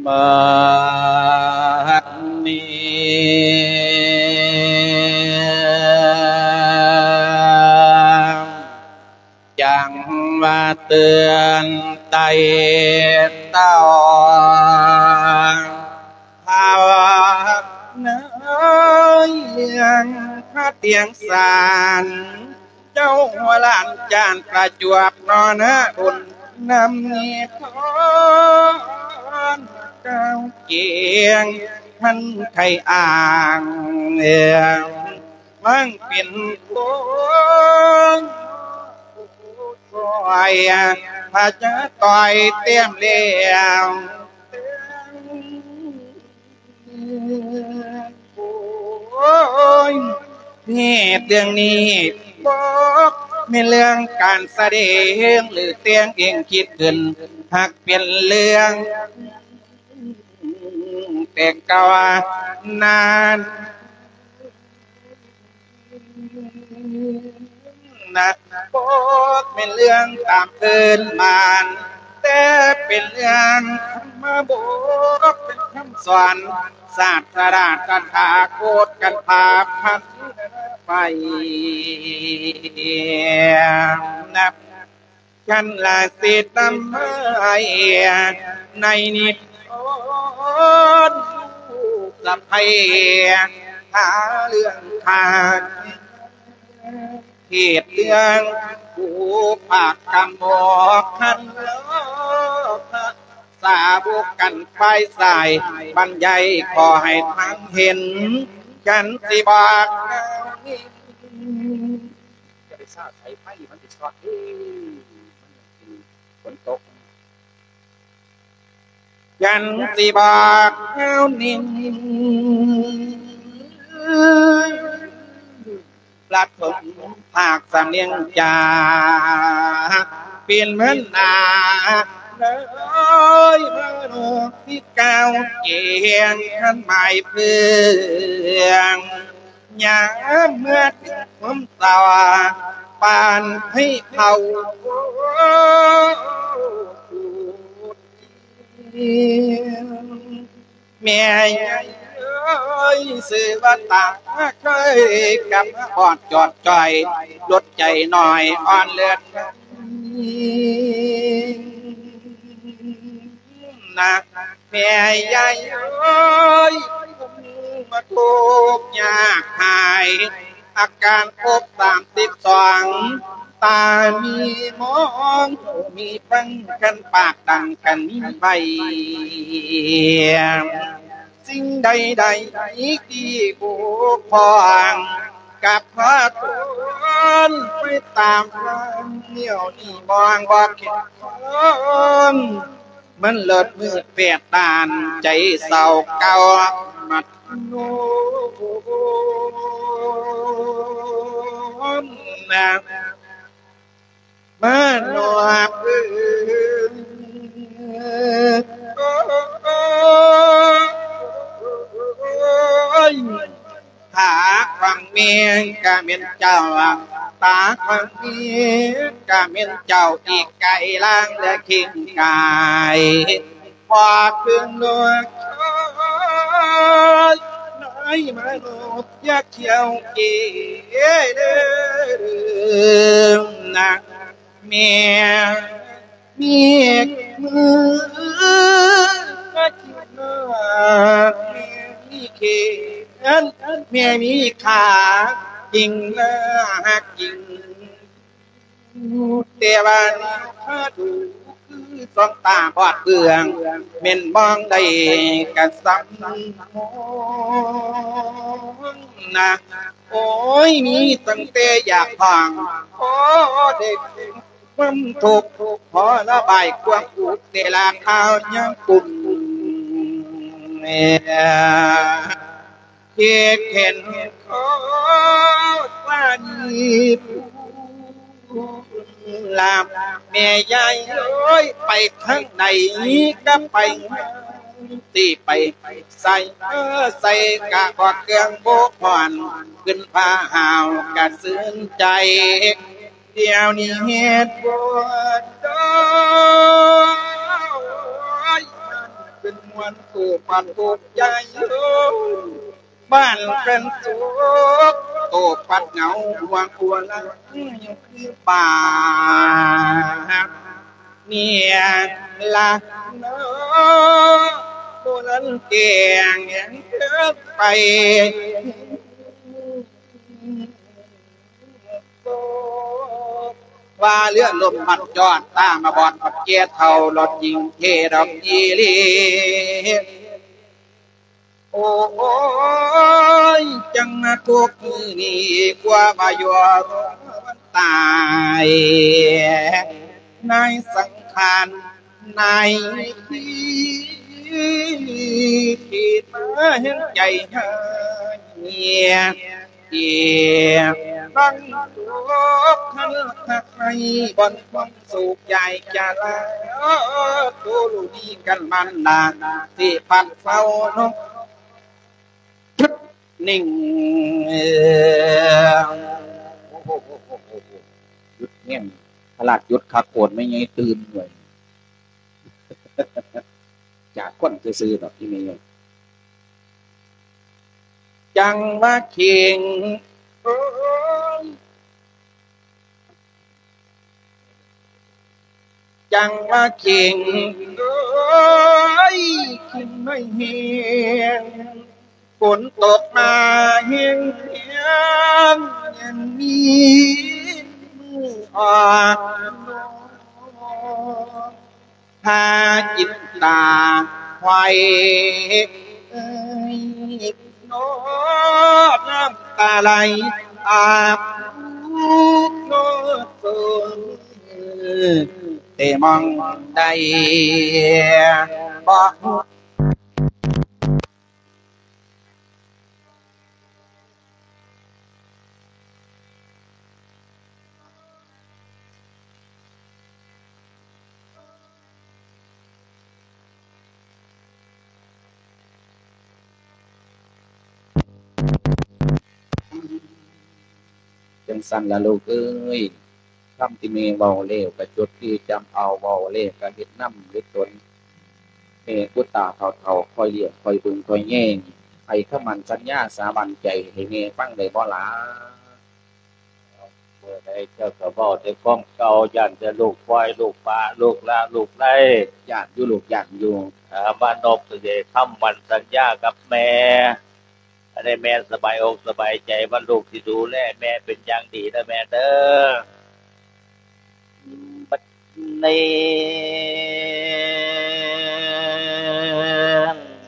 ບັດນີ້ ຈັ່ງວ່າເຕືອນໄຕ່ເຕົ້າ ພາວະນາເລື່ອງພະຕຽງສານ ເຈົ້າຫົວຫຼານຈານປະຈວບນໍນະ ບຸນນຳນິທອນ ກ້າວກຽງ ທັນໄທອ່າງ ເອີ ມັງເປັນຄົນຄອຍ ພະຈະຕ່ອຍແຕ້ມແລ້ວ ໂອ້ຍ ເຫດເລື່ອງນີ້ບໍ່ແມ່ນເລື່ອງການສະແດງ ຫຼື ແຕ່ງເອງຄິດຂຶ້ນ ຫາກເປັນເລື່ອງແຕ່ເກົ່ານານ ນະ ບໍ່ແມ່ນເລື່ອງຕາມພື້ນບ້ານ ແຕ່ເປັນເລື່ອງທຳມະບົດ ເປັນຄຳສອນສາດສະດາຕະຖາຄົດກັນພາພັນໄປ ນະ ຄັນລະສິດນຳໃຫ້ໃນນິທານ ສະໄພຫາເລື່ອງຂາດ ເຂດເລື່ອງຜູ້ພາກກຳບອກຄັນລອພະ ສາວກກັນຝ່າຍຊາຍ ບັນຍາຍຂໍໃຫ້ທັງເຫັນ ຈັນຊິບອກ ຈະໄປຊາດສາຍໄຟ ມັນຊິຊອດເດ້ ມັນຍັງເປັນຝົນຕົກ ຈັນຊິບອກແນວນີ້ ລັດເພິ່ນພາກສຳນຽງຈາ ເປັນເໝືອນໜ້າເອີຍ ມະໂນທີ່ກ້າວກຽງ ຄັນໝາຍເພື່ອງ ຍາມເມື່ອເຖິງຄວາມເສົ້າ ປານໃຫ້ເຜົາ ແມ່ເອີຍ ຊື່ວ່າຕາເຄີຍກັບມາຮອດຈອດຈ່ອຍ ລົດໃຈໜ້ອຍອ່ອນເລືອດ ນະ ແມ່ໃຫຍ່ເອີຍ ມາທຸກຍາກຫາຍ ອາການຄົບສາມສິບສອງ ຕາມີມອງ ມີຟັງກັນປາກດັງກັນມີໃບ ສິ່ງໃດໆທີ່ບົກຜ່ອງ ກັບຂໍທວນໄປຕາມຄວາມ ແນວນີ້ມອງບໍ່ເຫັນ ມັນເລີດມືດແປດດ້ານ ໃຈເສົ້າເກົ່າມັດໂນນະ ມານອບເອີຍ ຕາຂອງແມ່ກະແມ່ນເຈົ້າ ຕາຂອງແມ່ກະແມ່ນເຈົ້າ ອີກໄກລາງແລະຄີງກາຍ ພອກເຄື່ອງນອກຄອຍ ນາຍມະນຸດຢ່າຂຽວເກນະ ແມ່ມີມືມາກິນນາ ແມ່ມີແຂນ ແມ່ມີຂາ ຈິງໜ້າຮັກຈິງ ແຕ່ວ່າໜ້າຂາດູ ຄືສອງຕາບອດເບື່ອງ ແມ່ນມອງໄດ້ກະສ່ຳມອງນະ ໂອ້ຍ ມີຕັ້ງແຕ່ຢາກຮ້ອງ ຂໍໄດ້ຄວາມທຸກ ຂໍລະບາຍຄວາມທຸກ ແຕ່ລະຄາວຍາມກຸ້ນແມ່ ເຮັດເຫັນຂໍສາລີຜູ້ລາບ ແມ່ຍາຍເອີຍ ໄປທາງໃດກະໄປ ຊິໄປໃສມາໃສກະບໍ່ເຄື່ອງບໍ່ຄວນ ຂຶ້ນພາຫາວກະຊື່ນໃຈ ດຽວນີ້ເຮັດບໍ່ໄດ້ ມ່ວນໂສກປັດທຸກໃຈ ເອີຍ ບ້ານເປັນສຸກ ໂຕປັດເຫງົາ ຫ່ວງຫົວລະ ຢູ່ຄືບ້ານ ເມຍລະເນາະ ບໍ່ທັນແຈ້ງແຫງເທີໄປ ວ່າເຮືອລົມພັດຈອດ ຕາມາບອດບັດແກ່ເຖົ້າ ລອດຈິງເທດອກອີ່ຫຼີ. ໂອ້ຍ ຈັ່ງມາທຸກມື້ນີ້ ກວ່າວ່າຢູ່ຕາຍ ນາຍສັງຂານ ໃນທີ່ມາແຫ່ງໃຈຫາເຫຍ ທີ່ບັງຕົກທັນທັກໃນບ່ອນຄວາມສຸກໃຫຍ່ຈະລາ ໂຕລູກນີ້ກັນມັນນາ ທີ່ພັນເຝົ້ານົກ ໜຶ່ງ ໂອ້ໂຫ ໂອ້ໂຫ ໂອ້ໂຫ ໂອ້ໂຫ ຢຸດແຮງ ຂະໜາດຢຸດຄັກໂພດ ແມ່ໃຫຍ່ຕື່ນເວີຍ ຈາກຄົນຊື່ໆດອກ ອີ່ແມ່ໃຫຍ່ ຈັງວ່າເຄັ່ງ ໂອ້ຍ ຈັ່ງວ່າເຄັ່ງ ໂອ້ຍ ເຄັ່ງມາແຮງ ຝົນຕົກມາແຮງໆ ຍັງມີມືອອກ ພາຈິນຕາໄຫວເອີຍ ນ້ອງນ້ຳຕາໄຫຼອາບ ແຕ່ມອງໃດບໍ່ຮູ້. ຈັ່ງຊັ້ນລະລູກເອີຍ ຄຳທີ່ແມ່ເວົ້າແລ້ວກະຈົດຈື່ຈຳເອົາ ເວົ້າແລ້ວກະເຮັດນຳເຮັດຕົນ. ແມ່ຜູ້ຕາເຖົ້າໆ ຄອຍລ້ຽງ ຄອຍເບິ່ງ ຄອຍແຍງ ໃຫ້ຄຳໝັ້ນສັນຍາສາບັນໃຈໃຫ້ແມ່ຟັງໄດ້ບໍ່ຫຼ້າ? ເມື່ອໃດເຈົ້າກະເວົ້າແຕ່ຄວາມເກົ່າ ຢ້ານແຕ່ລູກປ່ອຍ ລູກປະ ລູກລະ ລູກໄຫຼ. ຢ້ານຢູ່ລູກ ຢ້ານຢູ່. ເອີ ມານົບຊິໄດ້ຄຳໝັ້ນສັນຍາກັບແມ່ ໃຫ້ແມ່ສະບາຍອົກສະບາຍໃຈ ວ່າລູກຊິດູແລແມ່ເປັນຢ່າງດີເດີແມ່ເດີ. ບັດນີ້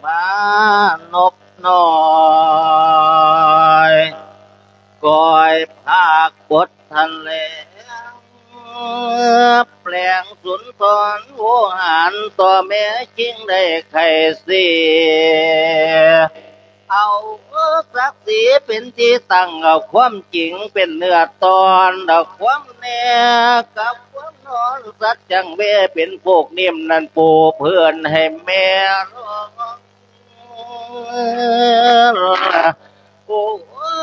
ມານົບນ້ອຍ ກ້ອຍພາກບົດທັນແລງ ແປງສຸນທອນໂວຫານ ຕໍ່ແມ່ຈຶ່ງໄດ້ໄຂ້ເສຍ ເອົາສັກສີເປັນທີ່ຕັ້ງ ເອົາຄວາມຈິງເປັນເນື້ອຕອນ ເອົາຄວາມແນ່ກັບຄວາມນອນ ສັດຈັ່ງເວເປັນຜູກນິ້ມນັ້ນປູເພື້ອນໃຫ້ແມ່ລອງ. ໂອ້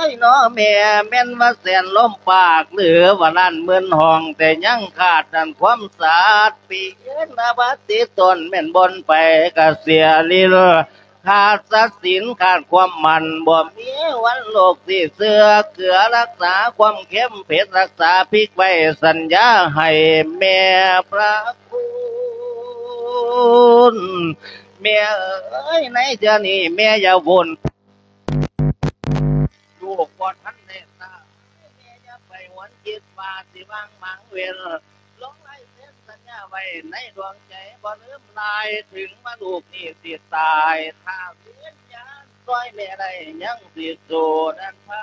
ຍ ເນາະແມ່ ແມ່ນວ່າແສນລົມປາກ ຫຼືວ່າລ້ານໝື່ນຫ້ອງ ແຕ່ຍັງຂາດນັ້ນຄວາມສາດ ປີນາບາດຕິຕົນ ແມ່ນບ່ອນໄປກະເສຍລິນ ຂາດສັດສິນ ຂາດຄວາມໝັ້ນ ບໍ່ມີວັນໂລກຊິເຊື່ອ ເກືອລັກສາຄວາມເຄັມເຜັດ ລັກສາພິກໄວ້ ສັນຍາໃຫ້ແມ່ພະຄຸນ. ແມ່ເອີຍ ໃນເທື່ອນີ້ແມ່ຢ່າວົນ ລູກບໍ່ທັນໄດ້ຊາບ ແມ່ຢ່າໄປຫວນຄິດວ່າຊິວາງໝາງເວັ້ນ ລົງລາຍເຊັນສັນຍາໄວ້ໃນດວງໃຈ ບໍ່ລືມລາຍ ເຖິງວ່າລູກນີ້ຊິຕາຍ ຖ້າວິນຍານຊ່ອຍແມ່ໄດ້ ຍັງຊິສູ້ນັ້ນພະ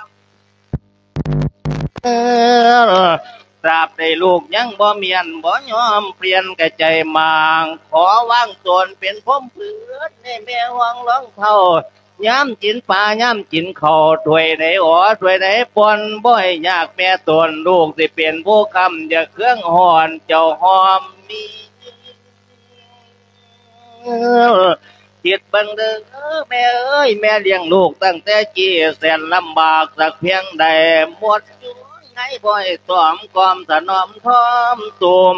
ຕາບໃດລູກຍັງບໍ່ມ້ຽນ ບໍ່ຍອມປ່ຽນກະໃຈໝາງ ຂໍວາງຕົນເປັນພົມເພື່ອນ ໃຫ້ແມ່ຫ່ວງລອງເທົ້າ ຍາມກິນປາ ຍາມກິນເຂົ້າ ຖ້ວຍໃດອໍ ຖ້ວຍໃດປ່ອນ ບໍ່ໃຫ້ຍາກແມ່ຕົນ ລູກຊິເປັນຜູ້ຄ້ຳ ຢ່າເຄືອງຮ້ອນ ເຈົ້າຫອມມີ ຄິດເບິ່ງເດີແມ່ເອີຍ ແມ່ລ້ຽງລູກຕັ້ງແຕ່ກີ້ ແສນລຳບາກສັກພຽງໃດ ໝົດຢູ່ ໃຫ້ບໍ່ໃຫ້ຊອມກອມຖະໜອມທ້ອມຕຸມ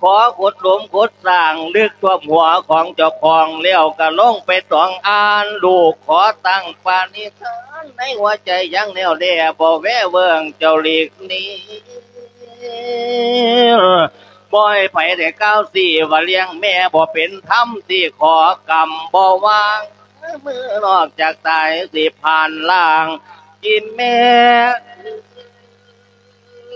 ຂໍຂຸດຫຼຸມຂຸດສ້າງ ລຶກຖ້ວມຫົວຂອງເຈົ້າຂອງ ແລ້ວກໍລົງໄປຕອງອ່ານ ລູກຂໍຕັ້ງປະນິທານ ໃນຫົວໃຈຍັງແນ່ວແລ ບໍ່ແວເວີງເຈົ້າຫຼີກໜີ ບໍ່ໃຫ້ໃຜໄດ້ກ່າວຊີ້ວ່າລ້ຽງແມ່ບໍ່ເປັນທຳ ຊິຂໍກຳບໍ່ວາງ ມື້ນອກຈາກຕາຍຊິຜ່ານລ່າງ ອີແມ່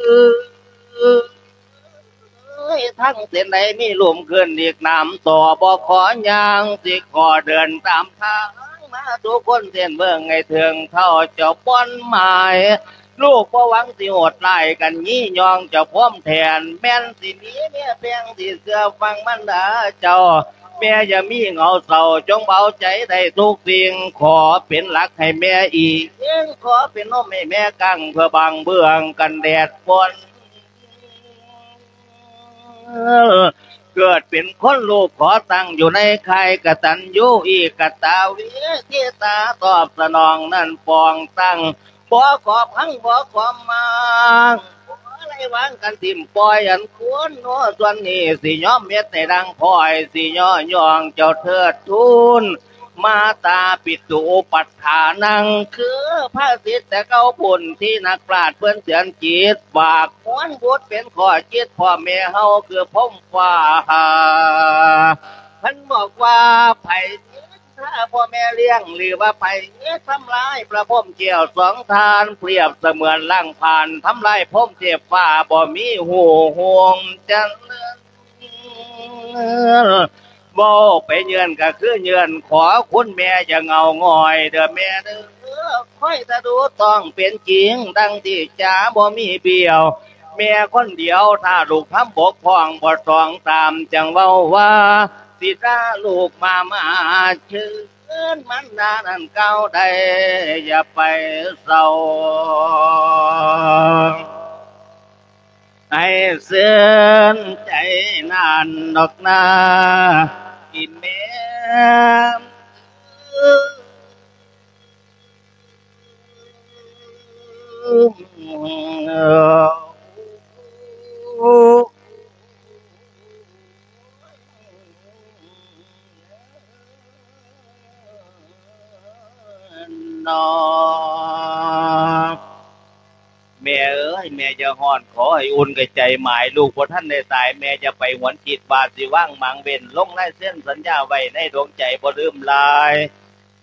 ເອີຍ ທາງເສັ້ນໃດມີລຸ່ມຂຶ້ນອີກນ້ຳຕໍ່ ບໍ່ຂໍຍ່າງ ຊິຂໍເດີນຕາມທາງມາສູ່ຄົນເສັ້ນເບິ່ງໃຫ້ເຖິງເທົ່າເຈົ້າບ່ອນໝາຍ ລູກບໍ່ຫວັງຊິໂຫດຮ້າຍກັນ ຢີ່ຍອງເຈົ້າພວມແທນ ແມ່ນຊິມີເມຍແພງທີ່ເຊື່ອຟັງມັນດາເຈົ້າ ແມ່ຢ່າມີເຫງົາເສົ້າ ຈົ່ງເບົາໃຈໄດ້ທຸກສິ່ງ ຂໍເປັນຫຼັກໃຫ້ແມ່ອີງ ຂໍເປັນຮົ່ມໃຫ້ແມ່ກັ້ງ ເພື່ອບັງເບື້ອງກັນແດດຝົນ ເກີດເປັນຄົນລູກຂໍຕັ້ງຢູ່ໃນຄ້າຍກະຕັນຍູ ເອກະຕາເວທິຕາ ຕອບສະໜອງນັ້ນປອງຕັ້ງ ບໍ່ຂໍພັງບໍ່ຂໍມາງ ບໍ່ໄດ້ວາງກັນຖິ້ມປ່ອຍອັນຄວນເນາະ ສ່ວນນີ້ຊິຍອມເຮັດໃຫ້ດັ່ງຂ້ອຍ ຊິຍໍຍ້ອງເຈົ້າເທີດທູນ ມາຕາປິຕຸອຸປັດຖານັງ ຄືພະສິດແຕ່ເກົ່າພຸ້ນ ທີ່ນັກປາດເພິ່ນເຊື່ອຈິດ ຝາກມວນບຸດເປັນຂໍ້ຄິດ ພໍ່ແມ່ເຮົາຄືພົມຟ້າ ເພິ່ນບອກວ່າໃຜ ຖ້າພໍ່ແມ່ລ້ຽງ ຫຼືວ່າໃຜທຳລາຍພະພົມແກ້ວສອງທ່ານ ປຽບສະເໝືອນລ້າງຜານ ທຳລາຍພົມເທບຟ້າ ບໍ່ມີຮູ້ຮ່ວງຈະເລີນ ເວົ້າໄປເຍື່ອນກໍຄືເຍື່ອນ ຂໍຄຸນແມ່ຢ່າເຫງົາຫງອຍເດີ້ແມ່ເດີ້ ຄອຍຖ້າດູຕ້ອງເປັນຈິງ ດັ່ງທີ່ຈາບໍ່ມີບ້ຽວ ແມ່ຄົນດຽວ ຖ້າລູກທຳບົກຜ່ອງບໍ່ຕ້ອງຕາມ ຈັ່ງເວົ້າວ່າ ສິດາລູກມາ ມາເຊີນມັນດານັ້ນກ່າວໄດ້ ຢ່າໄປເສົ້າ ໃຫ້ເຊີນໃຈນັ້ນດອກນາ ອີແມ່. ແມ່ເອີຍ ແມ່ຢ່າຮ້ອນ ຂໍໃຫ້ອຸ່ນກະໃຈໝາຍ ລູກບໍ່ທັນໄດ້ຕາຍ ແມ່ຢ່າໄປຫວນຄິດວ່າຊິວາງໝາງເວັ້ນ ລົງລາຍເຊັນສັນຍາໄວ້ໃນດວງໃຈບໍ່ລືມລາຍ.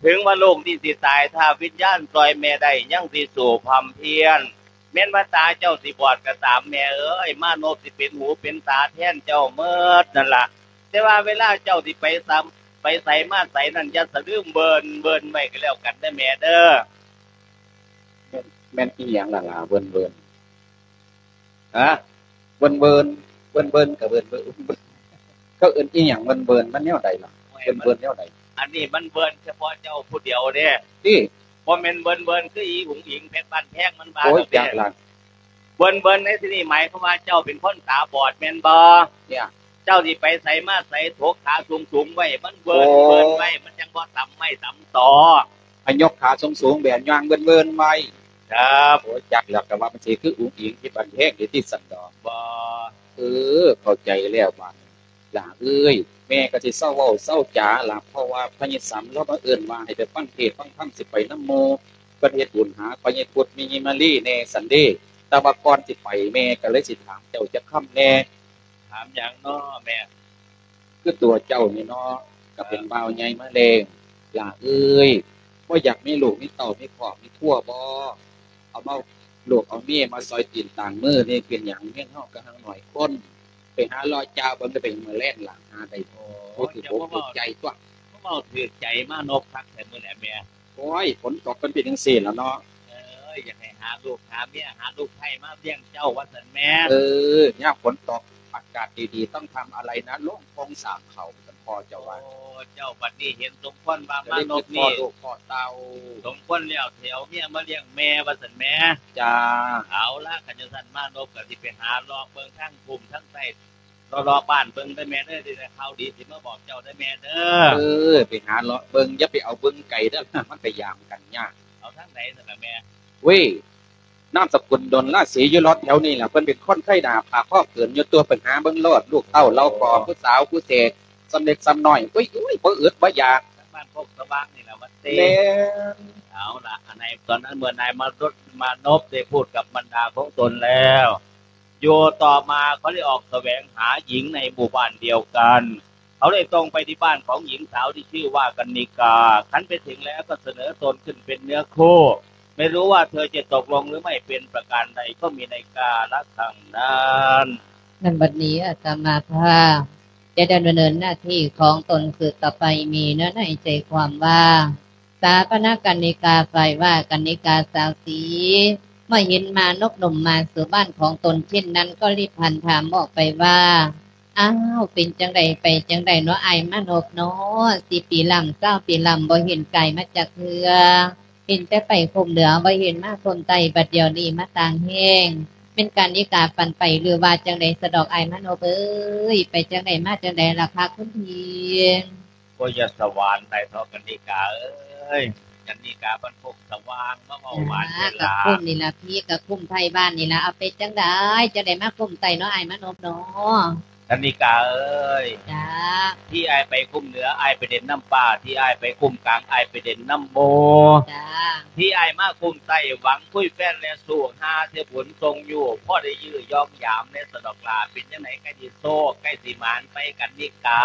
ເຖິງວ່າໂລກນີ້ຊິຕາຍ ຖ້າວິນຍານຊ່ອຍແມ່ໄດ້ ຍັງຊິສູ້ພຳພຽນ. ແມ່ນວ່າຕາເຈົ້າຊິບອດກໍຕາມ ແມ່ເອີຍ ມານົບຊິເປັນຫູເປັນຕາແທນເຈົ້າໝົດນັ້ນລະ. ແຕ່ວ່າເວລາເຈົ້າຊິໄປສຳ ໄປໃສມາໃສນັ້ນ ຢ່າສະລືມເບິ່ນເບິ່ນໄວ້ກໍແລ້ວກັນເດີ້ແມ່ເດີ້. ແມ່ນ ແມ່ນອີ່ຫຍັງລະຫຼ້າເບິ່ນເບິ່ນ? ຮະ? ເບິ່ນເບິ່ນ ເບິ່ນເບິ່ນກໍເບິ່ນເບິ່ນ ເຂົາເອີ້ນອີ່ຫຍັງເບິ່ນເບິ່ນ ມັນແນວໃດລະ? ໂອ້ຍ ເບິ່ນເບິ່ນແນວໃດ? ອັນນີ້ມັນເບິ່ນສະເພາະເຈົ້າຜູ້ດຽວເດ້. ຕິ? ບໍ່ແມ່ນເບິ່ນເບິ່ນຄືອີອຸງອິງເພັດບ້ານແພງມັນວ່າ ໂອ້ຍ ດອກເດ້. ຈັກລະ. ເບິ່ນເບິ່ນໃນທີ່ນີ້ໝາຍຄວາມວ່າເຈົ້າເປັນຄົນຕາບອດແມ່ນບໍ່? ເຈົ້າຊິໄປໃສມາໃສ ຖົກຂາສູງໆໄວ້ ມັນເບິ່ນ ໂອ້ ເບິ່ນໄວ້ ມັນຈັ່ງບໍ່ຕຳໄມ້ຕຳຕໍ. ໃຫ້ຍົກຂາສູງໆແບບຍ່າງເວີນໆໄວ້. ຄັບ. ໂອ້ຍ ຈັກແລ້ວ ກໍວ່າມັນຊິຄືອຸງອິງເພັດບ້ານແພງເດຕິ ຊັ້ນດອກ. ບໍ່. ເອີ ເຂົ້າໃຈແລ້ວບາດນີ້ ຫຼ້າເອີຍ. ແມ່ກໍຊິເຊົາເວົ້າເຊົາຈາລະ ເພາະວ່າພະຍາສຳລາວມາເອີ້ນວ່າໃຫ້ໄປຟັງເທດຟັງທຳ ຊິໄປນຳໝູ່ ເພິ່ນເຮັດບຸນຫາພະຍາພຸດມີຍາມາລີແດ່ຊັ້ນເດ. ແຕ່ວ່າກ່ອນຊິໄປ ແມ່ກໍເລີຍຊິຖາມເຈົ້າຈັກຄຳແດ່. ຖາມຫຍັງເນາະແມ່? ຄືຕົວເຈົ້ານີ້ເນາະ ກໍເປັນ ເອີ ບ່າວໃຫຍ່ມາແລ້ວ ຫຼ້າເອີຍ ບໍ່ຢາກມີລູກມີເຕົ້າ ມີຄອບມີຄົວບໍ່? ເອົາມາ ລູກເອົາເມຍມາຊອຍຕີນຕາງມືນີ້ ເປັນຫຍັງ? ເມຍເຮົາກໍຫາງໜ້ອຍຄົນ ໄປຫາເລາະຈາເບິ່ງ ໄປມື້ແລງ ຫຼ້າຫາໄດ້ບໍ່? ໂອ້ຍ ຖືກອົກຖືກໃຈຕົວະ. ເວົ້າຖືກໃຈມານົບຄັກແທ້ມື້ແຫຼະແມ່. ໂອ້ຍ ຝົນຕົກມັນເປັນຈັ່ງຊີ້ລະເນາະ. ເອີຍ ຢາກໃຫ້ຫາລູກຫາເມຍ ຫາລູກໃພ້ມາລ້ຽງເຈົ້າວ່າຊັ້ນແມ່. ເອີ ຍາມຝົນຕົກ ອາກາດດີໆ ຕ້ອງທຳອະໄລນະ ລົງໂຄງສ້າງເຂົ້າ ວ່າຊັ້ນພໍ່ເຈົ້າວ່າ. ໂອ້ ເຈົ້າບັດນີ້ເຫັນສົມຄວນວ່າມານົບນີ້ ພໍ່ລູກພໍ່ເຕົ້າ ສົມຄວນແລ້ວ ທີ່ເອົາເມຍມາລ້ຽງແມ່ວ່າຊັ້ນແມ່. ຈ້າ. ເອົາລະ ຄັນຈັ່ງຊັ້ນມານົບກໍຊິໄປຫາເລາະເບິ່ງທາງພູມທາງໃຕ້ ເລາະໆບ້ານເບິ່ງເດີ້ແມ່ເດີ ຊິໄດ້ຂ່າວດີຊິມາບອກເຈົ້າເດີ້ແມ່ເດີ້. ເອີ ໄປຫາເລາະເບິ່ງ ຢ່າໄປເອົາເບິ່ງໄກເດີ້ ມັນໄປຢາມກັນຍາກ. ເອົາທາງໃດຊັ້ນລະແມ່? ເວີຍ ນາມສະກຸນດົນລາສີ ຢູ່ລອດແຖວນີ້ລະ. ເພິ່ນເປັນຄົນໄທໜ້າຜາກຄໍເກີນຢູ່ຕົວະ ໄປຫາເບິ່ງໂລດ ລູກເຕົ້າເຫຼົ່າກໍ ໂອ້ ຜູ້ສາວຜູ້ເສກ ສ່ຳເລັກສ່ຳນ້ອຍ ໂອ້ຍ ໂອ້ຍ ບໍ່ອຶດບໍ່ຢາກ. ບ້ານໂຄກສະຫວ່າງນີ້ລະ ວັດເຕ. ແມ່ນ. ເອົາລະ ໃນຕອນນັ້ນ ເມື່ອນາຍມານົບ ມານົບໄດ້ພູດກັບບັນດາຂອງຕົນແລ້ວ ຢູ່ຕໍ່ມາເຂົາໄດ້ອອກສະແຫວງຫາຍິງໃນໝູ່ບ້ານດຽວກັນ. ເຂົາໄດ້ຕົງໄປທີ່ບ້ານຂອງຍິງສາວທີ່ຊື່ວ່າກັນນິກາ. ຄັນໄປເຖິງແລ້ວກໍສະເໜີຕົນຂຶ້ນເປັນເນື້ອຄູ່. ໄມ່ຮູ້ວ່າເທີຈະຕົກລົງຫຼືໄມ່ເປັນປະການໃດ ກໍມີໃນກາລະຄັ້ງນັ້ນ. ນຳບັດນີ້ອາດຕະມາພາບຈະດຳເນີນໜ້າທີ່ຂອງຕົນສືບຕໍ່ໄປ. ມີເນື້ອໃນໃຈຄວາມວ່າ ສາປະນາກັນນິກາ ຝ່າຍວ່າກັນນິກາສາວສີ ເມື່ອເຫັນມານົບໜຸ່ມມາສູ່ບ້ານຂອງຕົນເຊັ່ນນັ້ນ ກໍລີບຫັນຖາມອອກໄປວ່າ ອ້າວ ເປັນຈັ່ງໃດໄປຈັ່ງໃດເນາະ ອ້າຍມານົບເນາະ? ສິບປີລ້ຳ ຊາວປີລ້ຳ ບໍ່ເຫັນກາຍມາຈັກເທື່ອ ເຫັນແຕ່ໄປຄຸ້ມເໜືອ ບໍ່ເຫັນມາຄຸ້ມໃຕ້ ບັດດຽວນີ້ມາຕ່າງແຮງ ແມ່ນກັນນິກາຝັນໄປ ຫຼືວ່າຈັ່ງໃດສະດອກ ອ້າຍມານົບເອີຍ? ໄປຈັ່ງໃດມາຈັ່ງໃດລະຄະຄຸນພີ່? ໂອ້ຍ ຢ່າສະຫວານໄດ້ເຖາະກັນນິກາເອີຍ. ກັນນິກາບ້ານໂຄກສະຫວ່າງ ມາເວົ້າຫວານແທ້ລະ. ກະຄຸ້ມນີ້ລະພີ່ ກະຄຸ້ມໄທບ້ານນີ້ລະ. ເອົາ ເປັນຈັ່ງໃດ ຈັ່ງໃດມາຄຸ້ມໃຕ້ເນາະ ອ້າຍມານົບເນາະ? ກັນນິກາເອີຍ. ຈ້າ. ທີ່ອ້າຍໄປຄຸ້ມເໜືອ ອ້າຍໄປເຫຼັ້ນນຳປ້າ, ທີ່ອ້າຍໄປຄຸ້ມກາງ ອ້າຍໄປເຫຼັ້ນນຳໝູ່. ຈ້າ. ທີ່ອ້າຍມາຄຸ້ມໃຕ້ ຫວັງຄຸຍແຟນແລະຊູ້ ຫາເທື່ອບຸນສົ່ງຢູ່ ພໍໄດ້ຢື້ຢອງຢາມແດ່ສະດອກຫຼ້າ. ເປັນຈັ່ງໃດ ໃກ້ຊິໂຊກ ໃກ້ຊິໝານໄປກັນນິກາ?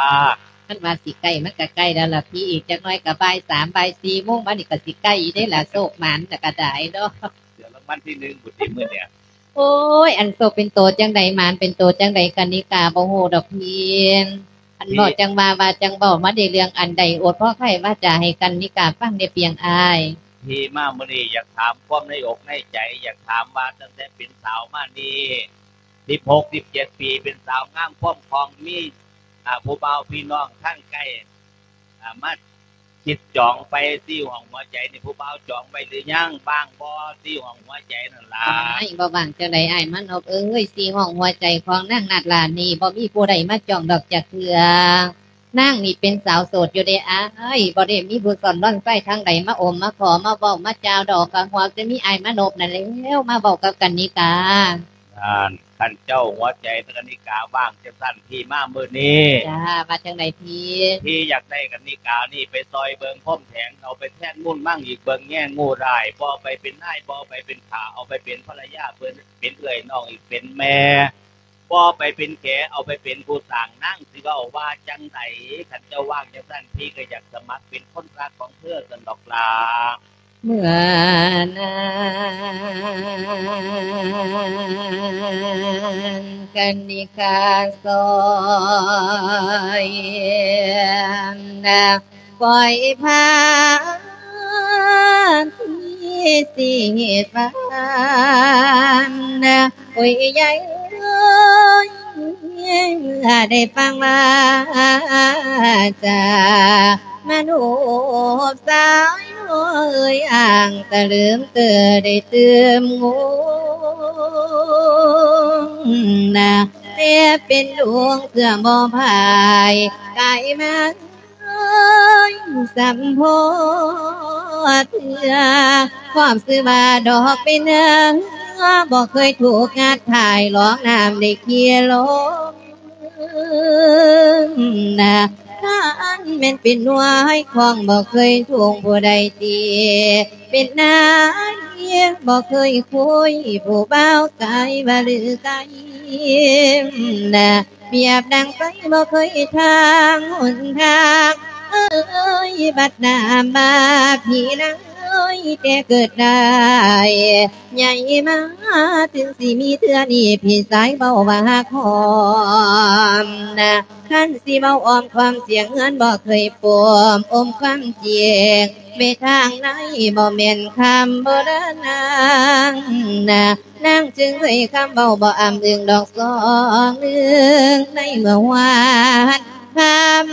ຄັນວ່າຊິໃກ້ ມັນກະໃກ້ແລ້ວລະພີ່ ອີກຈັກໜ້ອຍກະບ່າຍສາມ ບ່າຍສີ່ໂມງມານີ້ກະຊິໃກ້ເດ້ລະ ໂຊກໝານລະກະໄດ້ເນາະ. ຖືກລາງວັນທີໜຶ່ງພຸ້ນຕິມື້ນີ້. ໂອ້ຍ ອັນໂຊກເປັນໂຕຈັ່ງໃດ ໝານເປັນໂຕຈັ່ງໃດ ກັນນິກາບໍ່ຮູ້ດອກພີ່. ອັນເວົ້າຈັ່ງວ່າ ວ່າຈັ່ງເວົ້າ ມາໄດ້ເລື່ອງອັນໃດ ໂອດພໍໄຂວາຈາໃຫ້ກັນນິກາຟັງແດ່ປຽງອ້າຍ. ທີ່ມາມື້ນີ້ຢາກຖາມຄວາມໃນອົກໃນໃຈ ຢາກຖາມວ່າຕັ້ງແຕ່ເປັນສາວມານີ້ ສິບຫົກ ສິບເຈັດປີ ເປັນສາວງາມຄວາມຄ່ອງ ມີ ອາ ຜູ້ບ່າວພີ່ນ້ອງທາງໃກ້ ອາ ມາຄິດຈອງໄປ ສີ່ຫ້ອງຫົວໃຈນີ້ ຜູ້ບ່າວຈອງໄວ້ຫຼືຍັງ? ວ່າງບໍ່ ສີ່ຫ້ອງຫົວໃຈນັ້ນລະ? ອ້າຍ ບໍ່ວ່າງຈັ່ງໃດ ອ້າຍມານົບເອີຍ. ສີ່ຫ້ອງຫົວໃຈຂອງນາງນາດລານີ້ ບໍ່ມີຜູ້ໃດມາຈອງດອກຈັກເທື່ອ. ນາງນີ້ເປັນສາວໂສດຢູ່ເດ້ອ້າຍ ບໍ່ໄດ້ມີຜູ້ສອນລອນໄຊທາງໃດມາອົມມາຂໍມາເວົ້າມາຈາດອກ ກະຮວບແຕ່ມີອ້າຍມານົບນັ້ນແລ້ວ ມາເວົ້າກັບກັນນິກາ. ນັ້ນ ຄັນເຈົ້າຫົວໃຈກັນນິກາວ່າງຈັ່ງຊັ້ນ ທີ່ມາມື້ນີ້. ຈ້າ ວ່າຈັ່ງໃດພີ່? ທີ່ຢາກໄດ້ກັນນິການີ້ໄປຊ່ອຍເບິ່ງພົມແຖງ ເອົາໄປແທນມູນມັງອີກ ເບິ່ງແຍງງູຮ້າຍ ບໍ່ໄປເປັນນາຍ ບໍ່ໄປເປັນຂ້າ ເອົາໄປເປັນພັນລະຍາ ເປັນ ເປັນເອື້ອຍນ້ອງອີກ ເປັນແມ່ ບໍ່ໄປເປັນແຂ ເອົາໄປເປັນຜູ້ສ້າງ ນາງຊິເວົ້າວ່າຈັ່ງໃດ? ຄັນເຈົ້າວ່າງຈັ່ງຊັ້ນ ພີ່ກໍຢາກສະໝັກເປັນຄົນຮັກຂອງເທີຊັ້ນດອກຫຼ້າ. ເມື່ອນັ້ນກັນນິກາສອຍນາງ ປ່ອຍພາທີ່ຊິເຮັດບ້ານນາ ໂອ້ຍ ຍາຍເອີຍ ເມື່ອໄດ້ຟັງວາຈາມາໂນບສາວນ້ອຍ ອ້າງຕະລຶມເຕີໄດ້ຕື່ມງົງນາ ແຕ່ເປັນດວງເຊື່ອບໍ່ພາຍກາຍມາ ເອີຍ ສຳພໍເທື່ອ ຄວາມຊື່ວ່າດອກເປັນເຮືອ ບໍ່ເຄີຍຖືກງັດຖ່າຍ ລອງນ້ຳໄດ້ເຄຍລົງນາ ຄັນແມ່ນເປັນໜ່ວຍຂອງ ບໍ່ເຄີຍທຸກຜູ້ໃດຕີ ເປັນນາຍບໍ່ເຄີຍຄຸຍ ຜູ້ບ່າວກາຍວ່າລືກາຍນາ ປຽບດັ່ງໄຟບໍ່ເຄີຍທາງຫົນທາງ ເອີຍ ບັດໜ້າມາພີ່ນາງເອີຍ ແຕ່ເກີດໄດ້ໃຫຍ່ມາ ເຖິງຊິມີເທື່ອນີ້ ພີ່ຊາຍເວົ້າວ່າຮັກຫອມນາ ຄັນຊິເວົ້າອ້ອມຄວາມສຽງເຮືອນ ບໍ່ເຄີຍປົມອົມຄວາມຈິງ ເວທາງໃນບໍ່ແມ່ນຄຳໂບລານນາງນາ ນາງຈຶ່ງເລີຍຄຳເວົ້າບໍ່ອ້ຳອຶງດອກສອງໜຶ່ງ ໃນເມື່ອວານຄຳ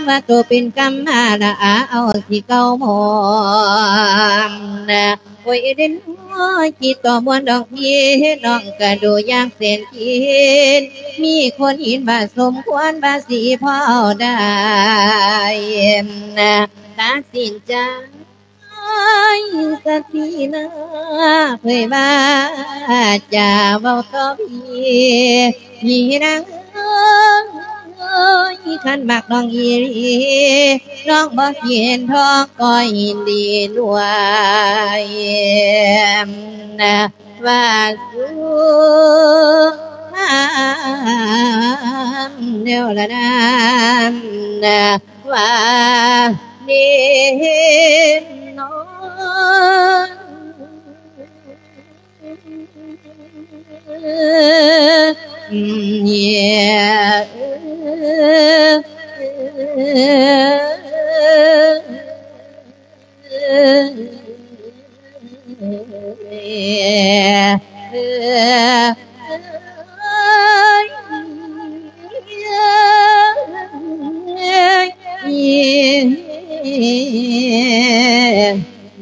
ວ່າໂຕເປັນກຳມາລະອາ ເອົາທີ່ເກົ່າມອມນາ ໂອ້ຍ ເດັ່ນນ້ອຍຄິດຕໍ່ມ່ວນດອກພີ່ ນ້ອງກະດູຢາກແສນກິນ ມີຄົນເຫັນວ່າສົມຄວນວ່າຊິເຝົ້າໄດ້ນາ ຕັດສິນໃຈ ສະຕິນາເຜີຍວ່າຈາເວົ້າຕໍ່ພີ່ ພີ່ນາງເອີຍ ຄັນມັກນ້ອງອີ່ຫຼີ ນ້ອງບໍ່ເຫັນທ້ອງກໍຍິນດີດ້ວຍ ວ່າສູ່ງາມແນວລະນານ ວ່າເນ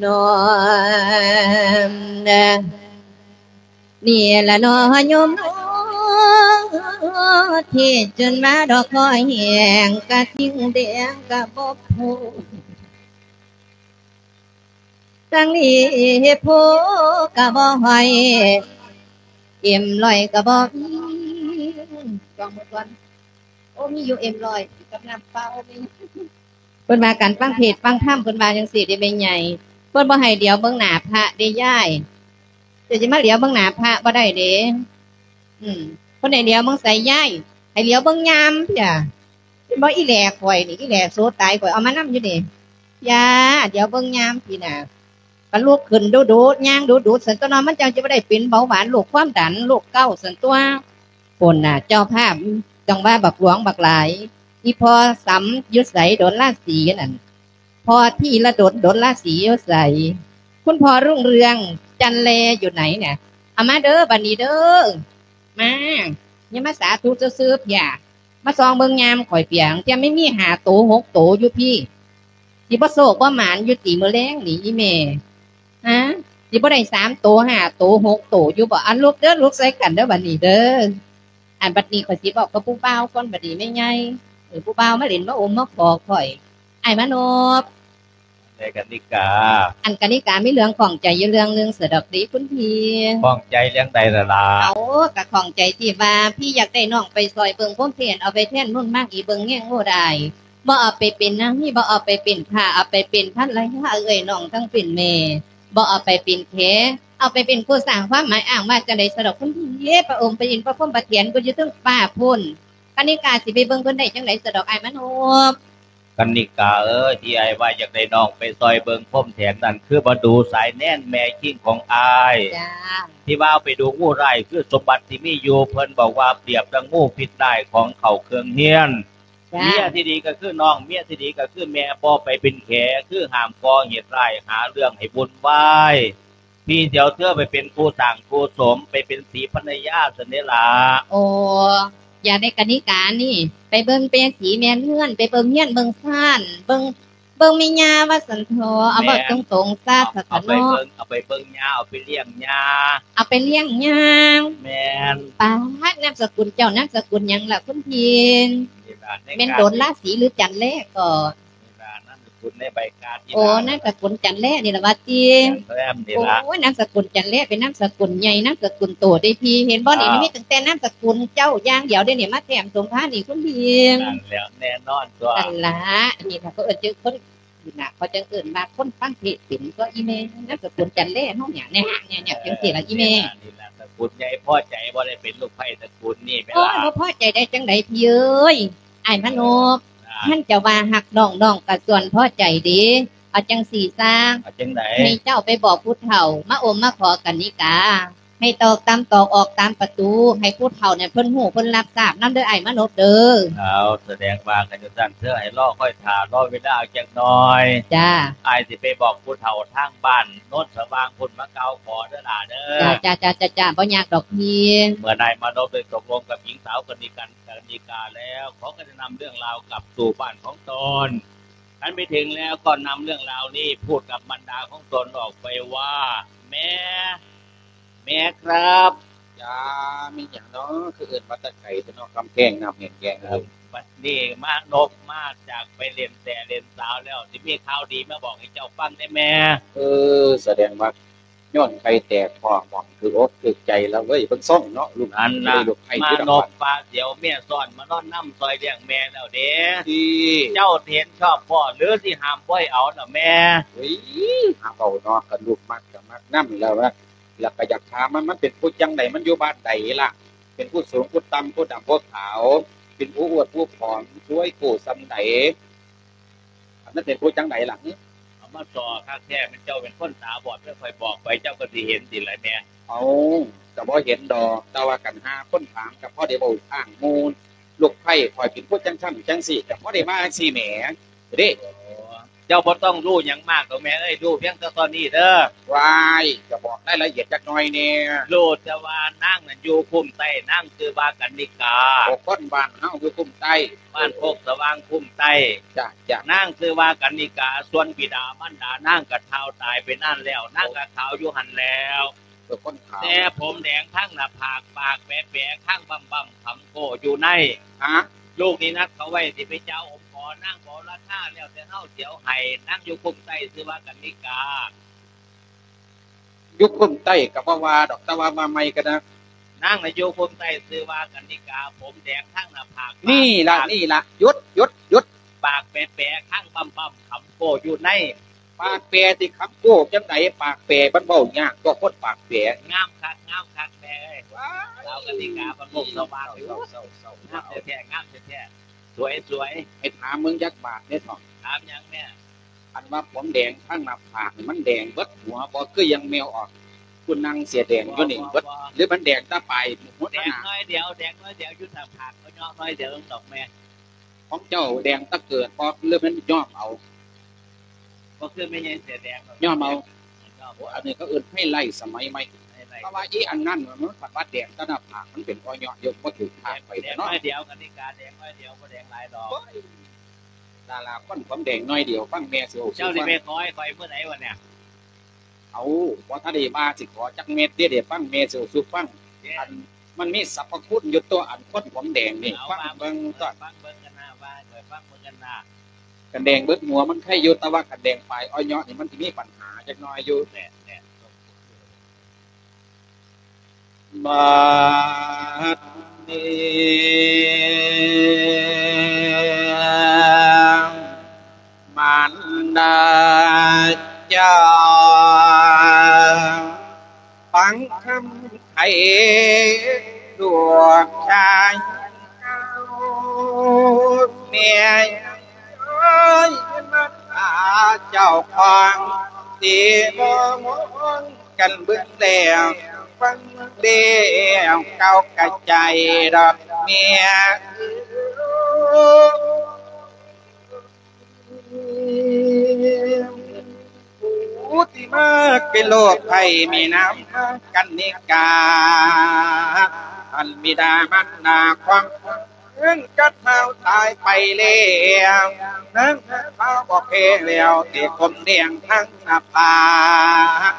ນອນ ນີ້ລະເນາະໂຍມເນາະ ທີ່ຈົນມາດອກຄອແຫ້ງ ກະທິ່ງແດງກະບໍ່ໂພ ຈັ່ງນີ້ໂພກະບໍ່ຫ້ອຍ ເອັມຮ້ອຍກະບໍ່ມີ ຈອງໝົດກ່ອນ ໂອ້ ມີຢູ່ເອັມຮ້ອຍກັບນ້ຳເປົ່າ ເພິ່ນວ່າການຟັງເທດຟັງທຳ ເພິ່ນວ່າຈັ່ງຊີ້ເດ້ແມ່ໃຫຍ່ ເພິ່ນບໍ່ໃຫ້ຫຼຽວເບິ່ງໜ້າພະເດ້ຍາຍ ເຈົ້າຊິມາຫຼຽວເບິ່ງໜ້າພະບໍ່ໄດ້ເດ້ ອືມ ເພິ່ນໃຫ້ຫຼຽວເບິ່ງໃສຍາຍ ໃຫ້ຫຼຽວເບິ່ງຍາມເພຍ ເຫັນບໍ່ ອີແຫຼຂ້ອຍນີ້ ອີແຫຼໂສຕາຍ ຂ້ອຍເອົາມານຳຢູ່ນີ້ ຢ່າ ຫຼຽວເບິ່ງຍາມພີ້ນາ ກະລຸກຂຶ້ນດຸໆ ຍ່າງດຸໆ ຊັ້ນຕົວເນາະ ມັນຈັ່ງຈະບໍ່ໄດ້ເປັນເບົາຫວານ ໂລກຄວາມດັນ ໂລກເກົາຊັ້ນຕົວ ພຸ້ນນະ ເຈົ້າພາບຈັ່ງວ່າບັກຫຼວງບັກຫຼາຍ ອີ່ພໍ່ສຳຢູ່ໃສ ດົນລາສີນັ້ນ ພໍ່ທີລະດົນ ດົນລາສີຢູ່ໃສ ຄຸນພໍ່ລຸງເຮືອງ ຈັນແລຢູ່ໃນນະ ເອົາມາເດີ ບັດນີ້ເດີ ມາ ຢ່າມາສາທຸຊື່ໆ ພຽ ມາສ່ອງເບິ່ງຍາມຂ້ອຍເປີຍ ເທື່ອມັນມີຫ້າໂຕຫົກໂຕຢູ່ພີ້ ຊິບໍ່ໂຊກບໍ່ໝານຢູ່ຕິມື້ແລງນີ້ອີ່ແມ່ ຮະ ຊິບໍ່ໄດ້ສາມໂຕຫ້າໂຕຫົກໂຕຢູ່ບໍ່ ອັນລຸກເດີ ລຸກໃສ່ກັນເດີ ບັດນີ້ເດີ ອັນບັດນີ້ຂ້ອຍຊິເວົ້າກັບຜູ້ບ່າວກ່ອນ ບັດນີ້ແມ່ໃຫຍ່ ເອີ ຜູ້ບ່າວມາຫຼິ້ນມາອົມມາຂໍຂ້ອຍ ອ້າຍມານົບ ແມ່ກະນິກາ ອັນກະນິກາມີເລື່ອງຂ້ອງໃຈຢູ່ເລື່ອງໜຶ່ງສະດອກເດຄຸນພີ່ ຂ້ອງໃຈເລື່ອງໃດລະຫຼ້າ ເອົາ ກະຂ້ອງໃຈທີ່ວ່າພີ່ຢາກໄດ້ນ້ອງໄປຊ່ອຍເບິ່ງພົມແທນ ເອົາໄປແທນນຸ່ນມາກອີເບິ່ງແຍງໂຫດອາຍ ບໍ່ເອົາໄປເປັນນາງ ບໍ່ເອົາໄປເປັນຂ້າ ເອົາໄປເປັນພັນລະຍາເອື້ອຍນ້ອງທັງເປັນແມ່ ບໍ່ເອົາໄປເປັນແຂ ເອົາໄປເປັນຄູ່ສ້າງຄວາມໝາຍອ້າງວ່າຈັ່ງໃດສະດອກຄຸນພີ່ ພະອົງໄປອິນພະພົມປະທຽນພຸ້ນຢູ່ເທິງຟ້າພຸ້ນ ກະນິກາຊິໄປເບິ່ງເພິ່ນໄດ້ຈັ່ງໃດສະດອກອ້າຍມານົບ ກະນິກາເອີຍ ທີ່ອ້າຍວ່າຢາກໄດ້ນ້ອງໄປຊ່ອຍເບິ່ງພົມແທນນັ້ນ ຄືໝໍດູສາຍແນນແມ່ຄີງຂອງອ້າຍ ທີ່ວ່າເອົາໄປດູງູຮ້າຍ ຄືສົມບັດທີ່ມີຢູ່ ເພິ່ນບອກວ່າປຽບດັ່ງງູພິດຮ້າຍຂອງເຂົ້າເຄື່ອງຮຽນ ເມຍທີ່ດີກະຄືນ້ອງ ເມຍທີ່ດີກະຄືແມ່ ບໍ່ໄປເປັນແຂ ຄືຫ້າມກໍ່ເຫດຮ້າຍ ຫາເລື່ອງໃຫ້ວຸ່ນວາຍ ພີ່ຊິເອົາເທີໄປເປັນຄູ່ສ້າງຄູ່ສົມ ໄປເປັນສີພັນລະຍາຊັ້ນເດລະ ໂອ້ ຢ່າໄດ້ກະນິການີ້ ໄປເບິ່ງແມ່ສີແມ່ເຮືອນ ໄປເບິ່ງເຮືອນເບິ່ງຊານ ເບິ່ງ ເບິ່ງແມ່ຍ່າວ່າຊັ້ນເຖາະ ເອົາເວົ້າຕົງໆ ຊາຊະເນາະ ເອົາໄປເບິ່ງ ເອົາໄປເບິ່ງຍ່າ ເອົາໄປລ້ຽງຍ່າ ເອົາໄປລ້ຽງຍ່າ ແມ່ນ ປາດ ນາມສະກຸນເຈົ້ານາມສະກຸນຫຍັງລະຄຸນພີ່ ນີ້ລະ ແມ່ນດົນລາສີຫຼືຈັນແລກໍ ນີ້ລະ ນາມສະກຸນໃນໃບກາດນີ້ ໂອ້ ລະ ນາມສະກຸນຈັນແລນີ້ລະວ່າຕິ ຈັນແລນີ້ລະ ໂອ້ຍ ນາມສະກຸນຈັນແລເປັນນາມສະກຸນໃຫຍ່ ນາມສະກຸນໂຕເດ້ພີ່ ເຫັນບໍ່ນີ້ ເອີ ມັນມີຕັ້ງແຕ່ນາມສະກຸນເຈົ້າຢ່າງດຽວເດ້ນີ້ ມາແຖມສົມພານີ້ຄຸນພີ່ ນັ້ນແຫຼະ ແນ່ນອນຕົວະ ນັ້ນລະ ອັນນີ້ລະເຂົາເອີ້ນຈັ່ງຄົນ ນີ້ລະ ເຂົາຈັ່ງເອີ້ນວ່າຄົນຟັງເທດເປັນຕົວະອີ່ແມ່ ນາມສະກຸນຈັນແລເຮົານີ້ ແນ່ໆ ຈັ່ງຊີ້ລະອີ່ແມ່ ນີ້ລະ ນີ້ລະ ສະກຸນໃຫຍ່ພໍໃຈບໍ່ໄດ້ເປັນລູກໃພ້ຕະກຸນນີ້ແມ່ນລະ ໂອ້ຍ ບໍ່ພໍໃຈໄດ້ຈັ່ງໃດພີ່ເອີຍ ອ້າຍມະນົບ ຄັນເຈົ້າວ່າຮັກນ້ອງ ນ້ອງກະສ່ວນພໍໃຈເດ ເອົາຈັ່ງຊີ້ຊະ ເອົາຈັ່ງໃດ ໃຫ້ເຈົ້າໄປບອກຜູ້ເຖົ້າ ມາອົມມາຂໍກະນິກາ ໃຫ້ຕອກຕາມຕອກອອກຕາມປະຕູ ໃຫ້ຜູ້ເຖົ້ານັ້ນເພິ່ນຮູ້ເພິ່ນຮັບຊາບນຳເດີອ້າຍມະນົບເດີ ເອົາ ສະແດງວ່າກັນຈັ່ງຊັ້ນ ເທີໃຫ້ລໍຄອຍຖ້າ ລໍເວລາຈັກໜ່ອຍ ຈ້າ ອ້າຍຊິໄປບອກຜູ້ເຖົ້າທາງບ້ານໂນນສະຫວ່າງພຸ້ນມາກ່າວຂໍເດີຫຼ້າເດີ ຈ້າ ຈ້າ ບໍ່ຍາກດອກພີ່ ເມື່ອອ້າຍມະນົບໄດ້ຕົກລົງກັບຍິງສາວກະນິກາ ກະນິກາແລ້ວ ຂໍກະນຳເລື່ອງລາວກັບສູ່ບ້ານຂອງຕົນ ຄັນໄປເຖິງແລ້ວກໍນຳເລື່ອງລາວນີ້ພູດກັບມັນດາຂອງຕົນອອກໄປວ່າ ແມ່ ແມ່ຄັບ ເ ຈ້າ ມີຫຍັງເນາະ ຄືເອີ້ນມາແຕ່ໄກແທ້ເນາະ ກຳແພງນ້ຳແຫ້ງແລ້ງ. ເອີ ບັດນີ້ມານົບມາຈາກໄປຫຼິ້ນແຕ່ຫຼິ້ນສາວແລ້ວ ຊິມີຂ່າວດີມາບອກໃຫ້ເຈົ້າຟັງເດ້ແມ່. ເອີ ສະແດງວ່າຍ້ອນໄຂ່ແຕກ ພໍ່ມອງຖືກອົກຖືກໃຈແລ້ວເວີຍ ເບິ່ງຊົງເນາະ ລູກ ອັນນະ ລູກໄຂ່ມານົບປາສຽວເມຍຊ້ອນ ມານອນນຳຊ່ອຍລ້ຽງແມ່ແລ້ວເດ້. ເຈົ້າເຫັນຊອບບໍ່ ຫຼືຊິຫ້າມບໍ່ໃຫ້ເອົານະແມ່? ເອີຍ ຫາເວົ້າເນາະ ຄັນລູກມັກກໍມັກນຳແລ້ວ ແລ້ວກໍຢາກຖາມວ່າ ມັນເປັນຜູ້ຈັ່ງໃດ ມັນຢູ່ບ້ານໃດລະ ເປັນຜູ້ສູງຜູ້ຕ່ຳ ຜູ້ດຳຜູ້ຂາວ ເປັນຜູ້ອວບຜູ້ຜອມ ສວຍໂກ້ສ່ຳໃດ ມັນເປັນຜູ້ຈັ່ງໃດລະ? ເອົາມາສໍ້ຄັກແທ້ ແມ່ນເຈົ້າເປັນຄົນຕາບອດ ແມ່ນຂ້ອຍບອກໄປ ເຈົ້າກໍຊິເຫັນຕິລະແມ່? ເອົາ ກໍບໍ່ເຫັນດອກ ແຕ່ວ່າຄັນຫາຄົນຖາມ ກໍພໍໄດ້ເວົ້າຂ້າງໝູ່ ລູກໃພ້ຂ້ອຍເປັນຜູ້ຈັ່ງຊັ້ນຈັ່ງຊີ້ ກໍພໍໄດ້ມາຈັ່ງຊີ້ແໝ ເດ້. ເຈົ້າບໍ່ຕ້ອງຮູ້ຫຍັງມາກດອກແມ່ເອີຍ ຮູ້ພຽງແຕ່ເທົ່ານີ້ເດີ. ວ້າຍ ຈະບອກລາຍລະອຽດຈັກໜ້ອຍແດ່. ຮູ້ແຕ່ວ່ານາງນັ້ນຢູ່ຄຸ້ມໃຕ້ ນາງຊື່ວ່າກັນນິກາ. ໂອ້ ຄົນບ້ານເຮົາຢູ່ຄຸ້ມໃຕ້ ບ້ານໂຄກສະຫວ່າງຄຸ້ມໃຕ້. ຈ້າ ຈ້າ. ນາງຊື່ວ່າກັນນິກາ ສ່ວນບິດາມານດານາງກໍທ້າວຕາຍໄປນານແລ້ວ ນາງກໍຂາວຢູ່ຫັ້ນແລ້ວ. ເອີ ຄົນຂາວ ແຕ່ຜົມແດງທັງໜ້າຜາກ ປາກແປໆ ຄາງບຳໆ ຂຳໂກ້ຢູ່ໃນ. ຮະ? ລູກນີ້ນັດເຂົາໄວ້ຊິໄປເຈົ້າອົມຂໍນາງ ຂໍລາຄາແລ້ວແຕ່ເຮົາຊິເອົາໃຫ້. ນາງຢູ່ຄຸ້ມໃຕ້ຊື່ວ່າກັນນິກາ. ຢູ່ຄຸ້ມໃຕ້ກໍບໍ່ວ່າດອກ ແຕ່ວ່າມາໃໝ່ກໍໄດ້. ນາງນະຢູ່ຄຸ້ມໃຕ້ຊື່ວ່າກັນນິກາ ຜົມແດງທັງໜ້າຜາກ. ນີ້ລະ ປາກ ນີ້ລະ ຢຸດ ຢຸດ ຢຸດ. ປາກແປໆ ຄາງບຳໆ ຂຳໂກ້ຢູ່ໃນ. ປາກແປຕິ ຄຳໂກ້ຈັ່ງໃດ ປາກແປ ມັນເວົ້າຍາກຕົວະ ຄົນປາກແປ. ງາມຄັກ ງາມຄັກແມ່ເອີຍ. ວ້າຍ ສາວກັນນິກາ ບ້ານໂຄກສະຫວ່າງ. ເຊົາ ເຊົາ ເຊົາ ເຊົາ. ງາມແທ້ໆ ງາມແທ້ໆ ສວຍໆ. ໃຫ້ຖາມເບິ່ງຈັກບາດເດ້ເຖາະ. ຖາມຫຍັງແມ່? ອັນວ່າຜົມແດງທາງໜ້າຜາກນີ້ ມັນແດງເບິດຫົວບໍ່ ຄືຢ່າງແມວອອກ ຜູ້ນາງເສື້ອແດງຢູ່ນີ້ເບິດ ບໍ່ ບໍ່ ບໍ່ ຫຼືມັນແດງແຕ່ປາຍຫົວ ແດງໜ້ອຍດຽວ ແດງໜ້ອຍດຽວ ຢູ່ໜ້າຜາກ ເຂົາເຍາະໜ້ອຍດຽວດອກແມ່. ຂອງເຈົ້າແດງແຕ່ເກີດບໍ່ ຫຼືແມ່ນຍ້ອມເອົາ? ບໍ່ຄືແມ່ໃຫຍ່ເສື້ອແດງດອກ ຍ້ອມເອົາ. ຍ້ອມ ໂອ້ ອັນນີ້ເຂົາເອີ້ນໄຮໄລສະໄໝໃໝ່. ໄຮໄລ ເພາະວ່າອີອັນນັ້ນມັນພັດວ່າແດງແຕ່ໜ້າຜາກ ມັນເປັນບໍ່ເຍາະຢູ່ ບໍ່ຖືກທາງໄປເນາະ. ແດງໜ້ອຍດຽວ ກະນິກາແດງໜ້ອຍດຽວ ບໍ່ແດງຫຼາຍດອກ. ໂອ້ຍ ດາລາຄົນຜົມແດງໜ້ອຍດຽວ ຟັງແມ່ຊິເວົ້າສູ່ຟັງ. ເຈົ້າຊິໄປຂໍໃຫ້ຂ້ອຍມື້ໃດວະເນຍ? ເອົາ ບໍ່ທັນໄດ້ວ່າຊິຂໍຈັກເມັດເດ້ ໄດ້ຟັງແມ່ຊິເວົ້າສູ່ຟັງ. ເດ້ ອັນ ມັນມີສັບພະຄຸນຢູ່ຕົວະ ອັນຄົນຜົມແດງນີ້. ເອົາ ຟັງເບິ່ງຕົວະ ຟັງເບິ່ງກັນນະ ວ່າໃຫ້ຂ້ອຍຟັງເບິ່ງກັນນະ. ຄັນແດງເບິດຫົວມັນໄຄຢູ່ ແຕ່ວ່າຄັນແດງປາຍອອຍເຍາະນີ້ມັນຊິມີບັນຫາຈັກໜ້ອຍຢູ່. ແມ່ນໆ. ບັດນີ້ມານດາເຈົ້າ ຟັງຄຳໄຂລູກຊາຍເຈົ້າ ແມ່ເອີຍ ມາຫາເຈົ້າຂອງທີ່ບໍ່ມອງ ກັນເບິ່ງແລ້ວຟັງແລ້ວ ເກົ້າກະໃຈດອກແມ່ເອີຍ. ຜູ້ທີ່ມາເປັນໂລກໄຂ້ມີນາມກັນນິກາ ອັນບິດາມານດາຂອງ ເພິ່ນກະເຖົ້າຕາຍໄປແລ້ວ ນາງເຖົ້າບໍ່ແພ້ແລ້ວ ແຕ່ຜົມແດງທັງໜ້າຜາກ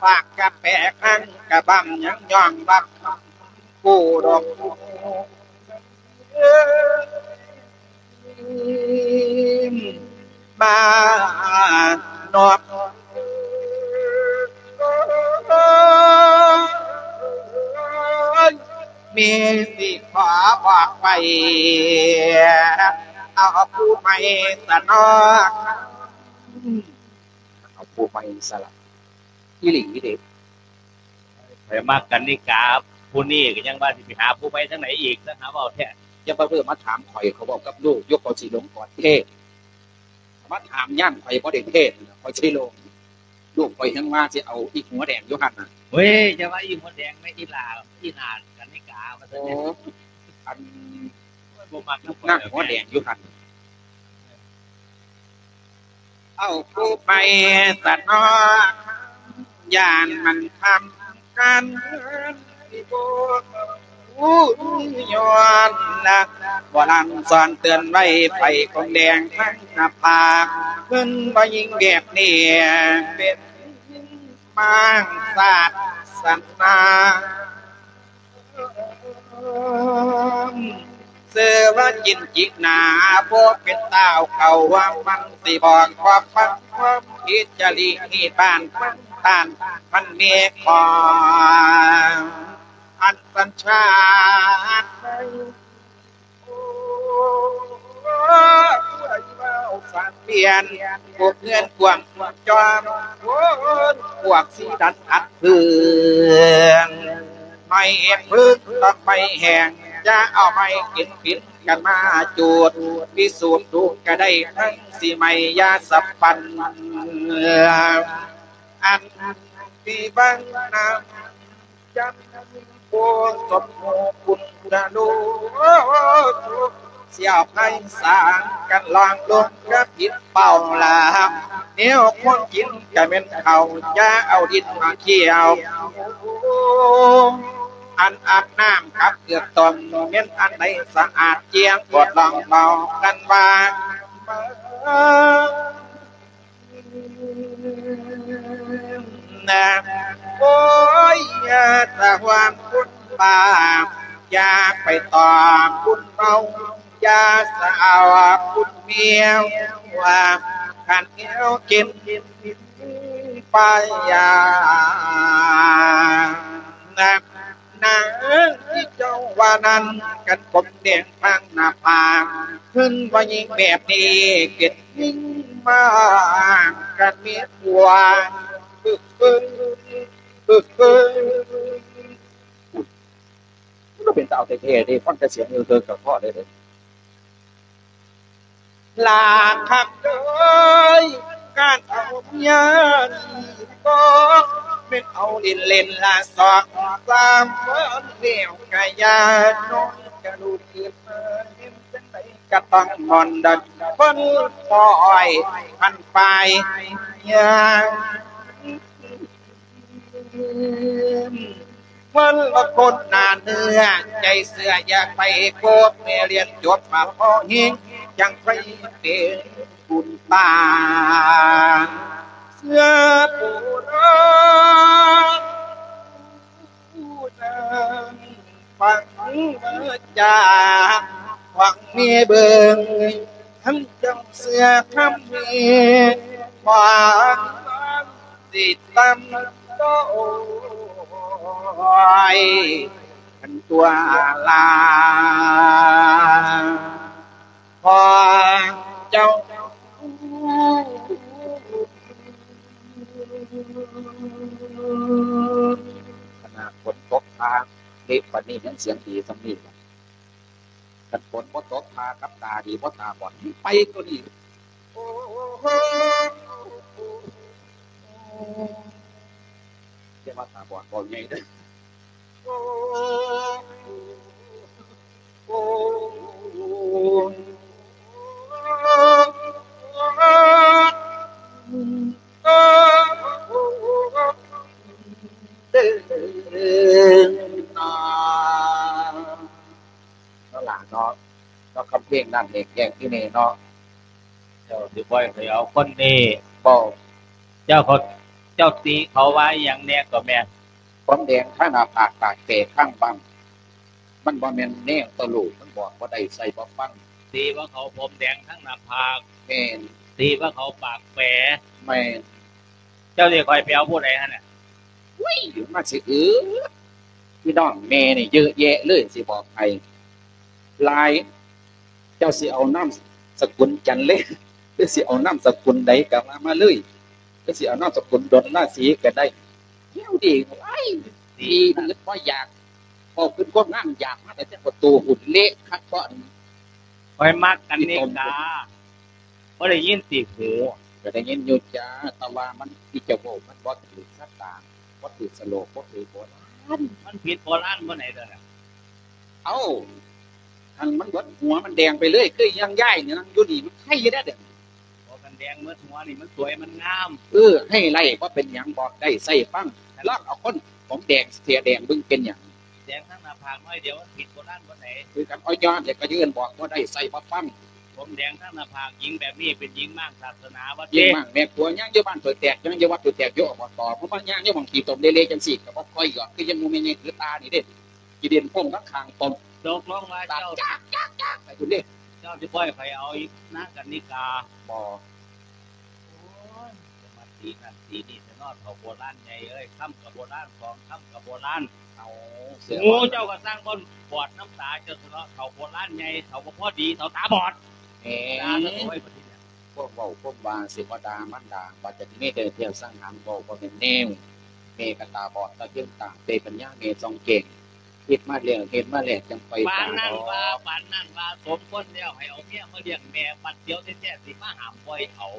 ປາກກະແປະຫັ້ນກະບຳ ຍັງຍ້ອງບັກກູດອກ ມານອກ ມີຊິຂໍບອກໄປ ເອົາຜູ້ໃໝ່ສະເນາະ ເອົາຜູ້ໃໝ່ສະລະ ອີ່ຫຼີເດ້. ຂ້ອຍມັກກັນນິກາຜູ້ນີ້ ກໍຍັງວ່າຊິໄປຫາຜູ້ໃໝ່ທາງໃດອີກ ຊະຫາເວົ້າແທ້. ຢ່າມາເວົ້າມາຖາມຂ້ອຍ ຂ້ອຍເວົ້າກັບລູກຢູ່ ຂ້ອຍຊິລົງກ່ອນເດ້. ມາຖາມຍາມຂ້ອຍບໍ່ໄດ້ເທດ ຂ້ອຍຊິລົງ. ລູກຂ້ອຍຍັງວ່າຊິເອົາອີ່ຫົວແດງຢູ່ຫັ້ນນະ. ເວີຍ ຢ່າວ່າອີ່ຫົວແດງແມ່ ອີ່ຫຼ້າ ອີ່ໜ້າກັນນິກາວ່າຊັ້ນ. ໂອ້ ອັນ ບໍ່ມັກນຳ ນາງຫົວແດງຢູ່ຫັ້ນ ເອົາຜູ້ໃໝ່ສະເນາະ ຢ້ານມັນຄຳ ການເງິນທີ່ບໍ່ຮູ້ຍ້ອນນະ ໂບລານສອນເຕືອນໄວ້ ໄປຄົນແດງທັງໜ້າຜາກ ເພິ່ນບໍ່ຍິງແບບນີ້ ເປັນມາງສາດສະໜາ. ເສືອວ່າຈິນຈິກໜາ ບໍ່ເປັນຕາວເຂົາວ່າມັນຊິບອກຄວາມພັງຄວາມຜິດຈະລິຮີດບ້ານເມືອງທ່ານ ມັນມີຂອງອັນສັນຊາດ ໂອ້ ຜູ້ໃດເວົ້າສານປ່ຽນ ພວກເຮືອນກວ້າງຈອມ ໂອ້ ພວກສີດັນອັດເພື່ອງ ໄມ້ເຮັດເພິ່ງຕ້ອງໄມ້ແຫ້ງ ຢ່າເອົາໄມ້ກິນປິ່ນກັນມາຈູດ ພິສູດດູກະໄດ້ທັງສີໄມ້ຢາສະພັນ ອັນທີ່ເບິ່ງນຳ ຈັນໂກສົມຮູປຸນທະໂລ ສຽວໄພສາງກັນລອງລົງກະຜິດເປົ້າລາ ແນວຄົນກິນກະແມ່ນເຂົ້າ ຢ່າເອົາດິນມາຂຽວ ອັນອາບນ້ຳກັບເກືອກຕົ້ມ ແມ່ນອັນໃດສະອາດຈຽງ ກວດລອງເວົ້າກັນວ່າ ນະ ໂອ້ຍ ຢ່າສະຫວານບຸນບາບ ຢ່າໄປຕອບບຸນເມົາ ຢ່າສະເອົາບຸນເມວ ວ່າຄັນແນວກິນໄປ ນະ ນາງທີ່ເຈົ້າວ່ານັ້ນ ກັນຜົມແດງທາງໜ້າຜາກ ເພິ່ນວ່າຍິງແບບນີ້ ເປັນຍິງມາກ ກັນມີຜົວ ປຶກປຶງ ປຶກປຶງ ມັນກໍເປັນຕາເອົາແທ້ໆເດ້ ຟັງແຕ່ສຽງເອີເກີກກໍພໍເດ້. ລາຄັກເອີຍ ການເອົາເມຍນີ້ບໍ່ແມ່ນເອົາຫຼິ້ນໆ ລະສອງສາມວັນແລ້ວກະຢ່າ ນ້ອງກະລູກເກີດມາເຫັນຈັ່ງໃດກະຕ້ອງມ່ອນດັດ ຄົນຄອຍພັນປາຍຢ່າງ ເພິ່ນລະຄົນໜາເນື້ອໃຈເຊື່ອ ຢ່າໄປໂກດ ແມ່ຮຽນຈົບມາພໍແຮງ ຈັ່ງໄປເປັນບຸນຕາ ເຊື່ອໂບລານ ຜູ້ນາງຟັງວາຈາຂອງແມ່ເບິ່ງ ທັງເຈົ້າເຊື່ອຄຳແມ່ ຄວາມສິດຕຳໂຕຍ ອັນຕົວລາ ພໍ່ເຈົ້າ ຂະໜາດຝົນຕົກຟ້າເລະປານນີ້ຍັງສຽງດີສ່ຳນີ້ ຄັນຝົນບໍ່ຕົກ ພາກັບຕາດີບໍ່ຕາບອດ ໄປກວ່ານີ້ ໂອ້ ຢ່າວ່າຕາບອດ ເວົ້າໃຫຍ່ເດີ້. ເນາະຫຼາເນາະ ເນາະ ຄຳເພງນັ້ນເອງແກງທີ່ນີ້ເນາະ ເຈົ້າຊິປ່ອຍໃຫ້ເອົາຄົນນີ້ບໍ່? ເຈົ້າເຂົາ ເຈົ້າຕິເຂົາວ່າອີ່ຫຍັງແດ່ກໍແມ່? ຜົມແດງຄາໜ້າຜາກ ປາກແປຂ້າງບັ້ງ ມັນບໍ່ແມ່ນແນວຕະໂຫຼກ ມັນບອກບໍ່ໄດ້ໃຊ້ບໍ່ຟັງ. ຕິວ່າເຂົາຜົມແດງທັງໜ້າຜາກ? ແມ່ນ. ຕິວ່າເຂົາປາກແປ? ແມ່ນ. ເຈົ້າຊິໃຫ້ຂ້ອຍໄປເອົາຜູ້ໃດຫັ້ນນະ? ໂອ້ຍ ມາຊິເອີ ພີ່ນ້ອງແມ່ນີ້ເຍອະແຍະເລີຍ ຊິບອກໃຫ້ ຫຼາຍ ເຈົ້າຊິເອົານາມສະກຸນຈັນເລ ຫຼືຊິເອົານາມສະກຸນໃດກໍວ່າມາເລີຍ ຫຼືຊິເອົານາມສະກຸນດົນລາສີກໍໄດ້ ແນວດີ ໂອ້ຍ ດີອື່ນບໍ່ຢາກ ເວົ້າຂຶ້ນຄວາມງາມຢາກມາແຕ່ແຕ່ປະຕູຫຸ້ນເລະຄັກບໍ່ ຂ້ອຍມັກກັນນີ້ກາ ບໍ່ໄດ້ຍິນຕິຫູ? ກໍໄດ້ຍິນຢູ່ຈ້າ ແຕ່ວ່າມັນ ທີ່ເຈົ້າເວົ້າມັນບໍ່ຖືກຊະຕາ ບໍ່ຖືກສະໂລກ ບໍ່ຖືກໂບລານ ມັນຜິດໂບລານບ່ອນໃດຕົວນັ້ນ? ເອົ້າ ຄັນມັນເບິດຫົວມັນແດງໄປເລີຍ ຄືຢ່າງຍາຍນີ້ນັ່ງຢູ່ນີ້ ມັນໄຄຢູ່ເດ້ ບໍ່ ຄັນແດງເບິດຫົວນີ້ມັນສວຍມັນງາມ. ເອີ ໃຫ້ໄລ່ບໍ່ເປັນຫຍັງ ບອກໄດ້ໃຊ້ຟັງ ລອງເອົາຄົນຜົມແດງເສຍແດງເບິ່ງເປັນຫຍັງ? ແດງທັງໜ້າຜາກໜ້ອຍດຽວ ມັນຜິດໂບລານບ່ອນໃດ? ຄືກັນ ເອົາຍ້ອນແລ້ວກໍຢືນບອກບໍ່ໄດ້ໃຊ້ບໍ່ຟັງ. ຜົມແດງທັງໜ້າຜາກ ຍິງແບບນີ້ເປັນຍິງມ້າງສາສະໜາວ່າຕິ ຍິງມ້າງແມ່ຄົວ ຍ່າງຢູ່ບ້ານຖ້ວຍແຕກ ຍ່າງຢູ່ວັດຖ້ວຍແຕກ ຢູ່ ອບຕ ບໍ່ມາຍ່າງຢູ່ໝ່ອງຂີ້ຕົມເລເລຈັ່ງຊີ້ ກໍບໍ່ຄ່ອຍຢອກ ຄືຍັງໝູ່ແມ່ໃຫຍ່ຄືຕານີ້ເດ້. ຊິເດັ່ນໂຄ້ງຂ້າງໆປ້ອມ ຕົກລົງວ່າເຈົ້າ ຈັກໆໆ ໄປພຸ້ນເດ້. ເຈົ້າຊິບໍ່ໃຫ້ຂ້ອຍເອົານາງກັນນິກາ? ບໍ່. ໂອ້ຍ ຈະມາຕີນັ້ນຕີນີ້ແທ້ເນາະ ເຖົ້າໂບລານໃຫຍ່ເອີຍ. ຄຳກໍໂບລານ ສອງຄຳກໍໂບລານ. ເອົາ ຫູເຈົ້າກໍຊ່າງບໍ່ບອດນຳຕາເຈົ້າແທ້ເນາະ ເຖົ້າໂບລານໃຫຍ່ ເຖົ້າບໍ່ພໍດີ ເຖົ້າຕາບອດ. ແມ່ນ ດ່າຊະໂອ້ຍ ບັດນີ້ນະ ພວກເວົ້າພວກວ່າຊິບໍ່ດ່າມັນດ່າ ວ່າຈະມີແຕ່ແນວສັງຫານ ເວົ້າບໍ່ແມ່ນແນວ. ແມ່ກໍຕາບອດ ຕາເທິງຕາເປ່ ປັນຍາແມ່ສ່ອງແຈ້ງ ເຮັດມາແລ້ວ ເຮັດມາແລ້ວ ຈັ່ງຄ່ອຍ ປານນັ້ນວ່າ ປານນັ້ນວ່າ ສົມຄວນແລ້ວໃຫ້ເອົາເມຍມາລ້ຽງແມ່ ບັດດຽວແທ້ໆ ຊິມາຫ້າມບໍ່ໃຫ້ເອົາ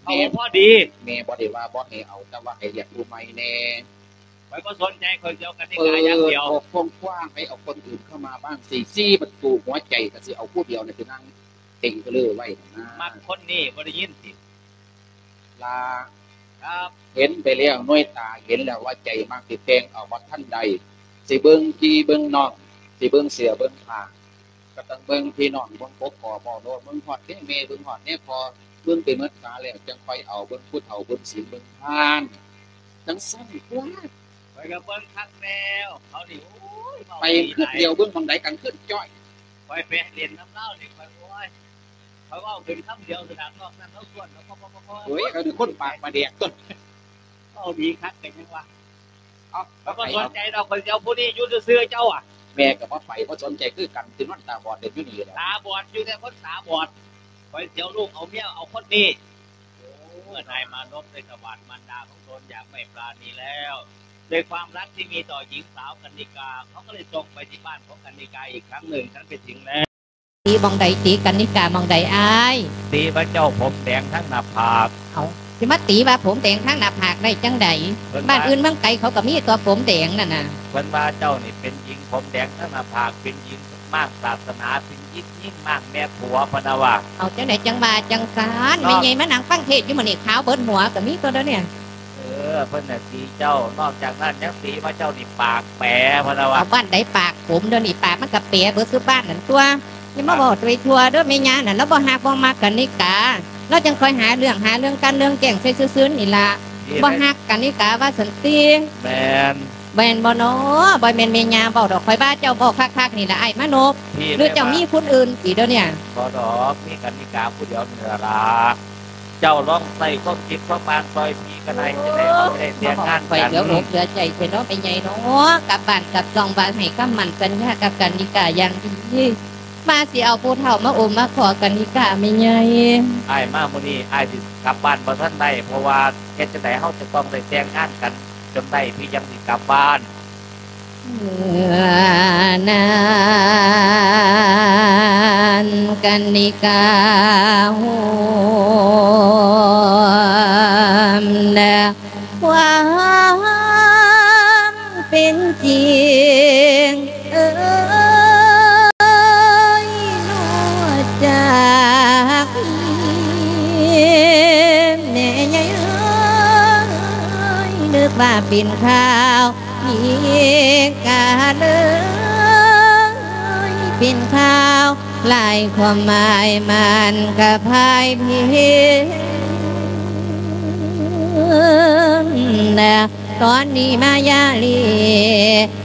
ເຂົາບໍ່ພໍດີ. ແມ່ບໍ່ໄດ້ວ່າບໍ່ໃຫ້ເອົາ ແຕ່ວ່າໃຫ້ລ້ຽງຜູ້ໃໝ່ແດ່. ຂ້ອຍບໍ່ສົນໃຈ ຂ້ອຍຊິເອົາກັນນິກາຢ່າງດຽວ. ເປີດອອກກວ້າງໆ ໃຫ້ເອົາຄົນອື່ນເຂົ້າມາບ້າງ ສີ່ ສີ່ປະຕູຫົວໃຈ ກໍຊິເອົາຜູ້ດຽວນີ້ໄປນັ່ງເຕັງກະເລີໄວ້ນະ. ມັກຄົນນີ້ ບໍ່ໄດ້ຍິນຕິ? ລາ ຄັບ ເຫັນໄປແລ້ວ ໜ່ວຍຕາເຫັນແລ້ວວ່າໃຈມັກ ຊິແຕ່ງເອົາບໍ່ທັນໄດ້ ຊິເບິ່ງພີ່ເບິ່ງນ້ອງ ຊິເບິ່ງເສື້ອເບິ່ງຜ້າ ກໍຕ້ອງເບິ່ງພີ່ນ້ອງ ເບິ່ງປົກກະເວົ້າໂລດ ເບິ່ງຮອດແດ່ແມ່ ເບິ່ງຮອດແດ່ພໍ່ ເບິ່ງໄປໝົດຕາແລ້ວ ຈັ່ງຄ່ອຍເອົາ ເບິ່ງຜູ້ເຖົ້າ ເບິ່ງສິນ ເບິ່ງທານ ຈັ່ງຊັ້ນຕົວະ. ຂ້ອຍກໍເບິ່ງຄັກແລ້ວ ເຂົານີ້ ໂອ້ຍ ເວົ້າ ໄປ ດີຫຼາຍ ຄືດດຽວ ເບິ່ງໝ່ອງໃດກໍຄືດຈ້ອຍ. ຂ້ອຍໄປຫຼິ້ນນຳລາວນີ້ ຂ້ອຍ ໂອ້ຍ ຂ້ອຍເວົ້າຂຶ້ນຄຳດຽວ ສະດານອກນັ້ນລາວຊວນ ແລ້ວກໍ ໂອ້ຍ ເຂົາເປັນຄົນປາກປາແດກຕົວະ ເວົ້າດີຄັກກໍຍັງວ່າ. ເອົາ ແລ້ວບໍ່ສົນໃຈດອກ ຂ້ອຍຊິເອົາຜູ້ນີ້ຢູ່ຊື່ໆ ເຈົ້າອະ. ແມ່ກໍບໍ່ໄປ ບໍ່ສົນໃຈຄືກັນ ຊິນອນຕາບອດເລີຍຢູ່ນີ້ແຫຼະ. ຕາບອດຢູ່ແຕ່ຄົນຕາບອດ ຂ້ອຍຊິເອົາລູກເອົາເມຍເອົາຄົນນີ້. ໂອ້ ເມື່ອໄດ້ມາລົບໄດ້ສະຫວາດມານດາຂອງຕົນຢ່າງໄມ່ປານີແລ້ວ ດ້ວຍຄວາມຮັກທີ່ມີຕໍ່ຍິງສາວກັນນິກາ ເຂົາກໍເລີຍສົ່ງໄປທີ່ບ້ານຂອງກັນນິກາອີກຄັ້ງໜຶ່ງ. ຄັນໄປເຖິງແລ້ວ ຕີໝ່ອງໃດ ຕີກັນນິກາໝ່ອງໃດອ້າຍ? ຕີວ່າເຈົ້າຜົມແດງທັງໜ້າຜາກ. ເອົ້າ ຊິມາຕີວ່າຜົມແດງທັງໜ້າຜາກໄດ້ຈັ່ງໃດ? ເພິ່ນວ່າ ບ້ານອື່ນເມືອງໄກເຂົາກໍມີຕົວະຜົມແດງນັ້ນນະ. ເພິ່ນວ່າເຈົ້ານີ້ເປັນຍິງຜົມແດງທັງໜ້າຜາກ ເປັນຍິງມ້າງສາສະໜາ ເປັນຍິງມ້າງແມ່ຜົວ ເພິ່ນວ່າ. ເອົາ ຈັ່ງໃດຈັ່ງວ່າຈັ່ງຊັ້ນ? ເນາະ ແມ່ໃຫຍ່ມານັ່ງຟັງເທດຢູ່ມື້ນີ້ ຂາວເບິດຫົວກໍມີຕົວະດຽວນີ້. ເອີ ເພິ່ນນະຕີເຈົ້າ ນອກຈາກນັ້ນຍັງຕີວ່າເຈົ້ານີ້ປາກແປ ເພິ່ນວ່າ. ເອົາ ບ້ານໃດປາກຜົມ ດຽວນີ້ປາກມັນກໍແປເບິດສູ່ບ້ານນັ້ນຕົວະ. ຢ່າມາເວົ້າໄປທົ່ວເດີແມ່ຍ່ານັ້ນ ລາວບໍ່ຮັກບໍ່ມັກກັນນິກາ ລາວຈັ່ງຄ່ອຍຫາເລື່ອງ ຫາເລື່ອງກັນເລື່ອງແກ້ງໃສ່ຊື່ໆນີ້ລະ. ບໍ່ຮັກກັນນິກາວ່າຊັ້ນຕິ. ແມ່ນ ແມ່ນບໍ່ນໍ? ບໍ່ແມ່ນແມ່ຍ່າເວົ້າດອກ ຂ້ອຍວ່າເຈົ້າເວົ້າຄັກໆນີ້ລະ ອ້າຍມານົບ. ຫຼືເຈົ້າມີຜູ້ອື່ນຕິດຽວນີ້? ບໍ່ດອກ ມີກັນນິກາຜູ້ດຽວນີ້ລະ. ເຈົ້າລອງໃຊ້ຄວາມຄິດຄວາມອ່ານຊ່ອຍພີ່ກໍໄດ້ ຈະໄດ້ເຮົາໄດ້ແຕ່ງງານກັນ. ຂ້ອຍເຫຼືອອົກເຫຼືອໃຈແທ້ເນາະແມ່ໃຫຍ່ເນາະ ກັບບ້ານກັບຊ່ອງວ່າໃຫ້ຄຳໝັ້ນສັນຍາກັບກັນນິກາຢ່າງດີ ວ່າຊິເອົາຜູ້ເຖົ້າມາໂອມມາຂໍກັນນິກາແມ່ໃຫຍ່. ອ້າຍມາມື້ນີ້ ອ້າຍຊິກັບບ້ານບໍ່ທັນໄດ້ ເພາະວ່າເຮັດຈັ່ງໃດເຮົາຈະຕ້ອງໄດ້ແຕ່ງງານກັນຈົນໄດ້ ພີ່ຈັ່ງຊິກັບບ້ານ. ເມື່ອນັ້ນກັນນິກາໂຮມນະ ຄວາມເປັນຈິງເອີຍ ນອກຈາກແມ່ໃຫຍ່ເອີຍ ນຶກວ່າເປັນຂ່າວ ອີກກາເລີຍເປັນຂ່າວ ຫຼາຍຄວາມໝາຍມັນກະພາຍເພນນະ ຕອນນີ້ມາຢາລີ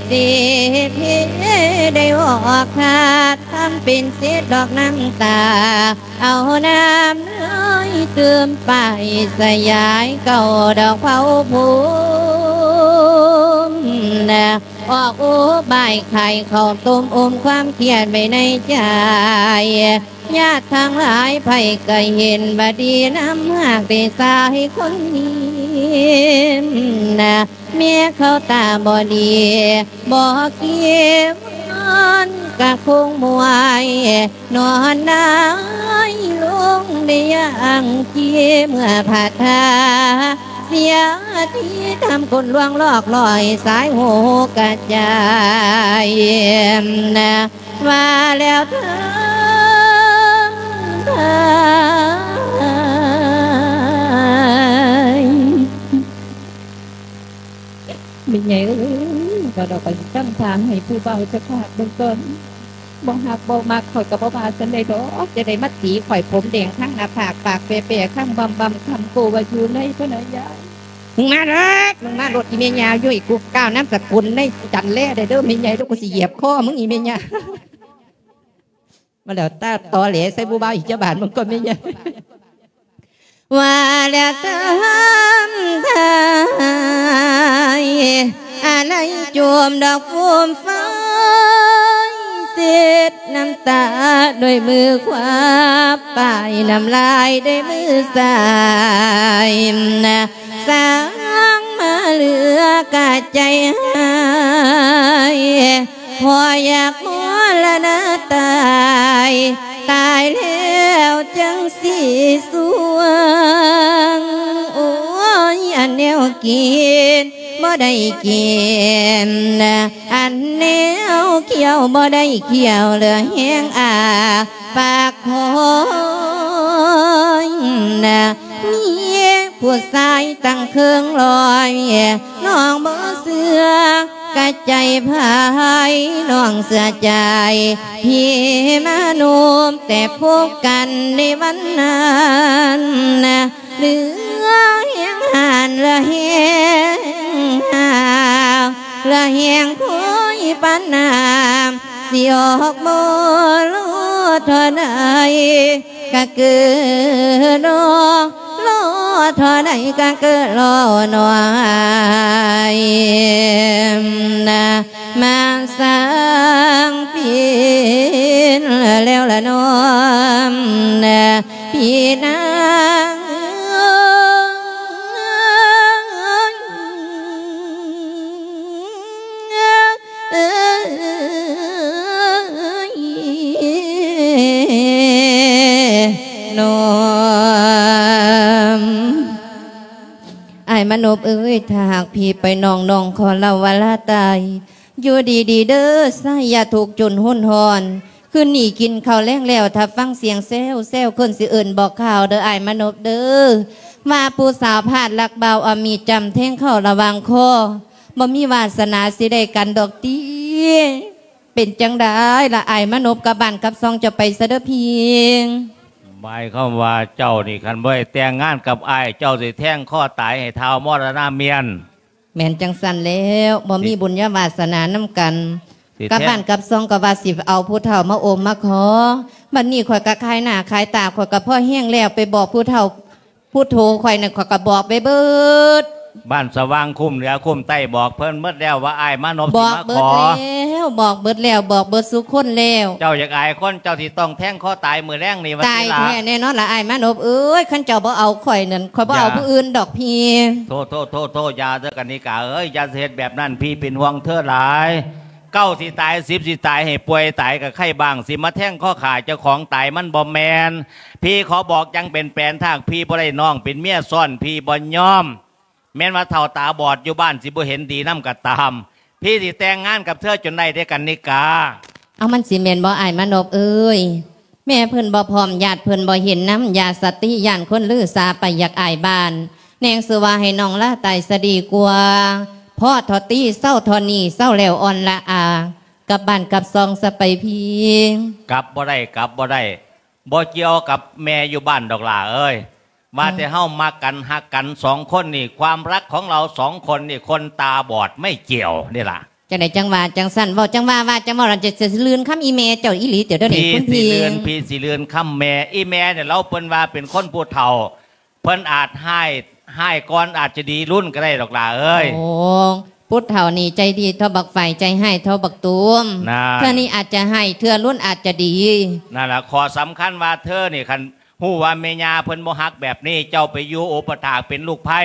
ເສດເພ ໄດ້ອອກຄາດ ທຳເປັນເສດດອກນ້ຳຕາ ເອົານ້ຳເລີຍຕື່ມໄປສະຫຍາຍເກົ້າດອກເຜົາພູມນະ ອອກອຸບາຍຂາຍເຂົ້າຕົ້ມອົມຄວາມຄຽດໄວ້ໃນໃຈ ຍາດທັງຫຼາຍໃຜກໍເຫັນວ່າດີນຳຫາກແຕ່ຊາຍຄົນນີ້ນະ ເມຍເຂົາຕາບໍ່ດີບໍ່ເກວນກະຄົງມວຍ ນອນນາຍລົງໄດ້ຢ່າງເຈ ເມື່ອພາທາເສຍທີທຳຄົນລວງລອກລອຍ ສາຍໂຫກະຈາຍນະ ວ່າແລ້ວເທີງໄທ. ແມ່ໃຫຍ່ເອີຍ ວ່າດອກໄປຕັ້ງທາງໃຫ້ຜູ້ບ່າວຈັກພາກເບິ່ງກ່ອນ ບໍ່ຮັກບໍ່ມັກຂ້ອຍກໍບໍ່ວ່າຊັ້ນໃດດອກ ຈະໄດ້ມາຕີຂ້ອຍຜົມແດງທັງໜ້າຜາກ ປາກແປໆ ຄຳບຳໆ ຄຳໂກວ່າຢູ່ໃນພະນາຍາຍ ມຶງມາເດີ ມຶງມາໂລດ ອີແມ່ຍ່າ ຢູ່ໃຫ້ກູກ້າວນາມສະກຸນໃນຈັນແລໄດ້ເດີແມ່ໃຫຍ່ເດີ ກູຊິຢຽບຄໍມຶງອີແມ່ຍ່າ. ມາແລ້ວ ຕາຕໍແຫຼໃສ່ຜູ້ບ່າວອີກຈັກບາດ ມຶງກໍແມ່ໃຫຍ່. ວ່າແລ້ວຕາມທາຍ ອາໄລຈົມດອກຟູມຝາຍ ເຊັດນ້ຳຕາດ້ວຍມືຂວາ ປ້າຍນ້ຳລາຍດ້ວຍມືຊ້າຍ ສ້າງມາເຫຼືອກະໃຈຮ້າຍ ພໍຢາກມໍລະນະຕາຍ ຕາຍແລ້ວຈັ່ງຊິສວງ ໂອ້ຍ ອັນແນວກິນບໍ່ໄດ້ກິນ ອັນແນວຂຽວບໍ່ໄດ້ຂຽວ ເຫຼືອແຮງອ້າປາກຄອຍ ມີຜູ້ຊາຍຕັ້ງເຄິ່ງຮ້ອຍ ນ້ອງບໍ່ເຊື່ອກະໃຈໃຜ ນ້ອງເຊື່ອໃຈພີ່ມານຸບ ແຕ່ພົບກັນໃນວັນນັ້ນ ເຫຼືອແຮງຮ້ານ ເຫຼືອແຮງຮ້າວ ເຫຼືອແຮງຄອຍປານນ້ຳ ຊິອອກບໍ່ລໍທໍ່ໃດກະເກີລໍ ລໍທໍ່ໃດກະເກີລໍໜ່ອຍນະ ມາສ້າງປິ່ນແລ້ວລະນ້ອມນະ ພີ່ນາງເອີຍ ເອີຍ ນ້ອມ ອ້າຍມານົບເອີຍ ຖ້າຫາກພີ່ໄປນ້ອງ ນ້ອງຂໍເລົ່າວ່າລາຕາຍ ຢູ່ດີໆເດີ ຊາຍຢ່າທຸກຈົນຮຸນຮ້ອນ ຄືນນີ້ກິນເຂົ້າແລງແລ້ວ ຖ້າຟັງສຽງແຊວໆ ຄົນຊິເອີ້ນບອກຂ່າວເດີ ອ້າຍມານົບເດີ ວ່າຜູ້ສາວພາດລັກບ່າວ ເອົາມີດຈ້ຳແທງເຂົ້າລະຫວ່າງຄໍ ບໍ່ມີວາສະໜາຊິໄດ້ກັນດອກຕິ. ເປັນຈັ່ງໃດລະອ້າຍມານົບ ກັບບ້ານກັບຊ່ອງເຈົ້າໄປຊະເດີພີ່? ໝາຍຄວາມວ່າເຈົ້ານີ້ ຄັນບໍ່ໄດ້ແຕ່ງງານກັບອ້າຍ ເຈົ້າຊິແທງຄໍຕາຍໃຫ້ທ້າວມໍລະນະເມຍນ. ແມ່ນຈັ່ງຊັ້ນແລ້ວ ບໍ່ມີບຸນຍາວາສະໜານຳກັນ ຊິແທງ ກັບບ້ານກັບຊ່ອງກໍວ່າຊິເອົາຜູ້ເຖົ້າມາໂອມມາຂໍ ບັດນີ້ຂ້ອຍກໍຂາຍໜ້າຂາຍຕາ ຂ້ອຍກໍພໍແຮງແລ້ວ ໄປບອກຜູ້ເຖົ້າຜູ້ໂທຂ້ອຍນັ້ນ ຂ້ອຍກໍບອກໄປເບິດ ບ້ານສະຫວ່າງຄຸ້ມເໜືອຄຸ້ມໃຕ້ ບອກເພິ່ນເບິດແລ້ວວ່າອ້າຍມານົບ ບອກເບິດແລ້ວ ບອກເບິດແລ້ວ ບອກເບິດສູ່ຄົນແລ້ວ. ເຈົ້າຢາກອາຍຄົນ ເຈົ້າຊິຕ້ອງແທງຄໍຕາຍມື້ແລງນີ້ວ່າຕິລະ. ຕາຍແທ້ແນ່ນອນລະອ້າຍມານົບເອີຍ ຄັນເຈົ້າບໍ່ເອົາຂ້ອຍນັ້ນ ຂ້ອຍບໍ່ເອົາຜູ້ອື່ນດອກພີ່. ໂທ້ໆໆໆ ຢ່າເດີກັນນິກາເອີຍ ຢ່າເຮັດແບບນັ້ນ ພີ່ເປັນຫ່ວງເທີຫຼາຍ. ເກົ້າຊິຕາຍ ສິບຊິຕາຍ ໃຫ້ປ່ວຍຕາຍກະໄຄບ້າງ ຊິມາແທງຄໍຂ້າເຈົ້າຂອງຕາຍ ມັນບໍ່ແມ່ນ. ພີ່ຂໍບອກຢ່າງເປັນແປນ ຖ້າຫາກພີ່ບໍ່ໄດ້ນ້ອງເປັນເມຍຊ້ອນ ພີ່ບໍ່ຍອມ. ແມ່ນວ່າເຖົ້າຕາບອດຢູ່ບ້ານຊິບໍ່ເຫັນດີນຳກໍຕາມ ພີ່ຊິແຕ່ງງານກັບເທີຈົນໄດ້ເດ້ກັນນິກາ. ເອົາ ມັນຊິແມ່ນບໍ່ອ້າຍມານົບເອີຍ? ແມ່ເພິ່ນບໍ່ພ້ອມ ຍາດເພິ່ນບໍ່ເຫັນນຳ ຢ່າສະຕິ ຢ້ານຄົນລືສາໄປ ຢາກອາຍບ້ານ ແນງຊື່ວ່າໃຫ້ນ້ອງລາຕາຍສະດີກວ່າ. ພໍເທາະຕິ ເຊົາເທາະນີ້ ເຊົາແລ້ວອ່ອນລະອາ ກັບບ້ານກັບຊ່ອງສະໄປພີ່. ກັບບໍ່ໄດ້ ກັບບໍ່ໄດ້ ບໍ່ກ່ຽວກັບແມ່ຢູ່ບ້ານດອກຫຼ້າເອີຍ ວ່າແຕ່ເຮົາມັກກັນຮັກກັນສອງຄົນນີ້ ຄວາມຮັກຂອງເຮົາສອງຄົນນີ້ ຄົນຕາບອດໄມ່ກ່ຽວນີ້ລະ. ຈັ່ງໃດຈັ່ງວ່າຈັ່ງຊັ້ນ ເວົ້າຈັ່ງວ່າ ວ່າຈັ່ງເວົ້າ ລະຈະ ຈະລື່ນຄຳອີແມ່ເຈົ້າອີ່ຫຼີ ດຽວນີ້ ພີ່ ຄຸນພີ່ ຊິລື່ນ ພີ່ຊິລື່ນຄຳແມ່. ອີແມ່ນີ້ລາວເພິ່ນວ່າເປັນຄົນຜູ້ເຖົ້າ ເພິ່ນອາດຮ້າຍ ຮ້າຍກ່ອນອາດຈະດີລຸນກໍໄດ້ດອກຫຼ້າເອີຍ. ໂອ້ ຜູ້ເຖົ້ານີ້ໃຈດີເທົ່າບັກໄຟ ໃຈຮ້າຍເທົ່າບັກຕູມ ນັ້ນ ເທື່ອນີ້ອາດຈະຮ້າຍ ເທື່ອລຸນອາດຈະດີ. ນັ້ນລະ ຂໍ້ສຳຄັນວ່າເທີນີ້ ຄັນຮູ້ວ່າແມ່ຍ່າເພິ່ນບໍ່ຮັກແບບນີ້ ເຈົ້າໄປຢູ່ອຸປະຖາກເປັນລູກໃພ້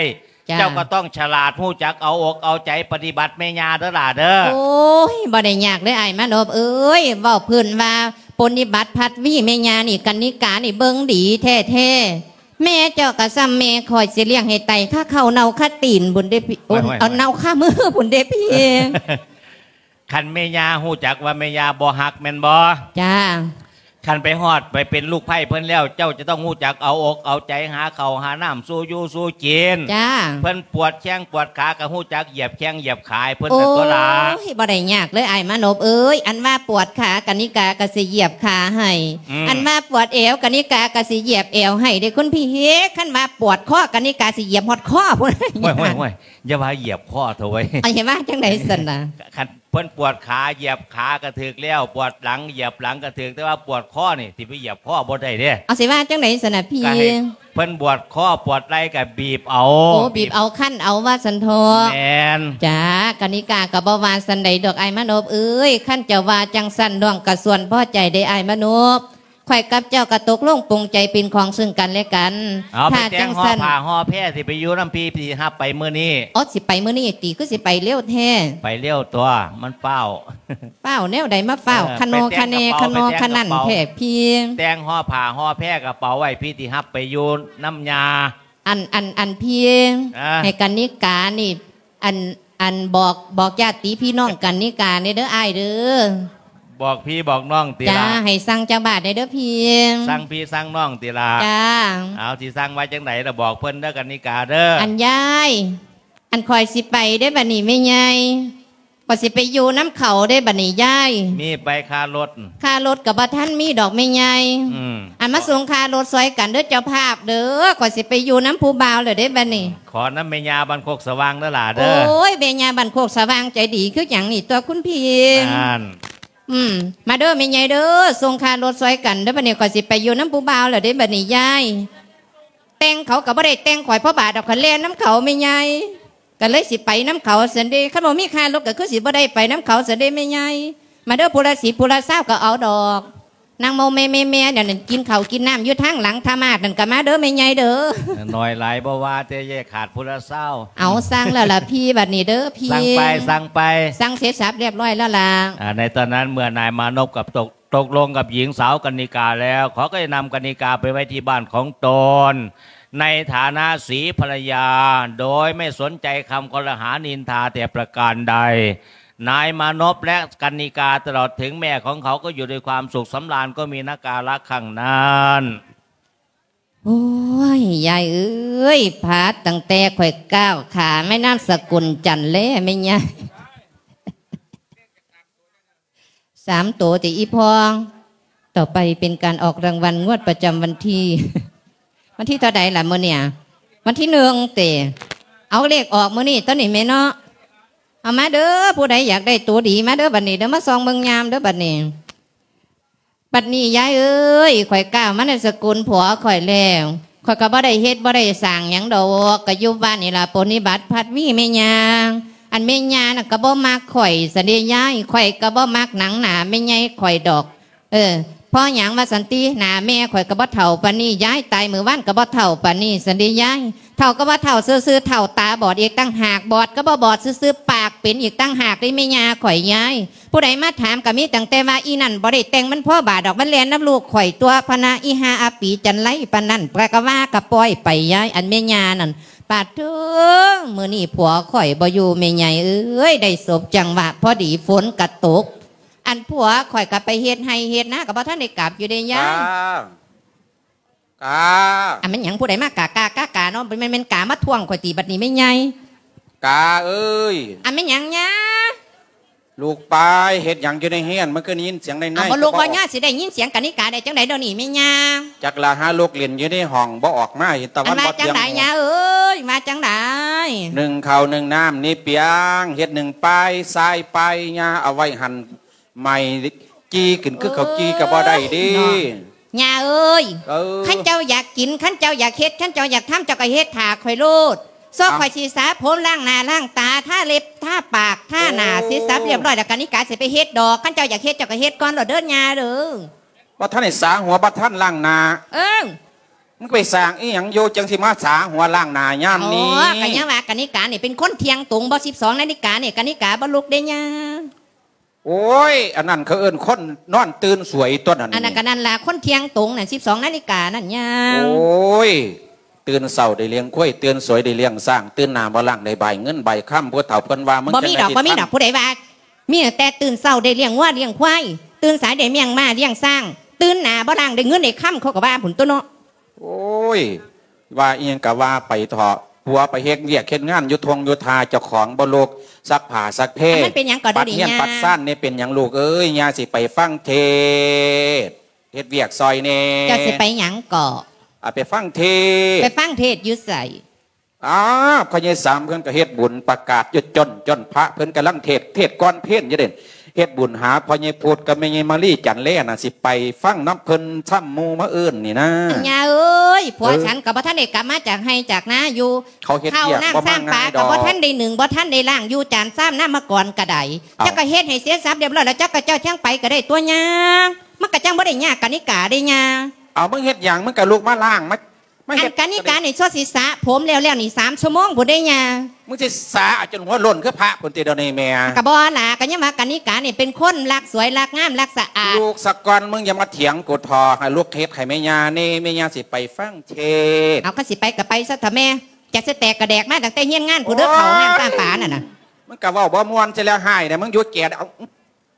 ເຈົ້າກໍຕ້ອງສະຫຼາດ ຮູ້ຈັກເອົາອົກເອົາໃຈປະຕິບັດແມ່ຍ່າເດີຫຼ້າເດີ. ໂອ້ຍ ບໍ່ໄດ້ຍາກເລີຍອ້າຍມານົບເອີຍ ເວົ້າພື້ນວ່າປົນນິບັດພັດວີແມ່ຍ່ານີ້ ກັນນິການີ້ເບິ່ງດີແທ້ໆ. ແມ່ເຈົ້າກໍສ່ຳແມ່ຂ້ອຍ ຊິລ້ຽງໃຫ້ໄຕຄາເຂົ້າເນົ່າຄາຕີນພຸ້ນເດ້ພີ່ ໂອ້ຍ ເອົາເນົ່າຄາມືພຸ້ນເດ້ພີ່. ຄັນແມ່ຍ່າຮູ້ຈັກວ່າແມ່ຍ່າບໍ່ຮັກແມ່ນບໍ່? ຈ້າ. ຄັນໄປຮອດໄປເປັນລູກໃພ້ເພິ່ນແລ້ວ ເຈົ້າຈະຕ້ອງຮູ້ຈັກເອົາອົກເອົາໃຈ ຫາເຂົ້າຫານ້ຳສູ່ຢູ່ສູ່ກິນ. ຈ້າ. ເພິ່ນປວດແຂ້ງປວດຂາກໍຮູ້ຈັກຢຽບແຂ້ງຢຽບຂາໃຫ້ເພິ່ນ ໂອ້ ຕົວະຫຼ້າ. ໂອ້ຍ ບໍ່ໄດ້ຍາກເລີຍອ້າຍມານົບເອີຍ. ອັນວ່າປວດຂາ ກະນິກາກໍຊິຢຽບຂາໃຫ້. ອືມ. ອັນວ່າປວດແອວ ກະນິກາກໍຊິຢຽບແອວໃຫ້ເດ້ຄຸນພີ່. ຄັນວ່າປວດຄໍ ກະນິກາຊິຢຽບຮອດຄໍພຸ້ນ. ໂອ້ຍໆໆ ຢ່າວ່າຢຽບຄໍເຖາະເວີຍ. ເອົາ ຊິວ່າຈັ່ງໃດຊັ້ນນະ? ຄັນ ເພິ່ນປວດຂາ ຢຽບຂາກໍຖືກແລ້ວ, ປວດຫຼັງ ຢຽບຫຼັງກໍຖືກ, ແຕ່ວ່າປວດຄໍນີ້ ຊິໄປຢຽບຄໍບໍ່ໄດ້ເດ້. ເອົາ ຊິວ່າຈັ່ງໃດຊັ້ນນະພີ່? ກໍໃຫ້ເພິ່ນປວດຄໍ ປວດໄຫຼ່ກໍບີບເອົາ. ໂອ້ ບີບເອົາ ຄັນເອົາວ່າຊັ້ນເຖາະ. ແມ່ນ. ຈ້າ ກະນິກາກໍບໍ່ວ່າຊັ້ນໃດດອກອ້າຍມານົບເອີຍ. ຄັນເຈົ້າວ່າຈັ່ງຊັ້ນ ນ້ອງກໍສ່ວນພໍໃຈເດ້ອ້າຍມານົບ. ຂ້ອຍກັບເຈົ້າກໍຕົກລົງປົງໃຈເປັນຂອງເຊິ່ງກັນແລະກັນ. ເອົາ ຖ້າຈັ່ງຊັ້ນ ຜ້າຫໍ່ຜ້າຫໍ່ແພ ຊິໄປຢູ່ນຳພີ່ ພີ່ຊິຮັບໄປມື້ນີ້. ອໍ ຊິໄປມື້ນີ້ຕິ? ຄືຊິໄປເລັວແທ້? ໄປເລັວຕົວະ ມັນຟ້າວ. ຟ້າວແນວໃດມາຟ້າວ? ເອີ ຂະໜໍຂະແໜ ຂະໜໍຂະນັນແທ້ພີ່. ແຕ່ງຫໍ່ຜ້າຫໍ່ແພ ກະເປົາໄວ້ ພີ່ຊິຮັບໄປຢູ່ນຳຍ່າ. ອັນ ອັນ ອັນພີ່ ເອີ ໃຫ້ກະນິການີ້ ອັນ ອັນ ບອກ ບອກຍາດຕິພີ່ນ້ອງກັນນິກາແດ່ເດີອ້າຍເດີ. ບອກພີ່ບອກນ້ອງຕິລະ? ຈ້າ ໃຫ້ສັ່ງຈັກບາດແດ່ເດີພີ່. ສັ່ງພີ່ສັ່ງນ້ອງຕິລະ? ຈ້າ. ເອົາ ຊິສັ່ງວ່າຈັ່ງໃດລະ ບອກເພິ່ນເດີກັນນິກາເດີ. ອັນຍາຍ ອັນຂ້ອຍຊິໄປເດ້ບັດນີ້ແມ່ໃຫຍ່. ຂ້ອຍຊິໄປຢູ່ນຳເຂົາເດ້ບັດນີ້ຍາຍ. ມີໄປຄ່າລົດ? ຄ່າລົດກໍບໍ່ທັນມີດອກແມ່ໃຫຍ່. ອືມ. ອັນມາສົ່ງຄ່າລົດຊ່ອຍກັນເດີເຈົ້າພາບເດີ. ຂ້ອຍຊິໄປຢູ່ນຳຜູ້ບ່າວແລ້ວເດ້ບັດນີ້. ຂໍນຳແມ່ຍ່າບ້ານໂຄກສະຫວ່າງເດີຫຼ້າເດີ. ໂອ້ຍ ແມ່ຍ່າບ້ານໂຄກສະຫວ່າງໃຈດີຄືຫຍັງນີ້ຕົວະຄຸນພີ່. ນັ້ນ. ອືມ ມາເດີແມ່ໃຫຍ່ເດີ ສົ່ງຄ່າລົດຊ່ອຍກັນເດີ. ບັດນີ້ຂ້ອຍຊິໄປຢູ່ນຳຜູ້ບ່າວແລ້ວເດ້ບັດນີ້ຍາຍ. ແຕ່ງເຂົາກໍບໍ່ໄດ້ແຕ່ງຂ້ອຍພໍບາດດອກ ຂ້ອຍແລ່ນນຳເຂົາແມ່ໃຫຍ່. ກໍເລີຍຊິໄປນຳເຂົາຊັ້ນເດ. ຄັນບໍ່ມີຄ່າລົດກໍຄືຊິບໍ່ໄດ້ໄປນຳເຂົາຊັ້ນເດແມ່ໃຫຍ່. ມາເດີ ຜູ້ລະສິບຜູ້ລະຊາວກໍເອົາດອກ. ນາງໂມແມ່ໆໆ ນັ້ນ ກິນເຂົ້າກິນນ້ຳຢູ່ທາງຫຼັງທາມາດນັ້ນກໍມາເດີແມ່ໃຫຍ່ເດີ. ໜ້ອຍຫຼາຍບໍ່ວ່າ ແຕ່ຢ່າຂາດຜູ້ລະຊາວ. ເອົາ ສັ່ງແລ້ວລະພີ່ ບັດນີ້ເດີພີ່. ສັ່ງໄປ ສັ່ງໄປ. ສັ່ງເສັດສັບລຽບຮ້ອຍແລ້ວລະ. ອ່າ ໃນຕອນນັ້ນເມື່ອນາຍມານົບກັບຕົກ ຕົກລົງກັບຍິງສາວກະນິກາແລ້ວ ເຂົາກໍໄດ້ນຳກະນິກາໄປໄວ້ທີ່ບ້ານຂອງຕົນ ໃນຖານະສີພັນລະຍາ ໂດຍໄມ່ສົນໃຈຄຳຄອລະຫານິນທາແຕ່ປະການໃດ. ນາຍມານົບ ແລະ ກະນິກາ ຕະຫຼອດເຖິງແມ່ຂອງເຂົາ ກໍຢູ່ດ້ວຍຄວາມສຸກສຳລານ ກໍມີນະກາລະຄັ້ງນັ້ນ. ໂອ້ຍ ຍາຍເອີຍ ພາດຕັ້ງແຕ່ຂ້ອຍກ້າວຂາມານາມສະກຸນຈັນແລ້ວແມ່ຍາຍ. ສາມໂຕຕິອີ່ພໍ່. ຕໍ່ໄປເປັນການອອກລາງວັນງວດປະຈຳວັນທີ ວັນທີເທົ່າໃດລະມື້ນີ້? ວັນທີໜຶ່ງຕິ. ເອົາ ເລກອອກມື້ນີ້ຕົວະນີ້ແມ່ເນາະ. ເອົາມາເດີ ຜູ້ໃດຢາກໄດ້ໂຕດີມາເດີບັດນີ້ເດີ ມາສ່ອງເບິ່ງຍາມເດີບັດນີ້. ບັດນີ້ຍາຍເອີຍ ຂ້ອຍກ້າວມານາມສະກຸນຜົວຂ້ອຍແລ້ວ ຂ້ອຍກໍບໍ່ໄດ້ເຮັດບໍ່ໄດ້ສ້າງຫຍັງດອກ ກໍຢູ່ບ້ານນີ້ລະ ປົນນິບັດພັດວີແມ່ຍ່າ. ອັນແມ່ຍ່ານັ້ນກໍບໍ່ມັກຂ້ອຍຊັ້ນເດຍາຍ ຂ້ອຍກໍບໍ່ມັກໜັງໜ້າແມ່ໃຫຍ່ຂ້ອຍດອກ. ເອີ ເພາະຫຍັງວ່າຊັ້ນຕິ ໜ້າແມ່ຂ້ອຍກໍບໍ່ເຖົ້າປານນີ້ຍາຍ ຕາຍມື້ວານກໍບໍ່ເຖົ້າປານນີ້ຊັ້ນເດຍາຍ. ເຖົ້າກໍວ່າເຖົ້າຊື່ໆ ເຖົ້າຕາບອດອີກຕ່າງຫາກ ບອດກໍບໍ່ບອດຊື່ໆ ປາກເປັນອີກຕ່າງຫາກເດ້ແມ່ຍ່າຂ້ອຍຍາຍ. ຜູ້ໃດມາຖາມກໍມີຕັ້ງແຕ່ວ່າ ອີ່ນັ້ນບໍ່ໄດ້ແຕ່ງ ມັນພໍບາດດອກ ມັນແລ່ນນຳລູກຂ້ອຍຕົວະພະນະ ອີ່ຫ່າອາປີ ຈັນໄລປານນັ້ນ ກະວ່າກະປ່ອຍໄປຍາຍ. ອັນແມ່ຍ່ານັ້ນ ປາດໂທ້ ມື້ນີ້ຜົວຂ້ອຍບໍ່ຢູ່ແມ່ໃຫຍ່ເອີຍ ໄດ້ສົບຈັງຫວະພໍດີຝົນກະຕົກ. ອັນຜົວຂ້ອຍກະໄປເຮັດໄຮ່ເຮັດນາ ກະບໍ່ທັນໄດ້ກັບຢູ່ເດ້ຍາຍ. ກາ ກາ ອັນແມ່ນຫຍັງ ຜູ້ໃດມາກາກາກາກາເນາະ ແມ່ນ ແມ່ນກາມາທ້ວງຂ້ອຍຕິບັດນີ້ແມ່ໃຫຍ່? ກາເອີຍ ອັນແມ່ນຫຍັງຍາ? ລູກປາຍ ເຮັດຫຍັງຢູ່ໃນເຮືອນ ມັນຄືໄດ້ຍິນສຽງໃນໃນ? ເອົາ ບໍ່ລູກບໍ່ຍາ ຊິໄດ້ຍິນສຽງກະນິກາໄດ້ຈັ່ງໃດດຽວນີ້ແມ່ຍ່າ? ຈັກລະ ຫາລູກຫຼິ້ນຢູ່ໃນຫ້ອງ ບໍ່ອອກມາ ເຫັນຕາວັນບໍ່ທ່ຽງ. ວ່າຈັ່ງໃດຍາເອີຍ ວ່າຈັ່ງໃດ? ໜຶ້ງເຂົ້າໜຶ້ງນ້ຳນີ້ປຽງ ເຮັດໜຶ້ງປາຍ ຊາຍປາຍ ຍ່າເອົາໄວ້ຫັ້ນ ໃໝ່ຈີ່ຂຶ້ນຄືເຂົ້າຈີ່ກໍບໍ່ໄດ້ເດ້. ເນາະ ຍ່າເອີຍ ເອີ ຄັນເຈົ້າຢາກກິນ ຄັນເຈົ້າຢາກເຮັດ ຄັນເຈົ້າຢາກທຳ ເຈົ້າກໍເຮັດຖ້າຂ້ອຍໂລດ. ຊອກ ເອົ້າ ຂ້ອຍຊິສະຜົມ ລ້າງໜ້າລ້າງຕາ ທາເລັບທາປາກ ທາ ໂອ້ ທາໜ້າ ເສັດສັບລຽບຮ້ອຍ ແລ້ວກະນິກາຊິໄປເຮັດດອກ. ຄັນເຈົ້າຢາກເຮັດ ເຈົ້າກໍເຮັດກ່ອນໂລດເດີຍ່າເດີ. ບໍ່ທັນໄດ້ສາຫົວ ບໍ່ທັນລ້າງໜ້າ. ເອີ ມຶງໄປສ້າງອີ່ຫຍັງຢູ່ ຈັ່ງຊິມາສາຫົວລ້າງໜ້າຍາມນີ້? ອໍ ກໍຍັງວ່າກະນິການີ້ເປັນຄົນທ່ຽງຕົງບໍ່ ສິບສອງນາລິການີ້ ກະນິກາບໍ່ລຸກເດ້ຍ່າ. ໂອ້ຍ ອັນນັ້ນເຂົາເອີ້ນຄົນນອນຕື່ນສວຍຕົວະນັ້ນ. ອັນນັ້ນກໍນັ້ນລະ ຄົນທ່ຽງຕົງນັ້ນ ສິບສອງນາລິການັ້ນຍ່າ. ໂອ້ຍ ຕື່ນເຊົ້າໄດ້ລ້ຽງຄວາຍ ຕື່ນສວຍໄດ້ລ້ຽງຊ້າງ ຕື່ນໜ້າບໍ່ລ້າງໄດ້ບາຍເງິນບາຍຄຳ. ຜູ້ເຖົ້າເພິ່ນວ່າ ມຶງ ບໍ່ມີດອກ ບໍ່ມີດອກ ຜູ້ໃດວ່າ ມີແຕ່ຕື່ນເຊົ້າໄດ້ລ້ຽງງົວລ້ຽງຄວາຍ ຕື່ນສາຍໄດ້ລ້ຽງມ້າລ້ຽງຊ້າງ ຕື່ນໜ້າບໍ່ລ້າງ ໄດ້ເງິນໄດ້ຄຳ ເຂົາກໍວ່າພຸ້ນຕົວະເນາະ. ໂອ້ຍ ວ່າອີ່ຫຍັງກໍວ່າໄປເຖາະ ຜົວໄປເຮັດວຽກເຮັດງານຢູ່ທົ່ງຢູ່ທ່າ ເຈົ້າຂອງບໍ່ລຸກ ຊັກຜ້າຊັກແພ ອັນມັນເປັນຫຍັງກໍໄດ້ ປັດເຮືອນ ນີ້ ຍ່າ ປັດຊານນີ້ ເປັນຫຍັງລູກເອີຍ ຍ່າຊິໄປຟັງເທດ ເຮັດວຽກຊ່ອຍແດ່. ເຈົ້າຊິໄປຫຍັງເກາະ? ອາ ໄປຟັງເທດ. ໄປຟັງເທດຢູ່ໃສ? ອ້າວ ພໍ່ໃຫຍ່ສາມເພິ່ນກໍເຮັດບຸນປະກາດຢູ່ຈົນ ຈົນພະເພິ່ນກຳລັງເທດ ເທດກ່ອນເພນຢູ່ເດ້ ເຮັດບຸນຫາພໍ່ໃຫຍ່ພຸດກັບແມ່ໃຫຍ່ມາລີຈັນແລນະ ຊິໄປຟັງນຳເພິ່ນຊ້ຳໝູ່ມາອື່ນນີ້ນາ. ອັນຍ່າເອີຍ ຜົວ ເອີ ສັນກໍບໍ່ທັນໄດ້ກັບມາຈາກໄຮ່ຈາກນາຢູ່ ເຂົາເຮັດວຽກ ເຂົ້ານ້ຳ ບໍ່ມາງ່າຍດອກ ຊ້ຳປາກໍບໍ່ທັນໄດ້ໜຶ້ງ ບໍ່ທັນໄດ້ລ້າງ ຢູ່ຈານຊາມນຳມາກ່ອນກໍໄດ້. ເອົ້າ ເຈົ້າກໍເຮັດໃຫ້ເສຍສັບຮຽບຮ້ອຍແລ້ວ ເຈົ້າກໍເຈົ້າຈັ່ງໄປກໍໄດ້ຕົວະຍ່າ ມັນກໍຈັ່ງບໍ່ໄດ້ຍາກກະນິກາເດ້ຍ່າ. ເອົາ ມຶງເຮັດຫຍັງ ມຶງກໍລຸກມາລ້າງ ມາ ມາເຮັດ ອັນກະນິການີ້ຊົ່ວຊິສະຜົມແລ້ວໆນີ້ສາມຊົ່ວໂມງພຸ້ນເດ້ຍ່າ. ມຶງຊິສະເອົາຈົນຫົວໂລ້ນຄືພະພຸ້ນຕິດຽວນີ້ແມ່? ກະບໍ່ລະ ກະຍັງວ່າກະນິການີ້ເປັນຄົນລັກສວຍລັກງາມລັກສະອາດ. ລູກສະກ່ອນ ມຶງຢ່າມາຖຽງກູເຖາະ ໃຫ້ລູກເຮັດໃຫ້ແມ່ຍ່າແດ່ ແມ່ຍ່າຊິໄປຟັງເທດ. ເອົາ ຄັນຊິໄປກະໄປຊະເຖາະແມ່ ຈະຊິແຕກກະແດກມາຕັ້ງແຕ່ຮຽນງານພຸ້ນເດີ ໂອ້ຍ ເຂົ້ານ້ຳຊ້ຳປານັ້ນນະ. ມັນກະເວົ້າບໍ່ມ່ວນຊິແລ້ວ ຮ້າຍແດ່ ມຶງຢຸດແກະ ເອົາ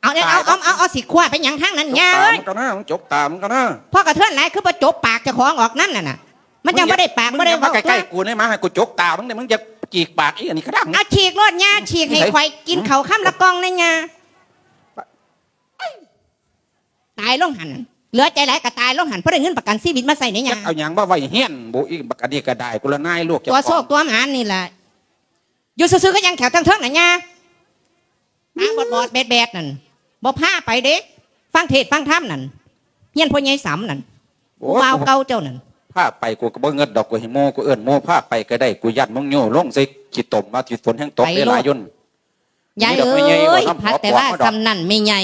ເອົາ ເອົາ ເອົາ ເອົາ ຊິຄວ້າໄປຫຍັງທາງນັ້ນຍ່າເອີຍ? ຈົກຕາມັນກ່ອນນະ ຈົກຕາມັນກ່ອນນະ. ພໍກະເທີນຫຼາຍຄືບໍ່ຈົກປາກເຈົ້າຂອງອອກນຳນັ້ນນະ. ມັນຈັ່ງບໍ່ໄດ້ປາກ ບໍ່ໄດ້ເວົ້າຕົວະ. ໃກ້ໆ ກູນີ້ມາ ໃຫ້ກູຈົກຕາມຶງເດ້ ມຶງຢ່າຈີກປາກອີ່ອັນນີ້ກະດັງ. ເອົາ ຈີກໂລດຍ່າ ຈີກໃຫ້ຂ້ອຍກິນເຂົ້າຄຳລະກ່ອງແດ່ຍ່າ. ຕາຍລົງຫັ້ນ ເຫຼືອໃຈຫຼາຍກະຕາຍລົງຫັ້ນ ພໍໄດ້ເງິນປະກັນຊີວິດມາໃຊ້ແດ່ຍ່າ. ເອົາຫຍັງມາໄວ້ຮຽນບຸ ອີ່ບັກອັນນີ້ກະໄດ້ ກູລະນາຍລູກເຈົ້າຂອງ ຕົວໂຊກຕົວໝານນີ້ລະ. ຢູ່ຊື່ໆ ກໍຍັງແຂວເທິງໆ ນະຍ່າ. ຕາບອດໆ ແບດໆ ນັ້ນ ບໍ່ພາໄປເດ້ ຟັງເທດຟັງທຳນັ້ນ ຮຽນພໍ່ໃຫຍ່ສຳນັ້ນ ໂອ້ຍ ຜູ້ບ່າວເກົ່າເຈົ້ານັ້ນ. ພາໄປ ກູກໍບໍ່ເງິດດອກ ກູໃຫ້ໝູ່ ກູເອີ້ນໝູ່ພາໄປກໍໄດ້ ກູຢ້ານມຶງໂຍລົງໃສ່ຂີ້ຕົມ ວ່າຂີ້ຝົນແຮງຕົກເດ້ຫຼາຍຢູ່. ຍາຍເອີຍ ພັກແຕ່ວ່າສ່ຳນັ້ນແມ່ໃຫຍ່.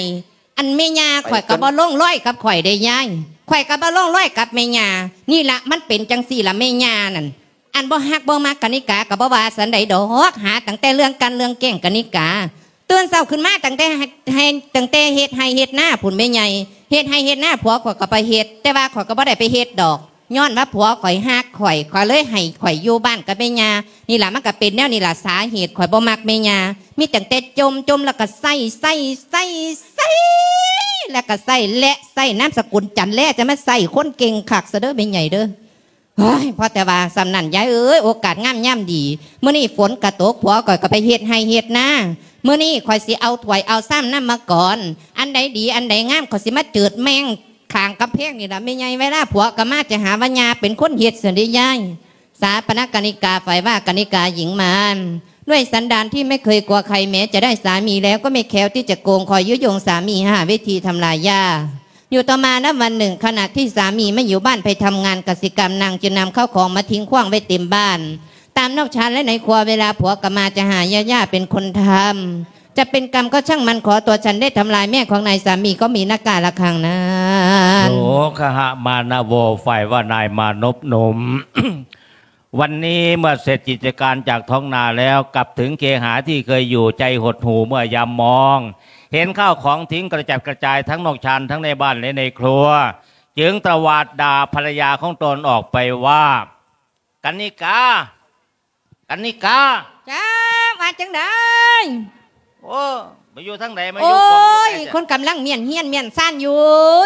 ອັນແມ່ຍ່າຂ້ອຍກໍບໍ່ລົງລອຍກັບຂ້ອຍເດ້ຍາຍ ຂ້ອຍກໍບໍ່ລົງລອຍກັບແມ່ຍ່າ. ນີ້ລະ ມັນເປັນຈັ່ງຊີ້ລະແມ່ຍ່ານັ້ນ. ອັນບໍ່ຮັກບໍ່ມັກກະນິກາກໍບໍ່ວ່າສັນໃດດອກ ຫາຕັ້ງແຕ່ເລື່ອງກັ່ນເລື່ອງແກ້ງກະນິກາ ຕື່ນເຊົ້າຂຶ້ນມາຕັ້ງແຕ່ ໃຫ້ ຕັ້ງແຕ່ເຮັດໄຮ່ເຮັດນາພຸ້ນແມ່ໃຫຍ່ ເຮັດໄຮ່ເຮັດນາ ຜົວຂ້ອຍກໍໄປເຮັດ ແຕ່ວ່າຂ້ອຍກໍບໍ່ໄດ້ໄປເຮັດດອກ ຍ້ອນວ່າຜົວຂ້ອຍຮັກຂ້ອຍ ຂ້ອຍເລີຍໃຫ້ຂ້ອຍຢູ່ບ້ານກັບແມ່ຍ່າ. ນີ້ລະ ມັນກໍເປັນແນວນີ້ລະ ສາເຫດຂ້ອຍບໍ່ມັກແມ່ຍ່າ ມີຕັ້ງແຕ່ຈົ່ມ ຈົ່ມແລ້ວກໍໃຊ້ ໃຊ້ ໃຊ້ ໃຊ້ ແລ້ວກໍໃຊ້ ແລະ ໃຊ້ນາມສະກຸນຈັນແລ ຈະມາໃຊ້ຄົນເກັ່ງຄັກຊະເດີແມ່ໃຫຍ່ເດີ. ໂອ້ຍ ພໍແຕ່ວ່າສ່ຳນັ້ນຍາຍເອີຍ ໂອກາດງາມຍາມດີ ມື້ນີ້ຝົນກະຕົກ ຜົວຂ້ອຍກໍໄປເຮັດໄຮ່ເຮັດນາ. ມື້ນີ້ຂ້ອຍຊິເອົາຖ້ວຍເອົາຊາມນຳມາກ່ອນ ອັນໃດດີອັນໃດງາມ ຂ້ອຍຊິມາເຈີດແມ່ງຂ້າງກຳແພງນີ້ລະແມ່ໃຫຍ່. ເວລາຜົວກໍມາຈະຫາວ່າຍ່າເປັນຄົນເຮັດຊັ້ນເດ້ຍາຍ. ສາປະນະກະນິກາ ຝ່າຍວ່າກະນິກາຍິງມານ ດ້ວຍສັນດານທີ່ໄມ່ເຄີຍກົວໃຄ ແມ້ຈະໄດ້ສາມີແລ້ວ ກໍໄມ່ແຄ້ວທີ່ຈະໂກງ ຄອຍຍຸຍົງສາມີຫາວິທີທຳລາຍຢາ. ຢູ່ຕໍ່ມານຳວັນໜຶ່ງ ຂະນະທີ່ສາມີໄມ່ຢູ່ບ້ານໄປທຳງານກະສິກຳ ນາງຈຶ່ງນຳເຂົ້າຂອງມາຖິ້ງຂວ້າງໄວ້ເຕັມບ້ານ ຕາມນອກຊານ ແລະ ໃນຄົວ. ເວລາຜົວກະມາຈະຫາ ຍ່າ ຍ່າເປັນຄົນທຳ ຈະເປັນກຳກໍຊ່າງມັນ ຂໍຕົວະສັນໄດ້ທຳລາຍແມ່ຂອງນາຍສາມີ ກໍມີນະກາລະຄັງນັ້ນ. ໂສຄະຫະມານະໂວ ຝ່າຍວ່ານາຍມານົບໜຸ່ມ ວັນນີ້ເມື່ອເສັດກິດຈະການຈາກທ້ອງນາແລ້ວ ກັບເຖິງເຄຫາທີ່ເຄີຍຢູ່ ໃຈຫົດຫູ່ເມື່ອຍາມມອງ ເຫັນຂ້າວຂອງຖິ້ງກະຈັດກະຈາຍທັງນອກຊານ ທັງໃນບ້ານ ແລະ ໃນຄົວ ຈຶ່ງຕະຫວາດດ່າພັນລະຍາຂອງຕົນອອກໄປວ່າ ກະນິກາ ກະນິກາ. ເຈົ້າ ວ່າຈັ່ງໃດ? ໂອ້ ໄປຢູ່ທາງໃດມາຢູ່ ໂອ້ຍ ຄົນກຳລັງມ້ຽນຮຽນມ້ຽນຊານຢູ່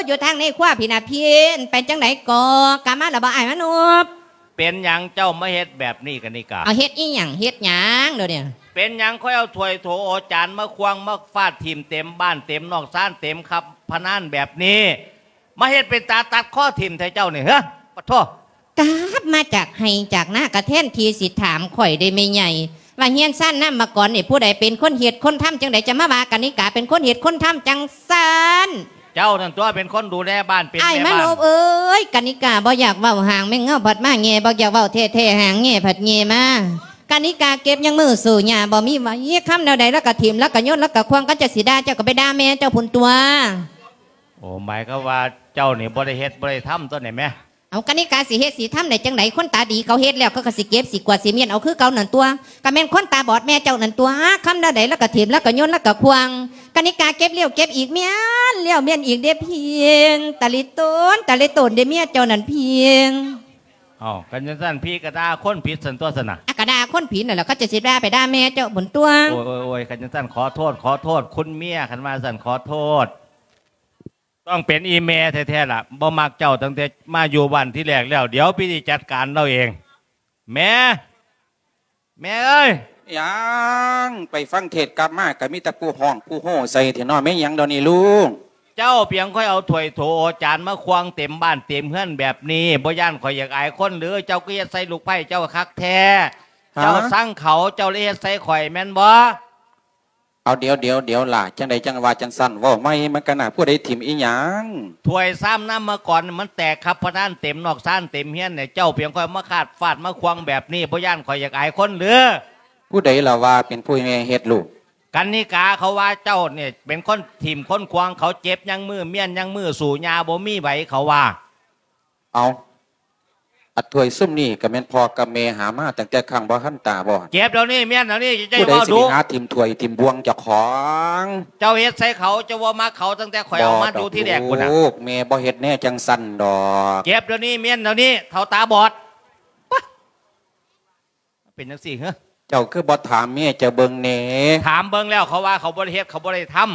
ຢູ່ທາງໃນຄົວພີ້ນະພີ້. ເປັນຈັ່ງໃດກໍ ກັບມາແລ້ວບໍ່ອ້າຍມານົບ? ເປັນຫຍັງເຈົ້າມາເຮັດແບບນີ້ກະນິກາ? ເອົາ ເຮັດອີ່ຫຍັງ ເຮັດຫຍັງດຽວນີ້? ເປັນຫຍັງຂ້ອຍເອົາຖ້ວຍໂຖໂອຈານມາຂວ້າງມາຟາດຖິ້ມເຕັມບ້ານເຕັມນອກຊານເຕັມຄັບພະນານແບບນີ້ ມາເຮັດເປັນຕາຕັດຄໍຖິ້ມແທ້ເຈົ້ານີ້ ເຮີ ປະໂທ. ກັບມາຈາກໄຮ່ຈາກນາ ກະແທນທີ່ຊິຖາມຂ້ອຍເດ້ແມ່ໃຫຍ່ ວ່າເຮືອນຊານນາມມະກອນນີ້ ຜູ້ໃດເປັນຄົນເຮັດຄົນທຳ ຈັ່ງໃດຈະມາວ່າກະນິກາເປັນຄົນເຮັດຄົນທຳຈັ່ງຊັ້ນ? ເຈົ້ານັ້ນຕົວະເປັນຄົນດູແລບ້ານ ເປັນແມ່ບ້ານ. ອ້າຍມານົບເອີຍ ກະນິກາບໍ່ຢາກເວົ້າ ຫາງແມງເງົາພັດມາແຍ່ ບໍ່ຢາກເວົ້າແທ້ໆ ຫາງແຍ່ພັດແຍ່ມາ. ກະນິກາເກັບຍັງມືສູ້ຫຍ້າບໍ່ມີໄຫວ ຄຳແນວໃດລະກະຖິ້ມ ລະກະໂຍນ ລະກະຂວ້າງ. ຄັນຈະຊິດ່າເຈົ້າກະໄປດ່າແມ່ເຈົ້າພຸ້ນຕົວະ. ໂອ້ ໝາຍຄວາມວ່າເຈົ້ານີ້ບໍ່ໄດ້ເຮັດບໍ່ໄດ້ທຳຕົວະນີ້ແມ. ເອົາ ກະນິກາຊິເຮັດຊິທຳໄດ້ຈັ່ງໃດ? ຄົນຕາດີເຂົາເຮັດແລ້ວ ເຂົາກະຊິເກັບ ຊິກວາດ ຊິມ້ຽນເອົາຄືເກົ່ານັ້ນຕົວະ. ກະແມ່ນຄົນຕາບອດແມ່ເຈົ້ານັ້ນຕົວະ ຄຳແນວໃດລະກະຖິ້ມ ລະກະໂຍນ ລະກະຂວ້າງ. ກະນິກາເກັບແລ້ວເກັບອີກ ມ້ຽນແລ້ວມ້ຽນອີກເດ້ພຽງ ຕາລິໂຕນ ຕາລິໂຕນເດ້ເມຍເຈົ້ານັ້ນພຽງ. ເອົ້າ ຄັນຈັ່ງຊັ້ນ ຜີກະດ່າຄົນຜິດຊັ້ນຕົວະຊັ້ນນະ. ອາ ກະດ່າຄົນຜິດນັ້ນແຫຼະ ເຂົາຈະຊິດ່າໄປດ່າແມ່ເຈົ້າພຸ້ນຕົວະ. ໂອ້ຍໆໆ ຄັນຈັ່ງຊັ້ນ ຂໍໂທດ ຂໍໂທດ ຄຸນເມຍ ຄັນວ່າຊັ້ນ ຂໍໂທດ. ຕ້ອງເປັນອີ່ແມ່ແທ້ໆລະ ບໍ່ມັກເຈົ້າຕັ້ງແຕ່ມາຢູ່ບ້ານທີແລກແລ້ວ. ດຽວພີ່ຊິຈັດການລາວເອງ. ແມ່ ແມ່ເອີຍ! ຫຍັງ? ໄປຟັງເທດກັບມາກໍມີແຕ່ຜູ້ຮ້ອງຜູ້ໂຮໃສ່ແທ້ເນາະ. ແມ່ນຫຍັງດຽວນີ້ລູກ? ເຈົ້າພຽງຄ່ອຍເອົາຖ້ວຍໂຖເອົາຈານມາຄວາງເຕັມບ້ານເຕັມເຮືອນແບບນີ້ ບໍ່ຢ້ານຂ້ອຍຢາກອາຍຄົນຫຼື? ເຈົ້າກໍເຮັດໃສ່ລູກໃພ້ເຈົ້າຄັກແທ້. ຮະ? ເຈົ້າຊັງເຂົາ ເຈົ້າເລີຍເຮັດໃສ່ຂ້ອຍແມ່ນບໍ່? ເອົາ ດຽວ ດຽວ ດຽວຫຼ້າ ຈັ່ງໃດຈັ່ງວ່າຈັ່ງຊັ້ນ ເວົ້າໃໝ່ ມັນກະໜ້າ ຜູ້ໃດຖິ້ມອີ່ຫຍັງ? ຖ້ວຍຊາມນຳມາກ່ອນ ມັນແຕກຄັບພະນານເຕັມນອກຊານເຕັມເຮືອນນີ້ ເຈົ້າພຽງຄ່ອຍມາຄາດຟາດມາຂວາງແບບນີ້ ບໍ່ຢ້ານຂ້ອຍຢາກອາຍຄົນຫຼື? ຜູ້ໃດລະວ່າເປັນຜູ້ແມ່ເຮັດລູກ? ກັນນິກາ ເຂົາວ່າເຈົ້ານີ້ເປັນຄົນຖິ້ມຄົນຂວາງ ເຂົາເຈັບຍັງມື ມ້ຽນຍັງມື ສູ້ຫຍ້າບໍ່ມີໄຫວ ເຂົາວ່າ. ເອົາ ອັນຖ້ວຍຊຸມນີ້ກໍແມ່ນພໍ່ກັບແມ່ຫາມາຕັ້ງແຕ່ຄັ້ງບໍ່ທັນຕາບໍ່? ເກັບດຽວນີ້ ມ້ຽນດຽວນີ້ ເຈົ້າຢ່າເວົ້າດຸ. ຜູ້ໃດຊິໄປຫາຖິ້ມຖ້ວຍຖິ້ມບ່ວງເຈົ້າຂອງ? ເຈົ້າເຮັດໃສ່ເຂົາ ເຈົ້າບໍ່ມັກເຂົາຕັ້ງແຕ່ຂ້ອຍເອົາມາຢູ່ທີແລກພຸ້ນນະ. ແມ່ບໍ່ເຮັດແນວຈັ່ງຊັ້ນດອກ. ເກັບດຽວນີ້ ມ້ຽນດຽວນີ້ ເຖົ້າຕາບອດ. ເປັນຈັ່ງຊີ້ເຮີ? ເຈົ້າຄືບໍ່ຖາມເມຍເຈົ້າເບິ່ງແດ່? ຖາມເບິ່ງແລ້ວ ເຂົາວ່າເຂົາບໍ່ໄດ້ເຮັດ ເຂົາບໍ່ໄດ້ທຳ.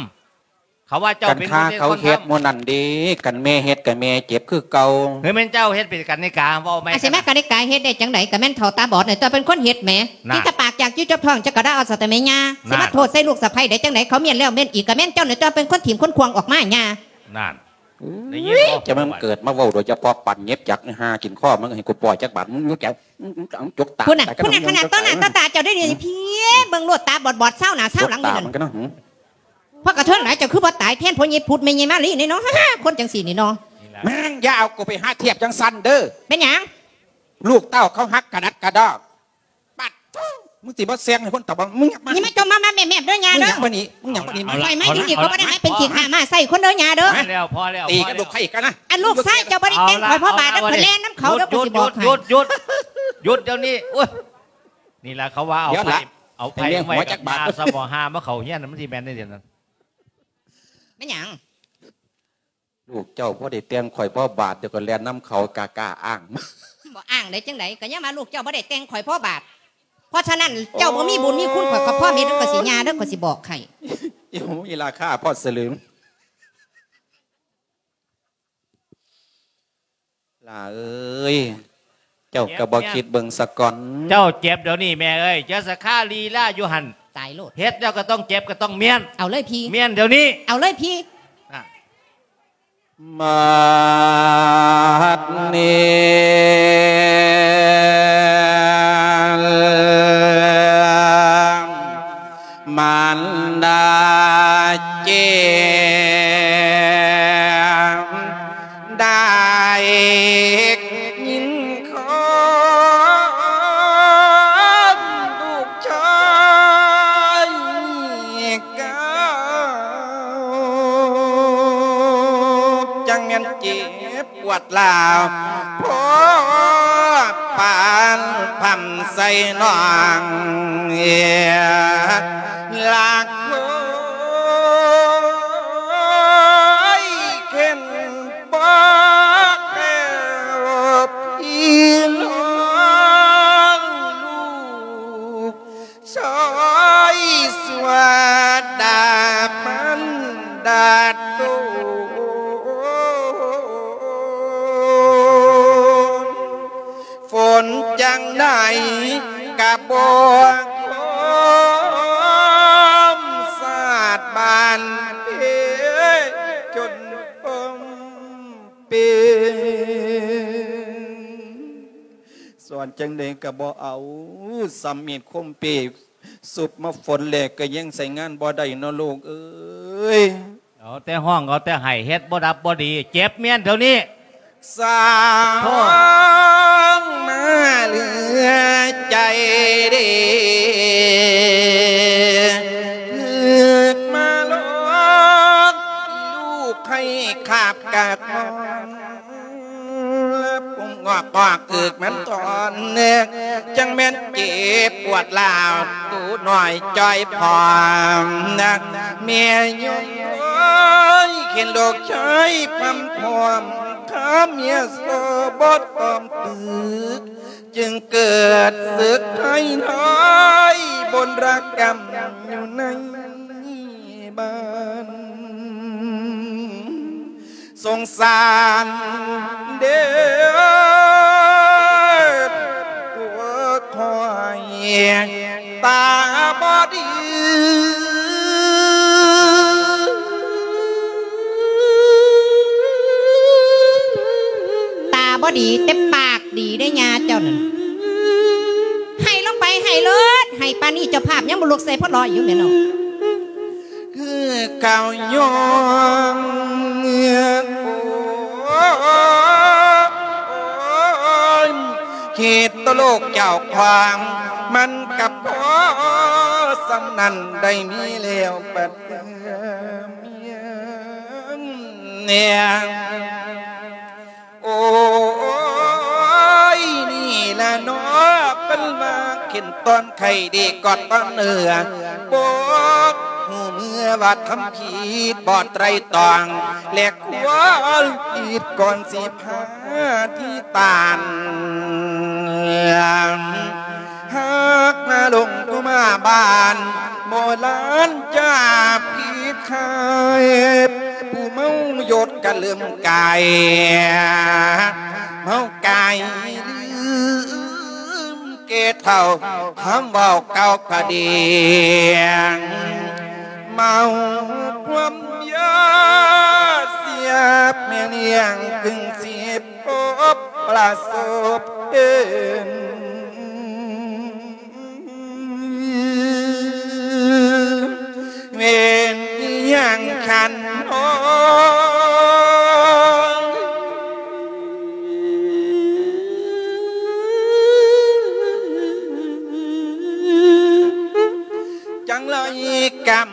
ເຂົາວ່າເຈົ້າເປັນຄົນເຮັດ ຄັນຂ້າເຂົາເຮັດມື້ນັ້ນເດ້ ຄັນແມ່ເຮັດກໍແມ່ເຈັບຄືເກົ່າ. ເຮີຍ ແມ່ນເຈົ້າເຮັດເປັນກັນນິກາ ເວົ້າໃໝ່. ອາ ຊິມາກັນນິກາເຮັດໄດ້ຈັ່ງໃດ? ກໍແມ່ນເຖົ້າຕາບອດນີ້ຕົວະເປັນຄົນເຮັດແໝ. ຫັ້ນ ມີແຕ່ປາກຢາກຢູ່ຈັບທ້ອງ ຈັກກະດາເອົາຊະແຕ່ແມ່ຍ່າ. ຫັ້ນ ຊິມາໂທດໃສ່ລູກສະໃພ້ໄດ້ຈັ່ງໃດ? ເຂົາມ້ຽນແລ້ວມ້ຽນອີກ ກໍແມ່ນເຈົ້ານີ້ຕົວະເປັນຄົນຖິ້ມຄົນຂວາງອອກມາຍ່າ. ຫັ້ນ ໄດ້ຍິນບໍ່? ຈະມາເກີດມາເວົ້າໂດຍສະເພາະປັນເຫງັບຈັກຫາກິນຄໍມຶງ ໃຫ້ກູປ່ອຍຈັກບາດ ມຶງຢູ່ແກ ມຶງຈົກຕາ ພຸ້ນນະ ພຸ້ນນະ ຂະໜາດຕໍ່ໜ້າຕໍ່ຕາເຈົ້າໄດ້ນີ້ ພີ່ເບິ່ງໂລດ ຕາບອດໆ ຊາວໜ້າຊາວຫຼັງຢູ່ນັ້ນ. ພວກກະເທີນຫຼາຍ ເຈົ້າຄືບໍ່ຕາຍແທນພໍ່ໃຫຍ່ພຸດແມ່ໃຫຍ່ມາລີນີ້ເນາະ ຄົນຈັ່ງຊີ້ນີ້ເນາະ. ແມ່ງຢ່າເອົາກູໄປຫາທຽບຈັ່ງຊັ້ນເດີ. ເປັນຫຍັງ? ລູກເຕົ້າເຂົາຮັກກະໜັດກະດອກ. ປັດໂທ້ ມຶງຊິມາແຊງໃຫ້ຄົນຕາບອດ ມຶງຫຍັບມາ ນີ້ມາຈົ່ມມາແມບໆເດີຍ່າເດີ. ມຶງຫຍັບມານີ້ ມຶງຫຍັບມານີ້. ຂ້ອຍມາຢູ່ນີ້ ຂ້ອຍບໍ່ໄດ້ມາເປັນຂີ້ຂ້າມ້າໃສ່ຄົນເດີຍ່າເດີ. ພໍແລ້ວ ພໍແລ້ວ ຕີກັບລູກໃຜອີກກັນນະ? ອັນລູກຊາຍເຈົ້າບໍ່ໄດ້ແຕ່ງຂ້ອຍພໍບາດເດີ ຂ້ອຍແລ່ນນຳເຂົາເດີ ຂ້ອຍຊິບອກໃຫ້. ຢຸດ ຢຸດ ຢຸດ ຢຸດດຽວນີ້. ໂອ້ຍ ນີ້ລະເຂົາວ່າເອົາໄຟ ເອົາໄຟໄວ້ກັບຕາ ສະໝໍຫາມາເຂົ້າຮຽນ ມັນຊິແມ່ນໄດ້ຈັ່ງນັ້ນ. ແມ່ນຫຍັງ? ລູກເຈົ້າພໍໄດ້ແຕ່ງຂ້ອຍພໍບາດ ດຽວກໍແລ່ນນຳເຂົາ ກ້າໆອ້າງ. ບໍ່ອ້າງໄດ້ຈັ່ງໃດ? ກໍຍັງວ່າລູກເຈົ້າບໍ່ໄດ້ແຕ່ງຂ້ອຍພໍບາດ. ເພາະສະນັ້ນ ເຈົ້າບໍ່ມີບຸນມີຄຸນ ຂ້ອຍກໍພ້ອມເຮັດ ຂ້ອຍຊິຍ່າເດີ ຂ້ອຍຊິບອກໃຫ້. ໂອ້ຍ ມີລາຄາພໍສະລຶງ. ຫຼ້າເອີຍ ເຈົ້າກໍບໍ່ຄິດເບິ່ງສາກ່ອນ. ເຈົ້າເຈັບດຽວນີ້ແມ່ເອີຍ ຢ່າສະຄາລີລາຢູ່ຫັ້ນ. ຕາຍໂລດ ເຮັດແລ້ວກໍຕ້ອງເຈັບ ກໍຕ້ອງມ້ຽນ. ເອົາເລີຍພີ່ ມ້ຽນດຽວນີ້. ເອົາເລີຍພີ່. ບັດນີ້ ມານດາເຈັບໄດ້ຍິນຄວາມລູກຊາຍກ່າວ ຈັ່ງແມ່ນເຈັບ ປວດລາວ ພໍປານພຳໃສ່ນ້ອງ ເອີ ລັກໂອຍ ເຂັນບໍ່ແລ້ວ ພີ່ນ້ອງລູກ ຊອຍສວດດາມັນດາໂຕນ ຝົນຈັ່ງໃດກະບໍ່ຄອມ ສາດບານເພຈົນພົມເປັນ ສອນຈັ່ງໃດກໍບໍ່ເອົາ ສຳມີດຄົມເປ ສຸບມາຝົນແລກກໍຍັງໃຊ້ງານບໍ່ໄດ້ເນາະລູກເອີຍ. ເອົາແຕ່ຮ້ອງ ເອົາແຕ່ໄຫ້ ເຮັດບໍ່ດັບບໍ່ດີ ເຈັບມ້ຽນເທົ່ານີ້. ສາວມາເຫຼືອໃຈເດ ຖືກມາຫຼອກ ລູກໃຫ້ຂາບກາກມອງ ປຸງອອກອອກອຶກມັນຕອນເໜືອກ ຈັ່ງແມ່ນເຈັບປວດລາວ ຕູນ້ອຍຈ້ອຍພ້ອມນະ ແມ່ຍົມເອີຍ ເຫັນລູກຊາຍພຳພ້ອມ ຂ້າເມຍໂສບົດປ້ອມຕຶກ ຈຶ່ງເກີດສຶກໄພຮ້າຍ ບົນລະກຳຢູ່ໃນບ້ານ. ສົງສານເດີ ໂອ້ຍ ຕາບໍ່ດີ ຕາບໍ່ດີ ແຕ່ປາກດີເດ້ ຍ່າເຈົ້ານັ້ນ. ໃຫ້ລົງໄປ ໃຫ້ໂລດ ໃຫ້ປານນີ້ເຈົ້າພາບຍັງບໍ່ລຸກໃສ່ພະລໍຢູ່ແມ່ນເນາະ. ຄືເກົ່າຍ້ອນ ໂອ້ຍ ຄິດຕໍ່ລູກເຈົ້າຂວາງ ມັນກະພໍສ່ຳນັ້ນ ໄດ້ມີແລ້ວບັດເມື່ອເມຍ ໂອ້ຍ ນີ້ລະເນາະ ເພິ່ນວ່າເຂັນຕອນໄຂ້ດີກອດຕອນເໜືອ ບໍ່ຮູ້ເມື່ອວ່າທຳຜິດບໍ່ໄຕຣຕອງ ແລະ ຄວນຜິດກ່ອນຊິພາທີ່ຕານ ຫາກມາລົງໂທມາບ້ານ ໂບລານຈາຜິດໄຄ ຜູ້ເມົາຢົດກະເລີ່ມກາຍ ເມົາກາຍລືມແກ່ເຖົ້າ ຄຳເວົ້າເກົ່າກະເດງ ເມົາຄວາມຢາເສຍບແມ່ລ້ຽງ ຈຶ່ງຊິພົບປະສົບເຫັນ ເວນອີ່ຫຍັງຄັນນ້ອງ ຈັ່ງໄຫຼກຳ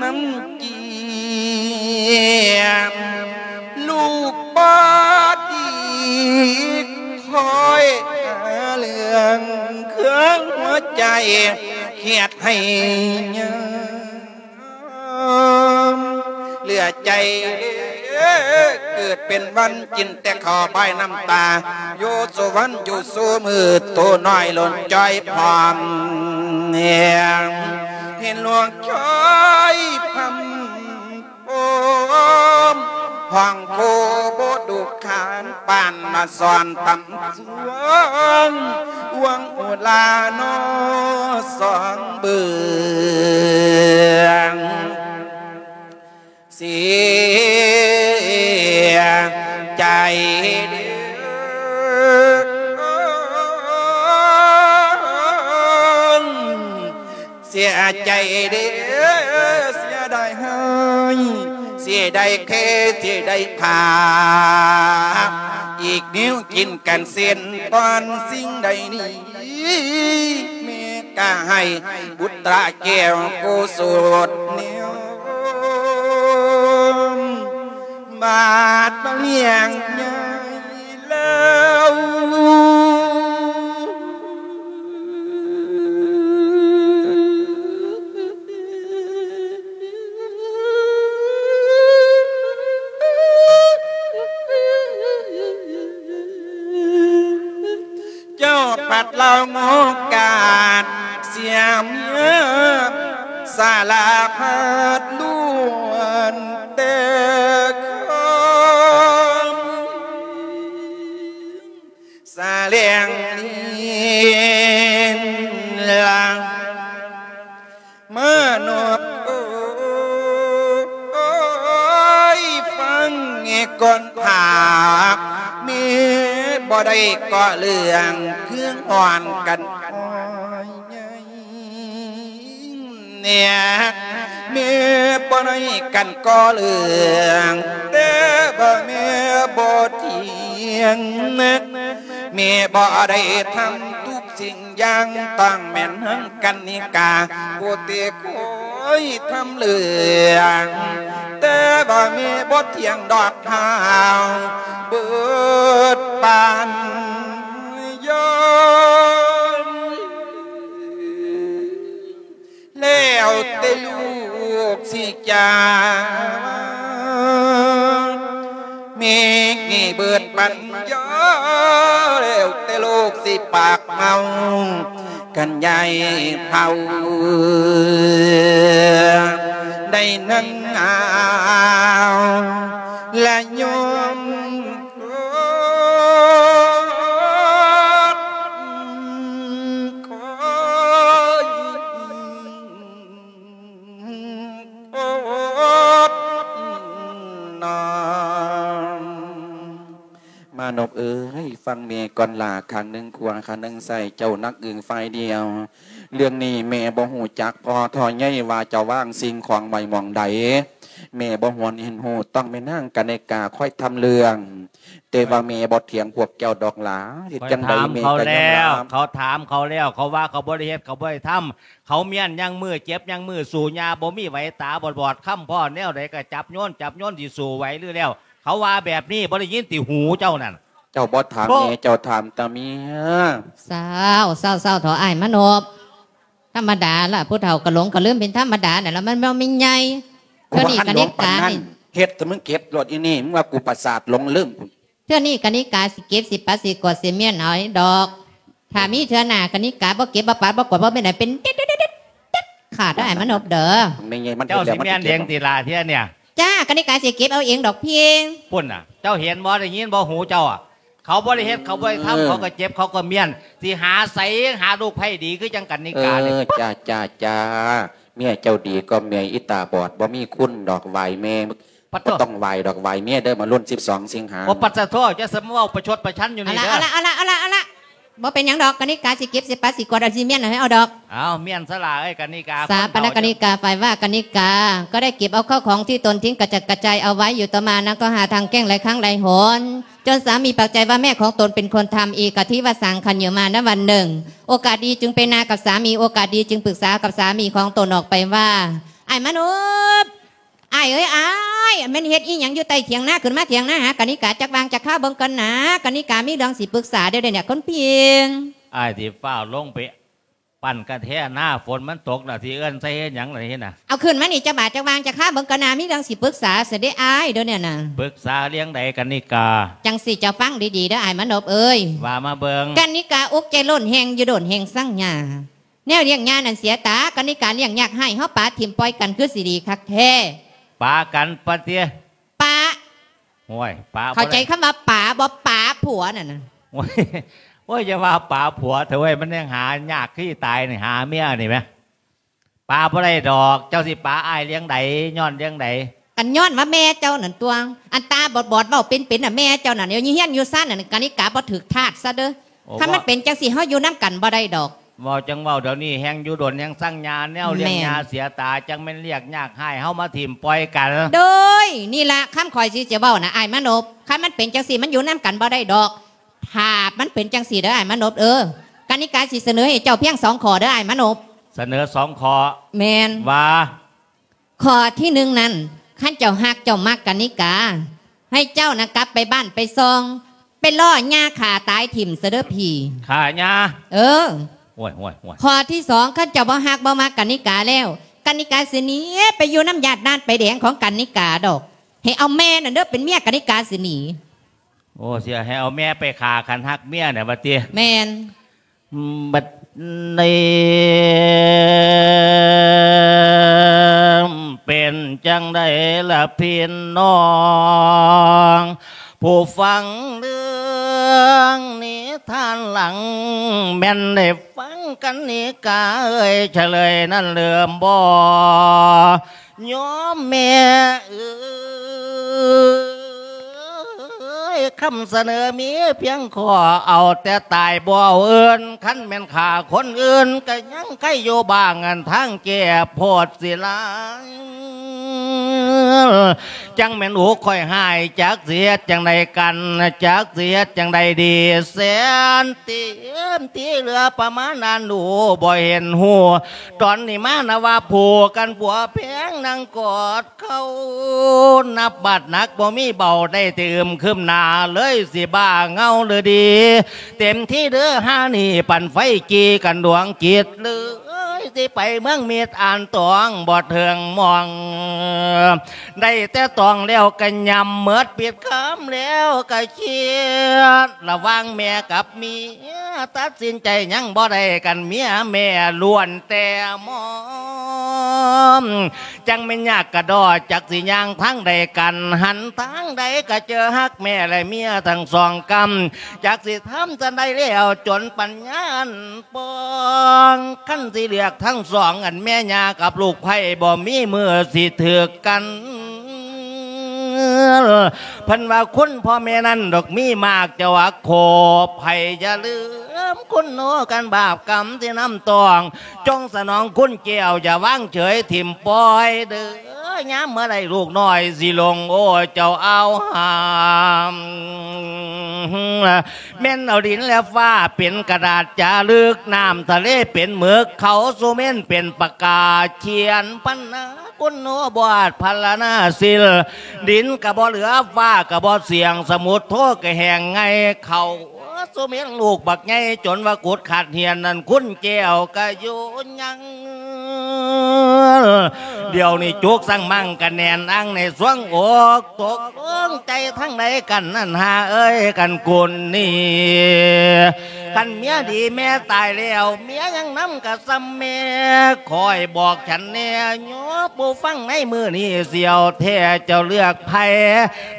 ນຳ ກຽມ ລູກບໍ່ດີ ຄອຍຫາເລື່ອງເຄືອງຫົວໃຈ ຄຽດໃຫ້ຍາມ ເຫຼືອໃຈເດີ ເກີດເປັນວັນກິນແຕ່ເຂົ້າບາຍນ້ຳຕາ ຢູ່ສູ່ວັນຢູ່ສູ່ມື້ ໂຕນ້ອຍຫຼົ່ນຈ່ອຍພ້ອມແຮງ ເຫັນຫຼວງຈ້ອຍພຳ ໂອມ ຫ້ອງໂຄບໍ່ດຸຂານ ປານມາສອນຕຳສວງ ຫວງອຸລານອສອງເບິ່ງ ເສຍໃຈເດີ ເສຍໃຈເດີ ເສຍດາຍຮ້າຍ ເສຍດາຍແຄ້ ເສຍດາຍພາ ອີກແນວກິນກັນເຊັ່ນຕອນສິ່ງໃດນີ້ ແມ່ກະໃຫ້ບຸດຕາແກ້ວໂກສົດແນວ ບາດມາລ້ຽງໃຫຍ່ແລ້ວ ເຈົ້າພັດລາວງອກາດ ເສຍເມືອ ສາລະພັດລ້ວນແຕ່ຄວາມ ສະແຫຼງເລນລາ ມານອບໂອຍ ຟັງແດ່ກ່ອນພາກ ແມ່ບໍ່ໄດ້ກໍ່ເລື່ອງ ເຄື່ອງອ່ອນກັນອ້ອຍໃຫຍ່ ແມ່ ແມ່ບໍ່ໄດ້ກັນກໍ່ເລື່ອງ ແຕ່ວ່າແມ່ບໍ່ທ່ຽງ ແມ່ບໍ່ໄດ້ທຳທຸກສິ່ງຢ່າງ ຕ້ອງແມ່ນນາງກັນນິກາ ຜູ້ທີ່ຄອຍທຳເລື່ອງ ແຕ່ວ່າແມ່ບໍ່ທ່ຽງດອກເຮົາ ເບີດປານຍອມ ແລ້ວແຕ່ລູກຊິຈາ ເມກນີ້ເບີດປັນຍາ ແລ້ວແຕ່ລູກຊິປາກເມົາ ກັນຍາຍເຖົ້າ ໄດ້ນັ່ງເອົາ ແລະໂຍມ ມານົບເອີຍ ຟັງແມ່ກ່ອນຫຼ້າ ຂ້າງໜຶ່ງຂວາ ຂ້າງໜຶ່ງຊ້າຍ ເຈົ້າໜັກອຶງຝ່າຍດຽວ. ເລື່ອງນີ້ແມ່ບໍ່ຮູ້ຈັກພໍ່ທໍ່ໃຫຍ່ວ່າຈະວາງສິ່ງຂອງໄວ້ໝ່ອງໃດ. ແມ່ບໍ່ຮວນເຫັນຮູ້ ຕ້ອງແມ່ນາງກະນິກາຄອຍທຳເລື່ອງ. ແຕ່ວ່າແມ່ບໍ່ຖຽງພວກເຈົ້າດອກຫຼາ. ເຮັດຈັ່ງໃດແມ່ກໍຍອມຮັບ. ເຂົາຖາມເຂົາແລ້ວ ເຂົາວ່າເຂົາບໍ່ໄດ້ເຮັດ ເຂົາບໍ່ໄດ້ທຳ. ເຂົາມ້ຽນຍັງມືເຈັບຍັງມື ສູ້ຍາບໍ່ມີໄຫວ ຕາບອດໆ ຄ້ຳພໍ້ແນວໃດກໍຈັບໂຍນ ຈັບໂຍນ ຊິສູ້ໄຫວຫຼືແລ້ວ. ເຂົາວ່າແບບນີ້ ບໍ່ໄດ້ຍິນຕິຫູເຈົ້ານັ້ນ? ເຈົ້າບໍ່ຖາມແມ່ ເຈົ້າຖາມແຕ່ເມຍ. ເຊົາ ເຊົາ ເຊົາເຖາະອ້າຍມານົບ. ທຳມະດາລະ ຜູ້ເຖົ້າກໍຫຼົງກໍລືມເປັນທຳມະດານັ້ນລະ ມັນບໍ່ມີໃຫຍ່. ເທື່ອນີ້ກະນິການີ້ ເຮັດແຕ່ມຶງເກັບໂລດອີນີ້ ມຶງວ່າກູປະສາດຫຼົງລືມພຸ້ນ. ເທື່ອນີ້ກະນິກາຊິເກັບ ຊິປັດ ຊິກວາດ ຊິມ້ຽນເອົາດອກ. ຖ້າມີເທື່ອໜ້າ ກະນິກາບໍ່ເກັບ ບໍ່ປັດ ບໍ່ກວາດ ບໍ່ແມ່ນໃຫ້ເປັນເດັດຂາດເດີອ້າຍມານົບເດີ. ແມ່ໃຫຍ່ມັນ ເຈົ້າຊິມ້ຽນເອງຕິລະເທື່ອນີ້? ຈ້າ ກະນິກາຊິເກັບເອົາເອງດອກພີ່. ພຸ້ນນະ ເຈົ້າເຫັນບໍ່ ໄດ້ຍິນບໍ່ ຫູເຈົ້າອະ? ເຂົາບໍ່ໄດ້ເຮັດ ເຂົາບໍ່ໄດ້ທຳ ເອີ ເຂົາກໍເຈັບ ເຂົາກໍມ້ຽນ ຊິຫາໃສ ຫາລູກໃພ້ດີຄືຈັ່ງກະນິການີ້? ເອີ ຈ້າ ຈ້າ ຈ້າ ເມຍເຈົ້າດີກວ່າເມຍອີຕາບອດ ບໍ່ມີຄຸນດອກ ໄຫວ້ແມ່. ບໍ່ຕ້ອງໄຫວ້ດອກ ໄຫວ້ເມຍເດີ ມາລຸນສິບສອງສິງຫາ. ໂອ ປັດສະໂທ ຢ່າສະມາເວົ້າປະຊົດປະຊັນຢູ່ນີ້ເດີ. ເອົາລະ ເອົາລະ ເອົາລະ ເອົາລະ ບໍ່ເປັນຫຍັງດອກ ກະນິກາຊິເກັບ ຊິປັດ ຊິກວາດ ເອົາ ຊິມ້ຽນໃຫ້ເອົາດອກ. ເອົາ ມ້ຽນສະຫຼ້າເອີຍ ກະນິກາ. ສາປະນະກະນິກາ ຝ່າຍວ່າກະນິກາ ກໍໄດ້ເກັບເອົາເຂົ້າຂອງທີ່ຕົນຖິ້ມກະຈັດກະຈາຍເອົາໄວ້ຢູ່. ຕໍ່ມານາງກໍຫາທາງແກ້ງຫຼາຍຄັ້ງຫຼາຍຫົນ ຈົນສາມີປາກໃຈວ່າແມ່ຂອງຕົນເປັນຄົນທຳ. ເອກະທິວະສັງ ຄັນຢູ່ມານະວັນໜຶ່ງ ໂອກາດດີຈຶ່ງໄປນາກັບສາມີ ໂອກາດດີຈຶ່ງປຶກສາກັບສາມີຂອງຕົນອອກໄປວ່າ ອ້າຍມານົບ ອ້າຍເອີຍອ້າຍ ແມ່ນເຮັດອີ່ຫຍັງຢູ່ໃຕ້ຖຽງນາ? ຂຶ້ນມາຖຽງນາຫາກະນິກາຈັກຫວ່າງຈັກຄາວເບິ່ງກ່ອນນາ ກະນິກາມີເລື່ອງຊິປຶກສາເດີ ດຽວນີ້ຄົນພິງ. ອ້າຍຊິຟ້າວລົງໄປປັ່ນກະແທນາ ຝົນມັນຕົກລະ ຊິເອີ້ນໃສ່ເຮັດຫຍັງລະນີ້ນະ? ເອົາຂຶ້ນມານີ້ຈັກບາດຈັກຫວ່າງຈັກຄາວເບິ່ງກ່ອນນາ ມີເລື່ອງຊິປຶກສາຊະເດອ້າຍ ດຽວນີ້ນະ. ປຶກສາເລື່ອງໃດກະນິກາ? ຈັ່ງຊີ້ ເຈົ້າຟັງດີໆເດີອ້າຍມານົບເອີຍ ວ່າມາເບິ່ງ. ກະນິກາອຸກໃຈລົ້ນແຮງຢູ່ດົນແຮງສັງຍາ ແນວລ້ຽງຍານັ້ນເສຍຕາ ກະນິກາລ້ຽງຍາກຮ້າຍ ເຮົາປະຖິ້ມປ່ອຍກັນຄືຊິດີຄັກແທ້. ປະກັນປະຕິ? ປະ. ໂອ້ຍ ປະ ເຂົ້າໃຈຄຳວ່າປະບໍ່? ປະຜົວນັ້ນນະ. ໂອ້ຍ ໂອ້ຍ ຢ່າວ່າປະຜົວເຖາະເວີຍ ມັນຍັງຫາຍາກຄືຕາຍນີ້ ຫາເມຍນີ້ແມະ. ປະບໍ່ໄດ້ດອກ ເຈົ້າຊິປະອ້າຍເລື່ອງໃດ ຍ້ອນເລື່ອງໃດ? ກະຍ້ອນວ່າແມ່ເຈົ້ານັ້ນຕົວະ ອັນຕາບອດໆ ເວົ້າເປັນໆນະ ແມ່ເຈົ້ານັ້ນ ຢູ່ເຮືອນຢູ່ຊານນັ້ນ ກະນິກາບໍ່ຖືກທາດຊະເດີ. ໂອ້ ຄັນມັນເປັນຈັ່ງຊີ້ ເຮົາຢູ່ນຳກັນບໍ່ໄດ້ດອກ. ເວົ້າຈັ່ງເວົ້າ ດຽວນີ້ແຮງຢູ່ດົນແຮງສັງຍາ ແນວລ້ຽງຍາເສຍຕາ ຈັ່ງແມ່ນລຽກຍາກຮ້າຍ ເຮົາມາຖິ້ມປ່ອຍກັນ. ໂດຍ ນີ້ລະຄຳຂ້ອຍຊິຈະເວົ້ານະອ້າຍມານົບ ຄັນມັນເປັນຈັ່ງຊີ້ ມັນຢູ່ນຳກັນບໍ່ໄດ້ດອກ. ຖ້າມັນເປັນຈັ່ງຊີ້ເດີອ້າຍມານົບເອີຍ ກະນິກາຊິສະເໜີໃຫ້ເຈົ້າພຽງສອງຂໍ້ເດີອ້າຍມານົບ. ສະເໜີສອງຂໍ້? ແມ່ນ. ວ່າ? ຂໍ້ທີໜຶ່ງນັ້ນ ຄັນເຈົ້າຮັກເຈົ້າມັກກະນິກາ ໃຫ້ເຈົ້ານະກັບໄປບ້ານໄປຊ່ອງ ໄປລໍ້ຍ່າຂ້າຕາຍຖິ້ມຊະເດີພີ່. ຂ້າຍ່າ? ເອີ. ໂອ້ຍ ໂອ້ຍ ໂອ້ຍ. ຂໍ້ທີສອງ ຄັນເຈົ້າບໍ່ຮັກບໍ່ມັກກະນິກາແລ້ວ ກະນິກາຊິໜີໄປຢູ່ນຳຍາດນານປາຍແດງຂອງກະນິກາດອກ. ໃຫ້ເອົາແມ່ນັ້ນເດີເປັນເມຍ ກະນິກາຊິໜີ. ໂອ້ ຊິໃຫ້ເອົາແມ່ໄປຂ້າ ຄັນຮັກເມຍນະ ວ່າຕິ? ແມ່ນ. ບັດນີ້ເປັນຈັ່ງໃດລະພີ່ນ້ອງ ຜູ້ຟັງເລື່ອງນິທານຫຼັງ ແມ່ນໄດ້ຟັງກັນນິກາເອີຍ ສະເຫຼີຍນັ້ນເລີ່ມບໍ່? ໂຍມແມ່ເອີຍ ຄຳສະເໜີມີພຽງຂໍ້ ເອົາແຕ່ຕາຍບໍ່ເອົາອື່ນ ຄັນແມ່ນຂ້າຄົນອື່ນ ກະຍັງໄຄຢູ່ບ້າງ ອັນທາງແກ້ໂພດສິລາຍ ຈັ່ງແມ່ນອຸກຂ້ອຍຮ້າຍ ຈັກຊິເຮັດຈັ່ງໃດກັນ ຈັກຊິເຮັດຈັ່ງໃດດີ ແສນເຕັມທີ່ເຫຼືອປະມານນັ້ນ ໂອ ບໍ່ເຫັນຮູ້ ຕອນນີ້ມານະວ່າຜູ້ກັນຜົວແພງ ນັ່ງກອດເຂົ່າ ນັບບາດໜັກບໍ່ມີເບົາ ໄດ້ແຕ່ອຶມຄຶມໜ້າ ເລີຍຊິບ້າເຫງົາຫຼືດີ ເຕັມທີ່ເດີຫານີ້ ປັ່ນໄຟຈີ່ກັນດວງຈິດ ເລີຍຊິໄປເມືອງມິດອ່ານຕອງ ບໍ່ເຖິງໝ່ອງ ໄດ້ແຕ່ຕອງແລ້ວກະຫຍ້ຳ ເໝິດປິດຄຳແລ້ວກະຄຽດ ລະຫວ່າງແມ່ກັບເມຍ ຕັດສິນໃຈຍັງບໍ່ໄດ້ກັນ ເມຍແມ່ລ້ວນແຕ່ມອງ ອມ ຈັ່ງແມ່ນຍາກກະດໍ ຈັກຊິຍ່າງທາງໃດກັນ ຫັນທາງໃດກະເຈີຮັກແມ່ ແລະເມຍທັງສອງກຳ ຈັກຊິທຳຈັ່ງໃດແລ້ວ ຈົນປັນຍາອັນປ່ອງ ຄັນຊິເລືອກທັງສອງ ອັນແມ່ຍ່າກັບລູກໃພ້ ບໍ່ມີມື້ຊິຖືກກັນ. ເພິ່ນວ່າຄຸນພໍ່ແມ່ນັ້ນດອກມີມາກ ເຈົ້າອາໂຄ ໃຜຢ່າລືມຄຸນໂນ ຄັນບາບກຳທີ່ນຳຕ້ອງ ຈົ່ງສະໜອງຄຸນແກ້ວ ຢ່າວາງເສີຍຖິ້ມປ່ອຍເດີ້ ຍາມເມື່ອໃດລູກນ້ອຍຊິຫຼົງ ໂອ້ ເຈົ້າອາວຫາມ ແມ່ນເອົາດິນແລະຟ້າເປັນກະດາດຈາລຶກ ນ້ຳທະເລເປັນໝຶກ ເຂົາສຸເມັນເປັນປາກກາ ຂຽນພັນນາ ຄຸນໂນ ບວດພັນລະນາສິລ ດິນກະບໍ່ເຫຼືອ ຟ້າກະບໍ່ສ່ຽງ ສະໝຸດໂທກະແຫ້ງໄງ່ ເຂົາສຸເມັນລູກບັກໃຫຍ່ ຈົນວ່າກຸດຂາດຫຽນ ນັ້ນຄຸນແກ້ວກະຢູ່ຍັງ ດຽວນີ້ຈຸກສັງມັງກະແໜ້ນອັງໃນສວງອົກ ຕົກລົງໃຈທາງໃດກັນນັ້ນຫາເອີຍ ຄັນກຸນນີ້ ຄັນເມຍດີແມ່ຕາຍແລ້ວ ເມຍຍັງນຳກະສ່ຳແມ່ ຄອຍບອກສັນແດ່ ໂຍມຜູ້ຟັງໃນມື້ນີ້ ສຽວແທ້ເຈົ້າເລືອກໃຜ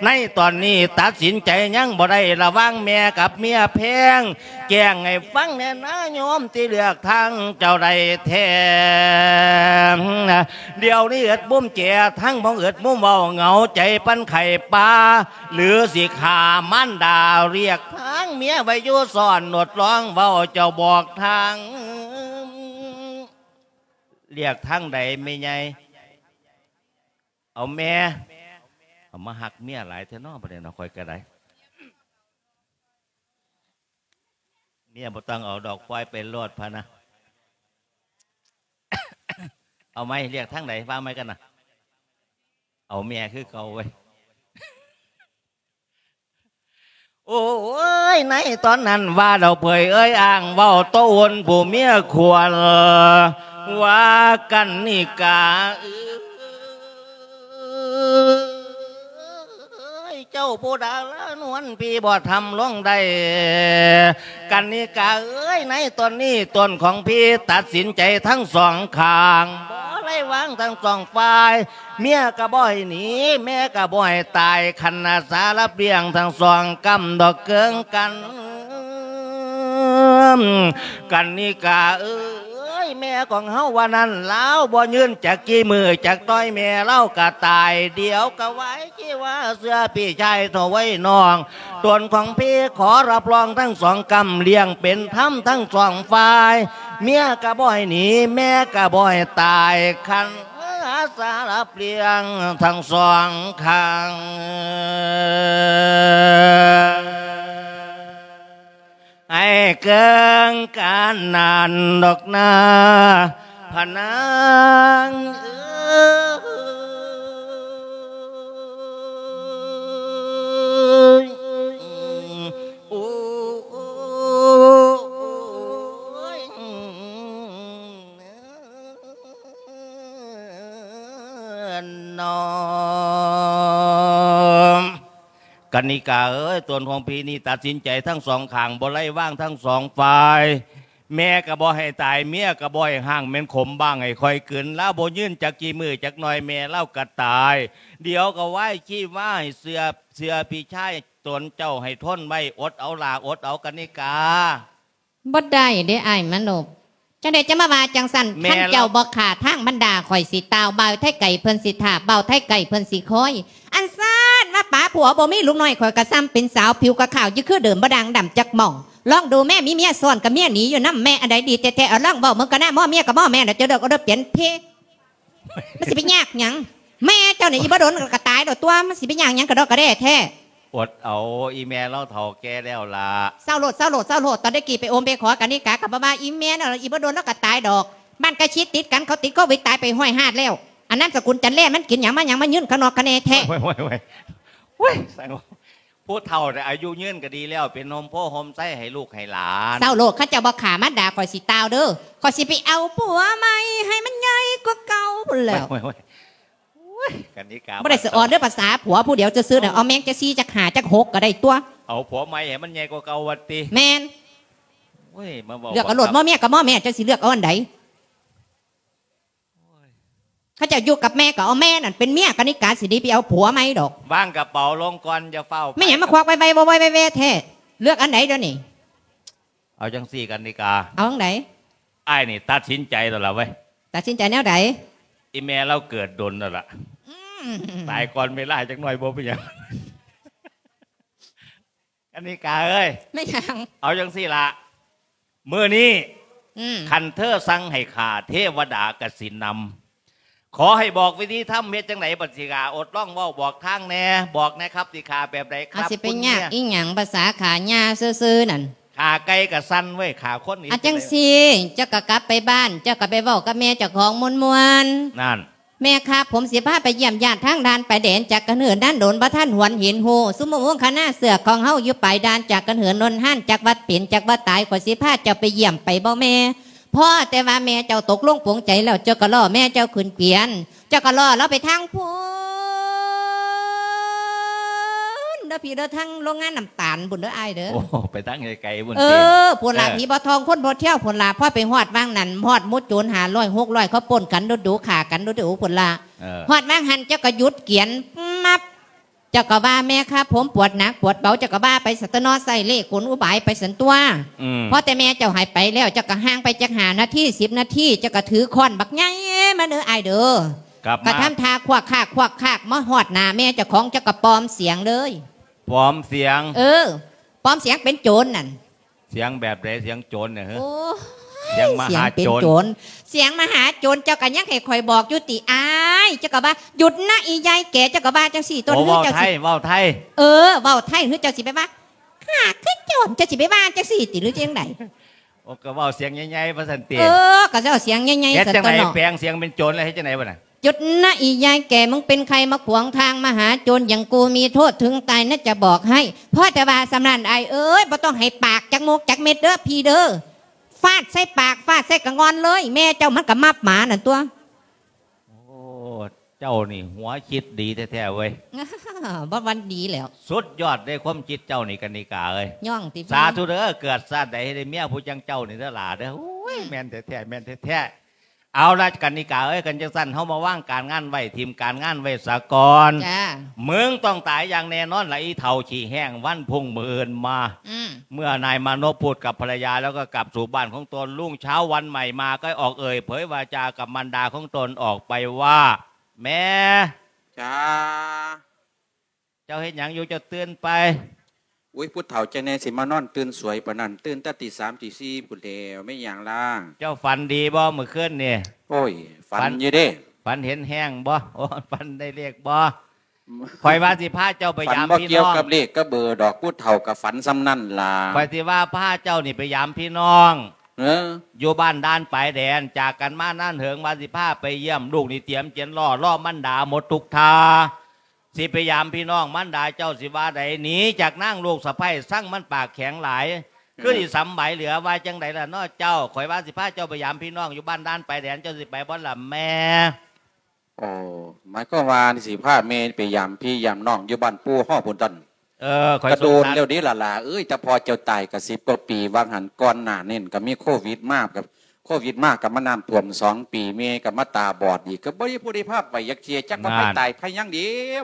ໃນຕອນນີ້ຕັດສິນໃຈຍັງບໍ່ໄດ້ ລະຫວ່າງແມ່ກັບເມຍແພງ ແຈ້ງໃຫ້ຟັງແດ່ນາໂຍມ ທີ່ເລືອກທາງເຈົ້າໃດແທ້ ດຽວນີ້ເອິດມຸມແຈ ທັງບໍ່ເອິດມຸມເວົ້າ ເຫງົາໃຈປານໄຂ້ປ່າ ຫຼືຊິຂ້າມານດາ ລຽກທາງເມຍໄວ້ຢູ່ຊ້ອນ ອົດລອງເວົ້າເຈົ້າບອກທາງ ລຽກທາງໃດແມ່ໃຫຍ່ ເອົາແມ່ ເອົາມາຮັກເມຍຫຼາຍແທ້ເນາະ ບັດນີ້ເນາະ ຂ້ອຍກະໄດ້ ເມຍບໍ່ຕ້ອງເອົາດອກ ປ່ອຍໄປໂລດພະນະ ເອົາໃໝ່ ລຽກທາງໃດ ວ່າໃໝ່ກັນນະ ເອົາແມ່ຄືເກົ່າເວີຍ ໂອ້ຍ ໃນຕອນນັ້ນວ່າດອກເຜີຍເອີຍອ້າງ ເວົ້າໂຕອຸ່ນຜູ້ເມຍຄວນ ວ່າກັນນິກາເອີຍ ເຈົ້າຜູ້ດາລານວນ ພີ່ບໍ່ທຳລົງໄດ້ ກັນນິກາເອີຍ ໃນຕອນນີ້ຕົນຂອງພີ່ຕັດສິນໃຈທັງສອງຂ້າງ ບໍ່ໄດ້ວາງທັງສອງຝ່າຍ ເມຍກະບໍ່ໃຫ້ໜີ ແມ່ກະບໍ່ໃຫ້ຕາຍ ຄັນອາສາຮັບລ້ຽງທັງສອງກຳດອກເກີງກັນ ກັນນິກາເອີຍ ແມ່ຂອງເຮົາວ່ານັ້ນ ລາວບໍ່ຍືນຈັກກີ່ມື້ຈັກໜ່ອຍ ແມ່ລາວກະຕາຍ ດຽວກະວາຍຊີວາ ເຊື່ອພີ່ຊາຍເຖົ້າໄວນ້ອງ ຕົນຂອງພີ່ຂໍຮັບຮອງທັງສອງກຳ ລ້ຽງເປັນທຳທັງສອງຝ່າຍ ເມຍກະບໍ່ໃຫ້ໜີ ແມ່ກະບໍ່ໃຫ້ຕາຍ ຄັນອາສາຮັບລ້ຽງທັງສອງຂ້າງ ໃຫ້ເກີງການນັ້ນດອກນາ ພະນາງເອີຍ ໂອ້ຍ ນ້ອງ ກັນນິກາເອີຍ ຕົນຂອງພີ່ນີ້ຕັດສິນໃຈທັງສອງຂ້າງ ບໍ່ໄດ້ວາງທັງສອງຝ່າຍ ແມ່ກະບໍ່ໃຫ້ຕາຍ ເມຍກະບໍ່ໃຫ້ຮ້າງ ແມ່ນຂົມບ້າງໃຫ້ຂ້ອຍກືນ ລາວບໍ່ຍືນຈັກກີ່ມື້ຈັກໜ່ອຍ ແມ່ລາວກະຕາຍ ດຽວກະວາຍຊີວາ ໃຫ້ເຊື່ອ ເຊື່ອພີ່ຊາຍຕົນເຈົ້າໃຫ້ທົນໄວ້ ອົດເອົາຫຼ້າ ອົດເອົາ ກັນນິກາ. ບໍ່ໄດ້ເດ້ອ້າຍມະນົບ ຈັ່ງໃດຈະມາວ່າຈັ່ງຊັ້ນ ແມ່ນລະ ຄັນເຈົ້າບໍ່ຂ້າທາງບັນດາ ຂ້ອຍຊິຕ່າວ ບ່າວໄທໄກເພິ່ນຊິຖ້າ ບ່າວໄທໄກເພິ່ນຊິຄອຍ ອັນຊາດວ່າປາຜົວບໍ່ມີລູກນ້ອຍ ຂ້ອຍກະສ່ຳເປັນສາວ ຜິວກະຂາວຢູ່ຄືເດີມ ບໍ່ດ່າງດຳຈັກໝ່ອງ ລອງດູແມ້ ມີເມຍຊ້ອນກັບເມຍໜີຢູ່ນຳແມ້ ອັນໃດດີແທ້ໆ ເອົາລອງເວົ້າເບິ່ງກະນາ ໝໍເມຍກະໝໍແມ່ ດຽວເຈົ້າເລີກເອົາເດີ ປ່ຽນເພ ມັນຊິໄປຍາກຫຍັງ ແມ່ເຈົ້ານີ້ອີ່ບໍ່ດົນກະຕາຍດອກຕົວະ ມັນຊິໄປຍາກຫຍັງກະດອກກະແດ່ແທ້. ອົດເອົາ ອີ່ແມ່ລາວເຖົ້າແກ່ແລ້ວລະ. ເຊົາໂລດ ເຊົາໂລດ ເຊົາໂລດ ຕອນແຕ່ກີ້ໄປໂອມໄປຂໍກັນນິກາກະບໍ່ວ່າອີ່ແມ່ນ ອີ່ບໍ່ດົນລາວກະຕາຍດອກ ບ້ານໃກ້ຊິດຕິດກັນ ເຂົາຕິດໂຄວິດຕາຍໄປຮ້ອຍຮາດແລ້ວ ອັນນາມສະກຸນຈັນແລ ມັນກິນຫຍັງມາຫຍັງ ມາຍືນຂະໜອກຂະແໜແທ້. ໂອ້ຍ ໂອ້ຍ ໂອ້ຍ ໂອ້ຍ ໂອ້ຍ ຜູ້ເຖົ້າແຕ່ອາຍຸຍືນກະດີແລ້ວ ເປັນຮົ່ມໂພຮົ່ມໄຊໃຫ້ລູກໃຫ້ຫຼານ. ເຊົາໂລດ ຄັນເຈົ້າບໍ່ຂ້າມາດາຂ້ອຍຊິຕ່າວເດີ ຂ້ອຍຊິໄປເອົາຜົວໃໝ່ໃຫ້ມັນໃຫຍ່ກວ່າເກົ່າພຸ້ນແລ້ວ. ໂອ້ຍ ໂອ້ຍ ໂອ້ຍ ກັນນິກາ ບໍ່ໄດ້ສະອອນເດີ ພາສາຜົວຜູ້ດຽວຊື່ໆ ເອົາແມ່ງຈັກສີ່ຈັກຫ້າຈັກຫົກກະໄດ້ຕົວະ ເອົາຜົວໃໝ່ໃຫ້ມັນໃຫຍ່ກວ່າເກົ່າວ່າຕິ. ແມ່ນ ໂອ້ຍ ມາເວົ້າ ເລືອກເອົາໂລດ ໝໍແມ່ກະໝໍແມ່ ເຈົ້າຊິເລືອກເອົາອັນໃດ? ໂອ້ຍ ເຈົ້າຢູ່ກັບແມ່ກໍເອົາແມ່ນັ້ນເປັນເມຍ ກະນິກາຊິໜີໄປເອົາຜົວໃໝ່ດອກ. ວາງກະເປົາລົງກ່ອນ ຢ່າຟ້າວໄປ. ແມ່ຫຍັງມາຄວັກໄວໆ ວອຍໆແວໆແທ້? ເລືອກອັນໃດດຽວນີ້? ເອົາຈັ່ງຊີ້ ກະນິກາ. ເອົາຈັ່ງໃດ? ອ້າຍນີ້ຕັດສິນໃຈແລ້ວລະເວີຍ. ຕັດສິນໃຈແນວໃດ? ອີ່ແມ່ລາວເກີດດົນແລ້ວລະ. ອືມ. ຕາຍກ່ອນເວລາຈັກໜ້ອຍບໍ່ເປັນຫຍັງ. ກະນິກາເອີຍ. ແມ່ນຫຍັງ? ເອົາຈັ່ງຊີ້ລະ ມື້ນີ້ ອືມ ຄັນເທີສັ່ງໃຫ້ຂ້າ ເທວະດາກະຊິນຳ. ຂໍໃຫ້ບອກວິທີທຳເຮັດຈັ່ງໃດບັດຊິຂ້າ ອົດລອງເວົ້າບອກທາງແດ່ ບອກແດ່ຄັບ ຊິຂ້າແບບໃດຄັບ ຊິໄປຍາກອີ່ຫຍັງ ພາສາຂ້າຍ່າຊື່ໆນັ້ນ. ຂ້າໄກ່ກະສັ່ນເວີຍ ຂ້າຄົນນີ້. ອາ ຈັ່ງຊີ້ ເຈົ້າກະກັບໄປບ້ານ ເຈົ້າກະໄປເວົ້າກັບແມ່ເຈົ້າຂອງມ່ວນໆ. ນັ້ນ. ແມ່ຄັບ ຜົມຊິພາໄປຢ້ຽມຍາດທາງດ່ານຊາຍແດນ ຈັກກະເນີນນານດົນ ບໍ່ທັນຫວນເຫັນຮູ້ ຊຸມໂມງຄະນະເຊືອກຂອງເຮົາຢູ່ປາຍດ່ານ ຈັກກະເນີນໂນນຮານ ຈັກວ່າເປັນ ຈັກວ່າຕາຍ ຂ້ອຍຊິພາເຈົ້າໄປຢ້ຽມໄປບໍ່ແມ່? ພໍແຕ່ວ່າແມ່ເຈົ້າຕົກລົງປົງໃຈແລ້ວ ເຈົ້າກໍລໍແມ່ເຈົ້າຂຶ້ນກວຽນ ເຈົ້າກໍລໍລາວໄປທາງພຸ້ນເດີພີ່ເດີ ທາງໂລງງານນ້ຳຕານພຸ້ນເດີອ້າຍເດີ. ໂອ້ ໄປທາງໄກໆພຸ້ນ. ເອີ ພຸ້ນລະ ເອີ ຜີບໍ່ທອງຄົນບໍ່ທຽວພຸ້ນລະ. ພໍໄປຮອດຫວ່າງນັ້ນ ຮອດໝູ່ໂຈນຫ້າຮ້ອຍຫົກຮ້ອຍ ເຂົາປົ້ນກັນດຸໆ ຂ້າກັນດຸໆພຸ້ນລະ. ເອີ ຮອດຫວ່າງຫັ້ນ ເຈົ້າກໍຢຸດກຽນ ມັບ ເຈົ້າກໍວ່າ ແມ່ຄັບ ຜົມປວດໜັກປວດເບົາ ເຈົ້າກໍວ່າໄປຊັ້ນຕົວະເນາະ ໃຊ້ເລ່ກົນອຸບາຍໄປຊັ້ນຕົວະ. ອືມ ພໍແຕ່ແມ່ເຈົ້າໃຫ້ໄປແລ້ວ ເຈົ້າກໍຫ່າງໄປຈັກຫ້ານາທີ ສິບນາທີ ເຈົ້າກໍຖືຄ້ອນບັກໃຫຍ່ມາເດີອ້າຍເດີ. ກັບມາ ກໍທຳທ່າຄວັກຄາກຄວັກຄາກ ມາຮອດໜ້າແມ່ເຈົ້າຂອງ ເຈົ້າກໍປອມສຽງເລີຍ. ປອມສຽງ? ເອີ ປອມສຽງເປັນໂຈນນັ້ນ. ສຽງແບບໃດ? ສຽງໂຈນນະເຮີ? ໂອ້ຍ ສຽງມະຫາໂຈນ ສຽງເປັນໂຈນ ສຽງມະຫາໂຈນ ເຈົ້າກໍຍັງໃຫ້ຂ້ອຍບອກຢູ່ຕິອ້າຍ? ເຈົ້າກໍວ່າ ຢຸດນະອີ່ຍາຍແກ່ ເຈົ້າກໍວ່າຈັ່ງຊີ້ຕົວະ. ໂອ້ ເວົ້າໄທ ເວົ້າໄທ. ເອີ ເວົ້າໄທ ຫຼືເຈົ້າຊິໄປວ່າ ຂ້າຄືໂຈນ ເຈົ້າຊິໄປວ່າຈັ່ງຊີ້ຕິ ຫຼືຈັ່ງໃດ? ໂອ້ ກໍເວົ້າສຽງໃຫຍ່ໆວ່າຊັ້ນຕິ. ເອີ ກໍເວົ້າສຽງໃຫຍ່ໆ ເຮັດຈັ່ງໃດ? ແປງສຽງເປັນໂຈນແລ້ວເຮັດຈັ່ງໃດບັດນະ? ຢຸດນະອີ່ຍາຍແກ່ ມຶງເປັນໃຜມາຂວາງທາງມະຫາໂຈນຢ່າງກູ ມີໂທດເຖິງຕາຍນະຈະບອກໃຫ້. ພໍແຕ່ວ່າສ່ຳນັ້ນອ້າຍເອີຍ ບໍ່ຕ້ອງໃຫ້ປາກຈັກມົກຈັກເມັດເດີພີ່ເດີ. ຟາດໃສ່ປາກ ຟາດໃສ່ກະງ່ອນເລີຍ ແມ່ເຈົ້າມັນກະມັບໝານັ້ນຕົວະ. ໂອ້ ເຈົ້ານີ້ຫົວຄິດດີແທ້ໆເວີຍ. ບໍ່ວັນດີແລ້ວ ສຸດຍອດເດ້ ຄວາມຄິດເຈົ້ານີ້ ກະນິກາເອີຍ. ຍ້ອງຕິ? ສາທຸເດີ ເກີດຊາດໃດໃຫ້ໄດ້ເມຍຜູ້ຈັ່ງເຈົ້ານີ້ເດີຫຼ້າເດີ. ໂອ້ຍ ອືມ ແມ່ນແທ້ໆ ແມ່ນແທ້ໆ. ເອົາລະ ກະນິກາເອີຍ ຄັນຈັ່ງຊັ້ນ ເຮົາມາວາງການງານໄວ້ ຖິ້ມການງານໄວ້ສາກ່ອນ. ຈ້າ. ມຶງຕ້ອງຕາຍຢ່າງແນ່ນອນລະ ອີເຖົ້າຂີ້ແຫ້ງ. ວັນພຸ່ງມື້ອື່ນມາ ອືມ ເມື່ອນາຍມານົບພູດກັບພັນລະຍາແລ້ວ ກໍກັບສູ່ບ້ານຂອງຕົນ. ລຸງເຊົ້າວັນໃໝ່ມາ ກໍອອກເອີ່ຍເຜີຍວາຈາກັບມານດາຂອງຕົນອອກໄປວ່າ ແມ່. ຈ້າ. ເຈົ້າເຮັດຫຍັງຢູ່? ເຈົ້າຕື່ນໄປ? ໂອ້ຍ ຜູ້ເຖົ້າຈັ່ງໃດຊິມານອນຕື່ນສວຍປານນັ້ນ ຕື່ນແຕ່ຕີສາມຕີສີ່ພຸ້ນແລ້ວ. ແມ່ນຫຍັງລະ? ເຈົ້າຝັນດີບໍ່ມື້ຄືນນີ້? ໂອ້ຍ ຝັນ ຝັນຢູ່ເດ້. ຝັນເຫັນແຮງບໍ່? ໂອ້ ຝັນໄດ້ເລກບໍ່? ຂ້ອຍວ່າຊິພາເຈົ້າໄປຢາມພີ່ນ້ອງ. ຝັນບໍ່ກ່ຽວກັບເລກກັບເບີດອກ ຜູ້ເຖົ້າກໍຝັນສ່ຳນັ້ນລະ. ຂ້ອຍຊິວ່າພາເຈົ້ານີ້ໄປຢາມພີ່ນ້ອງ ເອີ ຢູ່ບ້ານດ່ານຊາຍແດນ ຈາກກັນມານານເຫິງ ວ່າຊິພາໄປຢ້ຽມ. ລູກນີ້ຕຽມກຽນລໍ ລໍມັນດາໝົດທຸກທ່າ. ຊິໄປຢາມພີ່ນ້ອງ ມັນດາເຈົ້າຊິວ່າໃດ? ໜີຈາກນາງລູກສະໃພ້ ຊັງມັນປາກແຂງຫຼາຍ. ເອີ ຄືຊິສຳໄບເຫຼືອ. ວ່າຈັ່ງໃດລະເນາະເຈົ້າ? ຂ້ອຍວ່າຊິພາເຈົ້າໄປຢາມພີ່ນ້ອງຢູ່ບ້ານດ່ານຊາຍແດນ ເຈົ້າຊິໄປບໍ່ລະແມ່? ໂອ້ ໝາຍຄວາມວ່າຊິພາແມ່ໄປຢາມພີ່ຢາມນ້ອງຢູ່ບ້ານປູ່ເຮົາພຸ້ນຕົວະ. ເອີ ຂ້ອຍ ກະໂດນແລ້ວເດ້ຫຼ້າເອີຍ ແຕ່ພໍ່ເຈົ້າຕາຍກະສິບກວ່າປີ. ວ່າງຫັ້ນກ່ອນໜ້ານັ້ນກະມີໂຄວິດມາ ກະໂຄວິດມາກະມານ້ຳຖ້ວມສອງປີ ແມ່ກະມາຕາບອດອີກ ກະບໍ່ມີຜູ້ໃດພາໄປຈັກເທື່ອ. ຈັກວ່າ ນັ້ນ ໃຜຕາຍໃຜຍັງເດ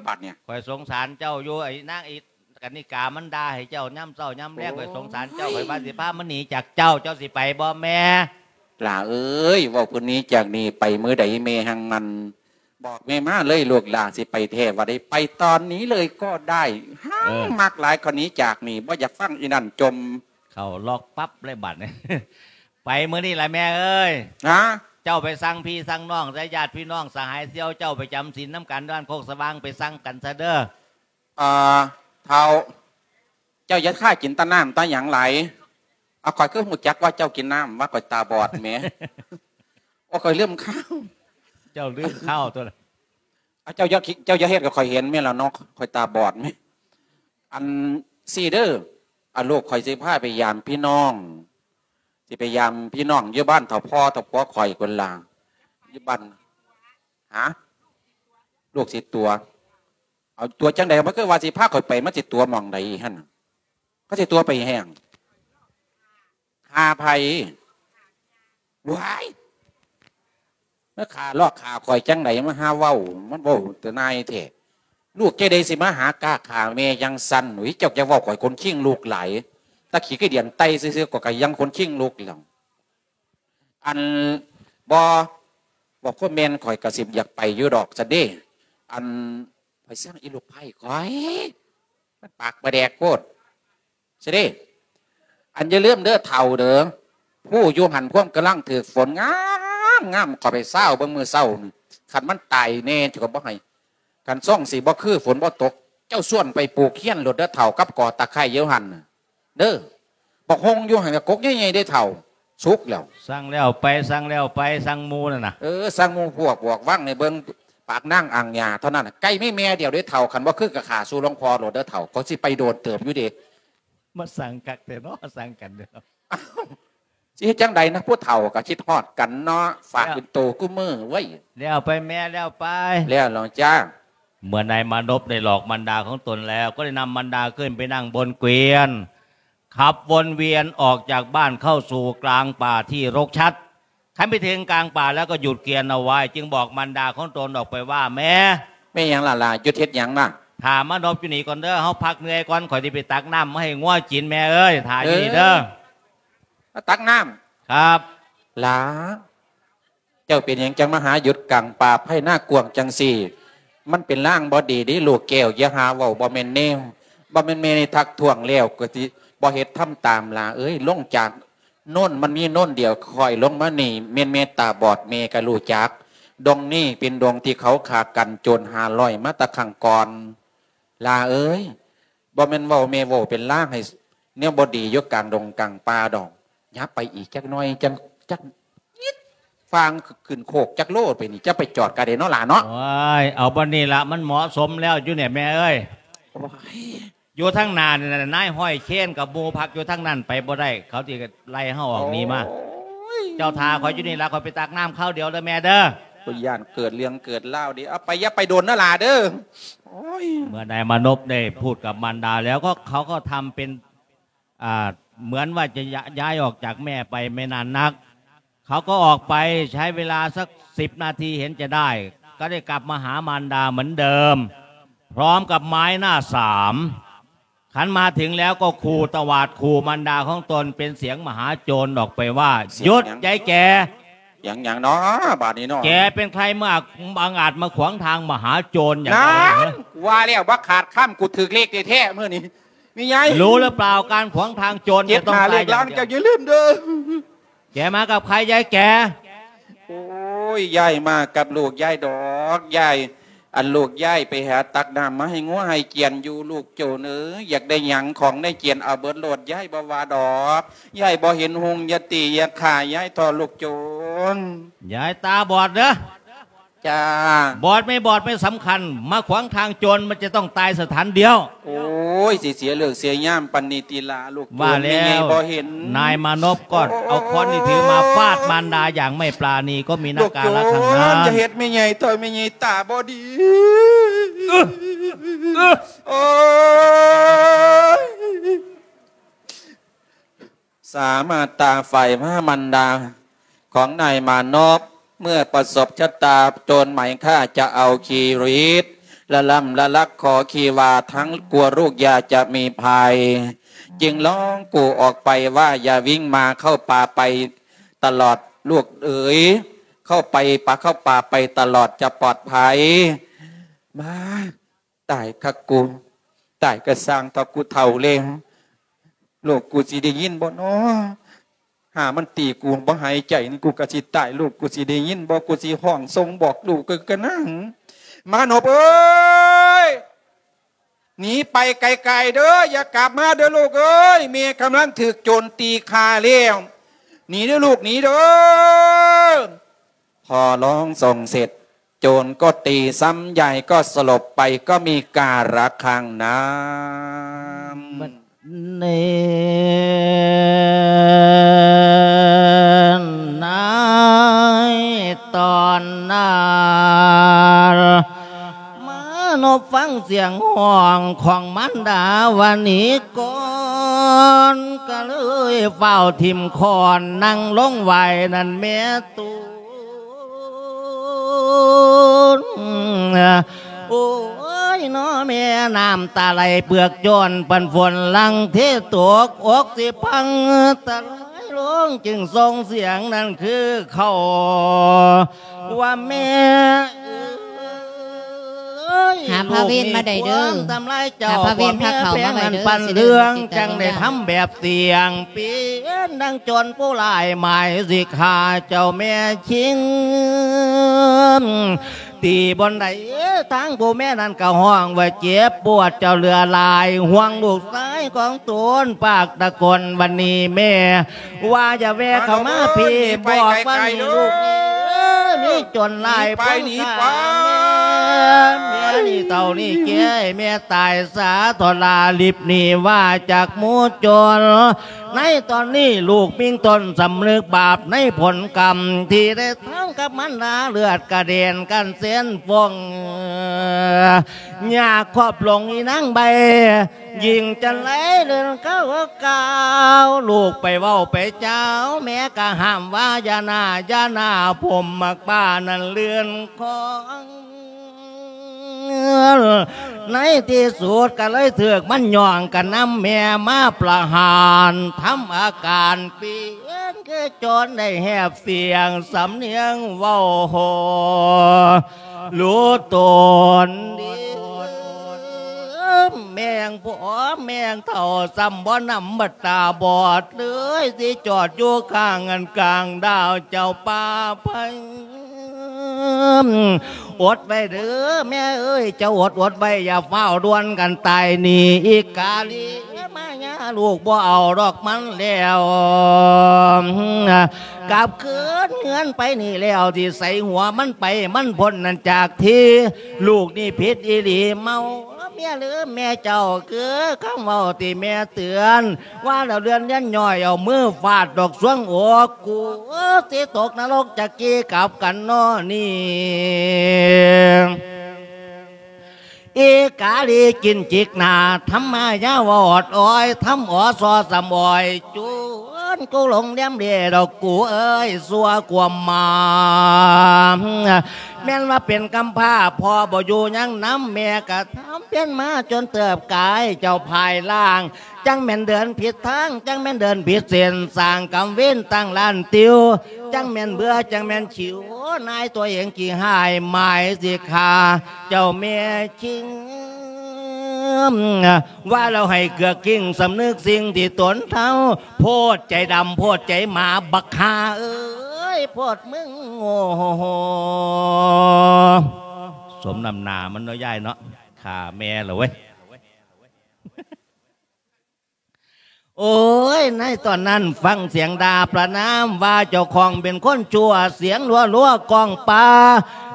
ບາດນີ້. ຂ້ອຍສົງສານເຈົ້າຢູ່ ໄອ້ນາງ ໄອ້ກະນິກາ ມັນດ່າໃຫ້ເຈົ້າຍາມເຊົ້າຍາມແລງ. ໂອ້ຍ ຂ້ອຍສົງສານເຈົ້າ ຂ້ອຍວ່າຊິພາມັນໜີຈາກເຈົ້າ. ເຈົ້າຊິໄປບໍ່ແມ່? ຫຼ້າເອີຍ ເວົ້າເພິ່ນໜີຈາກນີ້ໄປມື້ໃດແມ່ຮັ່ງມັນບອກແມ່ມາເລີຍ ລູກຫຼ້າຊິໄປແທ້ວ່າໄດ້ ໄປຕອນນີ້ເລີຍກໍໄດ້. ເອີ ຮັກມັກຫຼາຍ ຂ້ອຍໜີຈາກນີ້ ບໍ່ຢາກຟັງອີ່ນັ້ນຈົ່ມ. ເຂົ້າລັອກປັບເລີຍບາດນີ້. ໄປມື້ນີ້ລະແມ່ເອີຍ. ຮະ? ເຈົ້າໄປສັ່ງພີ່ສັ່ງນ້ອງຊະ ຍາດພີ່ນ້ອງສະຫາຍສ່ຽວເຈົ້າໄປຈຳສິນນຳກັນ ບ້ານໂຄກສະຫວ່າງ ໄປສັ່ງກັນຊະເດີ. ເອີ ເຖົ້າ ເຈົ້າຢ່າຄາກິນແຕ່ນ້ຳແຕ່ຫຍັງຫຼາຍ. ເອົາ ຂ້ອຍຄືຮູ້ຈັກວ່າເຈົ້າກິນນ້ຳ ວ່າຂ້ອຍຕາບອດແໝ. ໂອ້ ຂ້ອຍລືມຂ່າວ. ເຈົ້າລືມຂ່າວຕົວະ. ເອົາ ເຈົ້າຢ່າ ເຈົ້າຢ່າເຮັດກັບຂ້ອຍເຫັນແມ່ນລະເນາະ ຂ້ອຍຕາບອດແໝ. ອັນຊີ້ເດີ ອາ ລູກຂ້ອຍຊິພາໄປຢາມພີ່ນ້ອງ ຊິໄປຢາມພີ່ນ້ອງຢູ່ບ້ານເຖົ້າພໍ່ເຖົ້າຜົວຂ້ອຍພຸ້ນລະ ຢູ່ບ້ານ. ຫາ? ລູກຊິຕົວະ? ເອົາ ຕົວະຈັ່ງໃດ? ມັນຄືວ່າຊິພາຂ້ອຍໄປ ມັນຊິຕົວະໝ່ອງໃດຫັ້ນ? ເຂົາຊິຕົວະໄປແຮງ ຫາໃຜ? ວ້າຍ ມັ ຂ້າລອກຂ້າຂ້ອຍຈັ່ງໃດ ມາຫາເວົ້າ ມັນເວົ້າແຕ່ນາຍແທ້. ລູກຈັ່ງໃດຊິມາຫາກ້າຂ້າແມ່ຈັ່ງຊັ້ນ? ອຸ້ຍ ເຈົ້າຢ່າເວົ້າ ຂ້ອຍຂົນຄີງລຸກຫຼາຍ. ຕາຂີ້ໄກ່ເດືອນໄຕ່ຊື່ໆ ຂ້ອຍກໍຍັງຂົນຄີງລຸກແລ້ວ. ອັນ ບໍ່ ເວົ້າຄວາມແມ່ນ ຂ້ອຍກໍຊິຢາກໄປຢູ່ດອກຊັ້ນເດ້. ອັນ ຂ້ອຍຊັງອີລູກໃພ້ຂ້ອຍ ມັນປາກບໍ່ແດກໂພດ. ຊິເດ້ ອັນຢ່າລືມເດີເຖົ້າເດີ ຜູ້ຢູ່ຫັ້ນພວມກຳລັງຖືກຝົນງາມໆ ເຂົ້າໄປຊາວເບິ່ງມື້ເຊົ້ານີ້ ຄັນມັນຕາຍແນ່ເຈົ້າກໍບໍ່ໃຫ້. ຄັນຊ່ອງຊິບໍ່ຄືຝົນບໍ່ຕົກ ເຈົ້າຊວນໄປປູກຮຽນໂລດເດີເຖົ້າ ກັບກໍຕະໄຄຢູ່ຫັ້ນນະເດີ. ບັກຫົ່ງຢູ່ຫັ້ນກໍກົກໃຫຍ່ໆເດ້ເຖົ້າ ສຸກແລ້ວ. ສັ່ງແລ້ວໄປ ສັ່ງແລ້ວໄປ ສັ່ງໝູ່ນັ້ນນະ. ເອີ ສັ່ງໝູ່ພວກບອກວັງໃຫ້ເບິ່ງ ປາກນາງອ່າງຫຍ້າເທົ່ານັ້ນນະ. ໄກ່ມີແມ່ດຽວເດ້ເຖົ້າ ຄັນບໍ່ຄືກໍຂ້າສູ່ຫຼວງພໍ່ໂລດເດີເຖົ້າ ເຂົາຊິໄປໂດນເຕີບຢູ່ເດ. ມາສັ່ງຄັກແທ້ເນາະ ສັ່ງກັນເນາະ. ອ້າວ ຊິເຮັດຈັ່ງໃດນະ ຜູ້ເຖົ້າກໍຄິດຮອດກັນເນາະ ຝາກເປັນໂຕຄູ່ມື້ເວີ້ຍ. ແລ້ວໄປແມ່ ແລ້ວໄປ ແລ້ວລອງຈ້າ. ເມື່ອນາຍມານົບໄດ້ຫຼອກມານດາຂອງຕົນແລ້ວ ກໍໄດ້ນຳມານດາຂຶ້ນໄປນັ່ງບົນເກວຽນ ຂັບວົນວຽນອອກຈາກບ້ານເຂົ້າສູ່ກາງປ່າທີ່ລົກຊັດ. ຄັນໄປເຖິງກາງປ່າແລ້ວກໍຢຸດເກວຽນເອົາໄວ້ ຈຶ່ງບອກມານດາຂອງຕົນອອກໄປວ່າ ແມ່ ແມ່ຫຍັງລະຫຼານ ຢຸດເຮັດຫຍັງນະ? ຖ້າມານົບຢູ່ນີ້ກ່ອນເດີ ເຮົາພັກເມື່ອຍກ່ອນ ຂ້ອຍຊິໄປຕັກນ້ຳມາໃຫ້ງົວກິນ ແມ່ເອີຍ ຖ້າຢູ່ນີ້ເດີ. ເອີ ມາຕັກນ້ຳ? ຄັບ. ຫຼາ ເຈົ້າເປັນຫຍັງຈັ່ງມາຫາຢຸດກາງປ່າໄພນາກວ້າງຈັ່ງຊີ້? ມັນເປັນລາງບໍ່ດີເດ້ລູກແກ້ວ ຢ່າຫາເວົ້າ ບໍ່ແມ່ນແນວ ບໍ່ແມ່ນແມ່ໄດ້ທັກທ້ວງແລ້ວກໍຊິບໍ່ເຮັດທຳຕາມ. ຫຼາເອີຍ ລົງຈາກໂນນ ມັນມີໂນນດຽວ ຂ້ອຍລົງມານີ້ແມ່ນແມ່ຕາບອດ ແມ່ກໍຮູ້ຈັກ ດົງນີ້ເປັນດົງທີ່ເຂົາຂ້າກັນໂຈນຫ້າຮ້ອຍມາແຕ່ຄັ້ງກ່ອນ. ຫຼາເອີຍ ບໍ່ແມ່ນເວົ້າແມ່ເວົ້າເປັນລາງໃຫ້ແນວບໍ່ດີຢູ່ກາງດົງກາງປ່າດອກ. ຫຍັບໄປອີກຈັກໜ້ອຍ ຈັ່ງ ຈັກນິດ ຟາງຂຶ້ນໂຄກຈັກໂລໄປນີ້ ຈະໄປຈອດກະໄດເນາະຫຼາເນາະ. ໂອ້ຍ ເອົາບ່ອນນີ້ລະ ມັນເໝາະສົມແລ້ວຢູ່ນີ້ແມ່ເອີຍ. ໂອ້ຍ ຢູ່ທາງໜ້ານີ້ນະ ນາຍຮ້ອຍເຄນກັບໝູ່ພັກຢູ່ທາງນັ້ນ ໄປບໍ່ໄດ້ ເຂົາຊິໄລ່ເຮົາອອກໜີມາ. ໂອ້ຍ ເຈົ້າຖ້າຂ້ອຍຢູ່ນີ້ລະ ຂ້ອຍໄປຕັກນ້ຳຄາວດຽວເດີແມ່ເດີ. ຂ້ອຍຢ້ານເກີດເລື່ອງເກີດລາວເດ້. ເອົາໄປ ຢ່າໄປດົນນະຫຼາເດີ. ໂອ້ຍ ເມື່ອນາຍມານົບໄດ້ພູດກັບມານດາແລ້ວ ກໍເຂົາກໍທຳເປັນ ອ່າ ເໝືອນວ່າຈະ ຍ້າ- ຍ້າຍອອກຈາກແມ່ໄປໄມ່ນານນັກ ເຂົາກໍອອກໄປ ໃຊ້ເວລາສັກສິບນາທີເຫັນຈະໄດ້ ກໍໄດ້ກັບມາຫາມານດາເໝືອນເດີມ ພ້ອມກັບໄມ້ໜ້າສາມ. ຄັນມາເຖິງແລ້ວກໍຂູ່ຕະຫວາດຂູ່ມານດາຂອງຕົນເປັນສຽງມະຫາໂຈນອອກໄປວ່າ ສຽງຫຍັງ? ຢຸດ ຍາຍແກ່. ຫຍັງ ຫຍັງເນາະບາດນີ້ເນາະ? ແກເປັນໃຜມາ ບັງອາດມາຂວາງທາງມະຫາໂຈນຫຍັງ? ນັ້ນ ເຮົາ ວ່າແລ້ວ ບໍ່ຂາດຄຳ ກູຖືກເລກແທ້ໆມື້ນີ້. ມີຫຍັງ? ຮູ້ຫຼືເປົ່າ ການຂວາງທາງໂຈນຈະຕ້ອງຕາຍຢ່າງດຽວ. ເຈັດຫ້າເລກລາງ ເຈົ້າຢ່າລືມເດີ. ແກມາກັບໃຜ ຍາຍແກ່? ໂອ້ຍ ຍາຍມາກັບລູກຍາຍດອກ ຍາຍ. ອັນລູກຍາຍໄປຫາຕັກນ້ຳມາໃຫ້ງົວໃຫ້ກຽນຢູ່ ລູກໂຈນເອີຍ ຢາກໄດ້ຫຍັງຂອງໃນກຽນເອົາເບິດໂລດ ຍາຍບໍ່ວ່າດອກ. ຍາຍບໍ່ເຫັນຮຸ່ງ ຢ່າຕີຢ່າຂ້າຍາຍທໍ້ ລູກໂຈນ. ຍາຍຕາບອດເດີ. ຈ້າ. ບອດໄມ່ບອດໄມ່ສຳຄັນ ມາຂວາງທາງໂຈນ ມັນຈະຕ້ອງຕາຍສະຖານດຽວ. ໂອ້ຍ ຊິເສຍເລີກເສຍຍາມປານນີ້ຕິລະ ລູກໂຈນ. ວ່າແລ້ວ ແມ່ໃຫຍ່ບໍ່ເຫັນ ນາຍມານົບກໍ ໂອ້ຍ ເອົາຄ້ອນທີ່ຖືມາຟາດມານດາຢ່າງໄມ່ປານີ ກໍມີນາກາລະທັງນັ້ນ. ລູກໂຈນ ຢ່າເຮັດແມ່ໃຫຍ່ ຕໍ່ແມ່ໃຫຍ່ຕາບໍ່ດີ. ເອີ ເອີ ໂອ້ຍ. ສາມາດຕາຝ່າຍພະມານດາຂອງນາຍມານົບ ເມື່ອປະສົບຊະຕາໂຈນໝາຍຂ້າຈະເອົາຊີວິດ ລະລ່ຳລະລັກຂໍຂີ້ວ່າທັງກົວລູກຢ່າຈະມີໄພ ຈຶ່ງຮ້ອງກູ່ອອກໄປວ່າ ຢ່າວິ່ງມາເຂົ້າປ່າໄປຕະຫຼອດລູກເອີຍ ເຂົ້າໄປປ່າ ເຂົ້າປ່າໄປຕະຫຼອດຈະປອດໄພ. ມາ ຕາຍຄັກກູ ຕາຍກະຊ່າງເຖາະ ກູເຖົ້າແລ້ວ ລູກກູຊິໄດ້ຍິນບໍ່ນໍ? ຫາມັນຕີກູບໍ່ຫາຍໃຈນີ້ ກູກະຊິຕາຍ ລູກກູຊິໄດ້ຍິນບໍ່? ກູຊິຮ້ອງສົ່ງບອກລູກກະນາງ. ມານົບເອີຍ ໜີໄປໄກໆເດີ ຢ່າກັບມາເດີລູກເອີຍ ແມ່ກຳລັງຖືກໂຈນຕີຂ້າແລ້ວ ໜີເດີລູກ ໜີເດີ. ພໍຮ້ອງສົ່ງເສັດ ໂຈນກໍຕີຊ້ຳ ຍາຍກໍສະຫຼົບໄປ ກໍມີກາລະຄັ້ງນັ້ນ. ບັດນີ້ ໃນຕອນນັ້ນ ມານົບຟັງສຽງຮ້ອງຂອງມານດາວ່າໜີກ່ອນ ກໍເລີຍຟ້າວຖິ້ມຄ້ອນນັ່ງລົງໄຫວ້ນັ້ນແມ່ຕູ. ໂອ້ຍ ນ້ອແມ່ ນ້ຳຕາໄຫຼເປືອກໂຈນ ປັນຝົນຫຼັ່ງເທຕົກ ອົກຊິພັງ ຕາໄຫຼລົງ ຈຶ່ງສົ່ງສຽງນັ້ນຄືເຂົາ ວ່າແມ່ເອີຍ ຫາພະເວນມາໄດ້ເດີ ລູກນີ້ຄວນທຳລາຍເຈົ້າ ຫາພະເວນພາເຂົ້າມາໄວ້ເດີ ພໍ່ແມ່ແພງນັ້ນປັນເລື່ອງ ຊິໄດ້ລົງຕິດຕາມ ຈັ່ງໄດ້ທຳແບບ ສຽງເປັນດັ່ງໂຈນຜູ້ຮ້າຍໝາຍຊິຂ້າເຈົ້າແມ່ຊິງ ຕີບ່ອນໃດ ທາງຜູ້ແມ່ນັ້ນກໍຮ້ອງວ່າເຈັບປວດເຈົ້າເຫຼືອຫຼາຍ ຫ່ວງລູກຊາຍຂອງຕົນປາກຕະໂກນ ບັດນີ້ແມ່ວ່າຢ່າແວ່ເຂົ້າມາພີ້ ບອກວ່ານີ້ລູກນີ້ເອີຍ ມີໂຈນຫຼາຍ ໜີໄປ ໜີໄປ ແມ່ນີ້ເຖົ້ານີ້ແກ່ ແມ່ຕາຍສາທໍລາ ລິບໜີວ່າຈາກໝູ່ໂຈນ ໃນຕອນນີ້ລູກມີຕົ້ນສຳນຶກບາບໃນຜົນກຳທີ່ໄດ້ທຳກັບມັນດາ ເລືອດກະເດັນກັນເສັ້ນຟອງ ຍາຄອບຫຼົງອີນາງໃບ ຍິງຈັນໄລເລື່ອນເກົ້າກ້າວ ລູກໄປເວົ້າໄປເຈົ້າ ແມ່ກະຫ້າມວ່າຢ່າໜ້າ ຢ່າໜ້າ ຜົມໝາກປ້ານັ້ນເລື່ອນຄອງ ໃນທີ່ສຸດກໍເລີຍຖືກມັນຍ້ອງກັນນຳແມ່ມາປະຫານ ທຳອາການປ່ຽນຄືໂຈນໄດ້ແຫບສຽງສຳນຽງເວົ້າໂຫ ຮູ້ຕົນດີ ແມ່ງພໍ່ແມ່ງເຖົ້າ ຊ້ຳບໍ່ນຳບັດຕາບອດເລີຍ ຊິຈອດຢູ່ຂ້າງອັນກາງດາວເຈົ້າປ່າໄພ ອົດໄວ້ເດີແມ່ເອີຍ ເຈົ້າອົດ ອົດໄວ້ ຢ່າຟ້າວດ່ວນກັນຕາຍໜີ ອີກາລີມາຍາ ລູກບໍ່ເອົາດອກມັນແລ້ວ ກັບຄືນເຮືອນໄປນີ້ແລ້ວ ຊິໃສຫົວມັນໄປ ມັນພົ້ນນັ້ນຈາກທີ່ ລູກນີ້ຜິດອີ່ຫຼີ ເມົາເມຍລືມແມ່ເຈົ້າ ຄືຄຳເວົ້າທີ່ແມ່ເຕືອນ ວ່າແລ້ວເລື່ອນຢ້ອນຍ້ອຍ ເອົາມືຟາດດອກຊວງອົກ ກູຊິຕົກນະລົກຈັກກີກັບກັນນໍນີ້ ອີກາລີກິນຈິກໜ້າ ທຳມາຍາວອດອອຍ ທຳອໍຊໍສຳອອຍ ຈົນກູຫຼົງແລມເລດອກກູເອີຍ ຊົ່ວຄວາມມາ ແມ່ນວ່າເປັນກຳພ້າ ພໍ່ບໍ່ຢູ່ຍັງນຳ ແມ່ກະທຳພຽນມາຈົນເຕີບກາຍ ເຈົ້າພາຍລ່າງ ຈັ່ງແມ່ນເດີນຜິດທາງ ຈັ່ງແມ່ນເດີນຜິດເສັ້ນ ສ້າງກຳເວນຕັ້ງລ້ານຕິວ ຈັ່ງແມ່ນເບື່ອ ຈັ່ງແມ່ນຂິວ ນາຍຕົວເອງຂີ້ຮ້າຍ ໝາຍຊິຂ້າເຈົ້າແມ່ຊິງ ວ່າແລ້ວໃຫ້ເກືອກກິ້ງ ສຳນຶກສິ່ງທີ່ຕົນເທົ້າ ໂພດໃຈດຳ ໂພດໃຈໝາ ບັກຫ່າເອີຍ ໂພດມຶງ ໂອ້ໂຫ ສົມນ້ຳໜ້າມັນເນາະ ຍາຍເນາະ ຂ້າແມ່ລະເວີຍ. ໂອ້ຍ ໃນຕອນນັ້ນຟັງສຽງດ່າປະນາມວ່າເຈົ້າຂອງເປັນຄົນຊົ່ວ ສຽງລົວໆກ້ອງປ່າ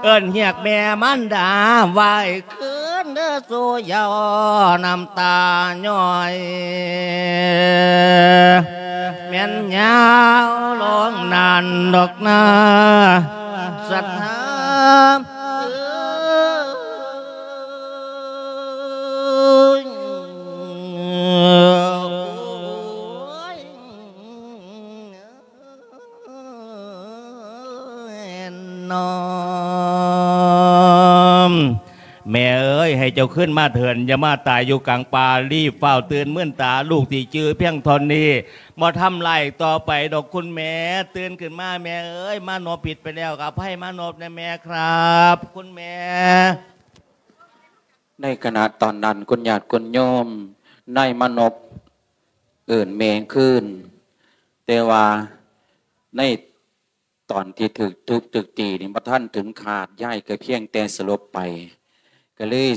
ເອີ້ນຮຽກແມ່ມານດາ ໄຫວ້ຄືນເດີສູ່ເຍົາ ນ້ຳຕາຍ້ອຍ ແມ່ນຍາວລົງນັ້ນດອກນາ ສັດທາ ເອີຍ ໂອ້ຍ ນ້ອມ ແມ່ເອີຍ ໃຫ້ເຈົ້າຄືນມາເຖີ້ນ ຢ່າມາຕາຍຢູ່ກາງປ່າ ລີບຟ້າວຕື່ນ ມື່ນຕາ ລູກຊິຈື່ພຽງເທົ່ານີ້ ບໍ່ທຳລາຍຕໍ່ໄປດອກຄຸນແມ່ ຕື່ນຂຶ້ນມາແມ່ເອີຍ ມານົບຜິດໄປແລ້ວ ອະໄພມານົບແດ່ແມ່ຄັບ ຄຸນແມ່. ໃນຂະນະຕອນນັ້ນ ຄຸນຍາດຄຸນໂຍມ ນາຍມານົບເອີ້ນແມ່ຄືນ ແຕ່ວ່າໃນຕອນທີ່ຖືກທຸບຖືກຕີນີ້ ບໍ່ທັນເຖິງຂາດ ຍາຍກໍພຽງແຕ່ສະຫຼົບໄປ ກໍເລີຍ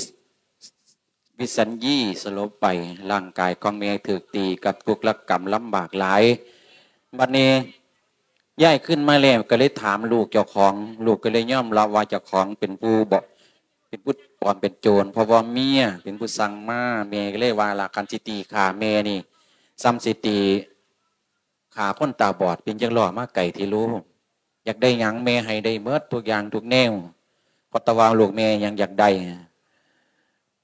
ວິສັນຢີສະຫຼົບໄປ ຮ່າງກາຍຂອງແມ່ຖືກຕີກັບທຸກລະກຳລຳບາກຫຼາຍ. ບັດນີ້ຍາຍຄືນມາແລ້ວ ກໍເລີຍຖາມລູກເຈົ້າຂອງ ລູກກໍເລີຍຍອມຮັບວ່າເຈົ້າຂອງເປັນຜູ້ບໍ ເປັນຜູ້ປອມເປັນໂຈນ ເພາະວ່າເມຍເປັນຜູ້ສັ່ງມາ. ແມ່ກໍເລີຍວ່າ ລະ ຄັນຊິຕີຂ້າແມ່ນີ້ ສ່ຳຊິຕີ ຂ້າຄົນຕາບອດ ເປັນຈັ່ງລໍມາໄກແທ້ລູກ ຢາກໄດ້ຫຍັງແມ່ໃຫ້ໄດ້ໝົດທຸກຢ່າງທຸກແນວ ເພາະແຕ່ວ່າລູກແມ່ຍັງຢາກໄດ້.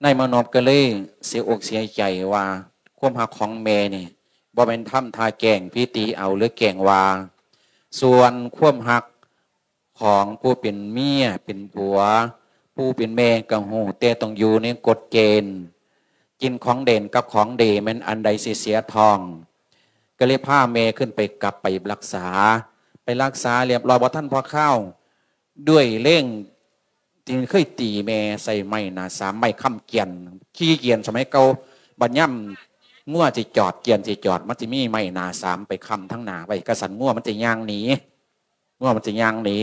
ນາຍມານົບກໍເລີຍເສຍອົກເສຍໃຈວ່າ ຄວາມຮັກຂອງແມ່ນີ້ ບໍ່ແມ່ນທຳທ່າແກ້ງພີຕີເອົາ ຫຼື ແກ້ງວ່າ ສ່ວນຄວາມຮັກ ຂອງຜູ້ເປັນເມຍເປັນຜົວ, ຜູ້ເປັນແມ່ກໍຮູ້, ແຕ່ຕ້ອງຢູ່ໃນກົດເກນ. ກິນຂອງເດັ່ນກັບຂອງເດແມ່ນອັນໃດຊິເສຍທ້ອງ. ກໍເລີຍພາແມ່ຂຶ້ນໄປ, ກັບໄປຮັກສາ. ໄປຮັກສາລຽບຮ້ອຍ, ບໍ່ທັນພໍຄາວ, ດ້ວຍແຮງທີ່ເຄີຍຕີແມ່ໃສ່ໄມ້ໜ້າສາມ, ໄມ້ຄ້ຳກຽນ, ຂີ່ກຽນສະໄໝເກົ່າ. ບັດຍາມງົວຊິຈອດ, ກຽນຊິຈອດ, ມັນຊິມີໄມ້ໜ້າສາມໄປຄ້ຳທາງໜ້າໄວ້, ກະຊັ້ນງົວມັນຊິຍ່າງໜີ. ງົວມັນຊິຍ່າງໜີ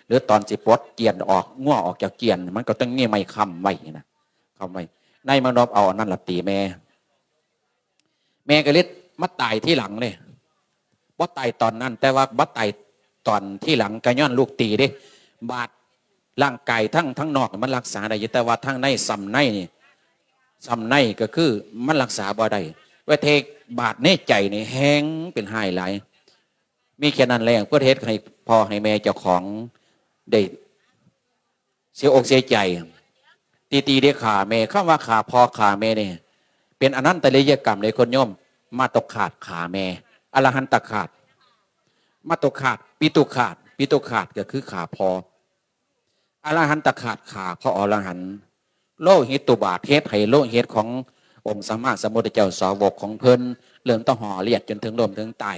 ຫຼືຕອນຊິປົດກຽນອອກ, ງົວອອກຈາກກຽນ, ມັນກໍຕ້ອງມີໄມ້ຄ້ຳໄວ້ນະ, ຄ້ຳໄວ້. ນາຍມານົບເອົາອັນນັ້ນລະຕີແມ່. ແມ່ກໍເລີຍມາຕາຍທີຫຼັງເດ້. ບໍ່ຕາຍຕອນນັ້ນ, ແຕ່ວ່າມາຕາຍຕອນທີຫຼັງ ກໍຍ້ອນລູກຕີເດ້. ບາດຮ່າງກາຍທັງ, ທັງນອກມັນຮັກສາໄດ້ຢູ່, ແຕ່ວ່າທາງໃນ, ຊ່ຳໃນນີ້, ຊ່ຳໃນກໍຄືມັນຮັກສາບໍ່ໄດ້. ວ່າແຕ່ບາດໃນໃຈນີ້ແຮງເປັນຮ້າຍຫຼາຍ. ມີແຄ່ນັ້ນແຫຼະ ເພື່ອເຮັດໃຫ້ພໍ່ໃຫ້ແມ່ເຈົ້າຂອງໄດ້ເສຍອົກເສຍໃຈ, ຕີຕີໄດ້ຂ້າແມ່. ຄຳວ່າຂ້າພໍ່ຂ້າແມ່ນີ້ ເປັນອະນັນຕະລິຍະກຳເດ້ ໂຍມ. ມະຕຸຄາດຂ້າແມ່, ອະລະຫັນຕະຄາດ, ມະຕຸຄາດ, ປິຕຸຄາດ, ປິຕຸຄາດກໍຄືຂ້າພໍ່, ອະລະຫັນຕະຄາດຂ້າພະອໍລະຫັນ, ໂລຫິຕຸບາດ ເຮັດໃຫ້ໂລຫິດຂອງອົງສຳມາສຳພຸດທະເຈົ້າ ສາວົກຂອງເພິ່ນເລີ່ມແຕ່ຫໍ່ລຽດຈົນເຖິງລົ້ມເຖິງຕາຍ.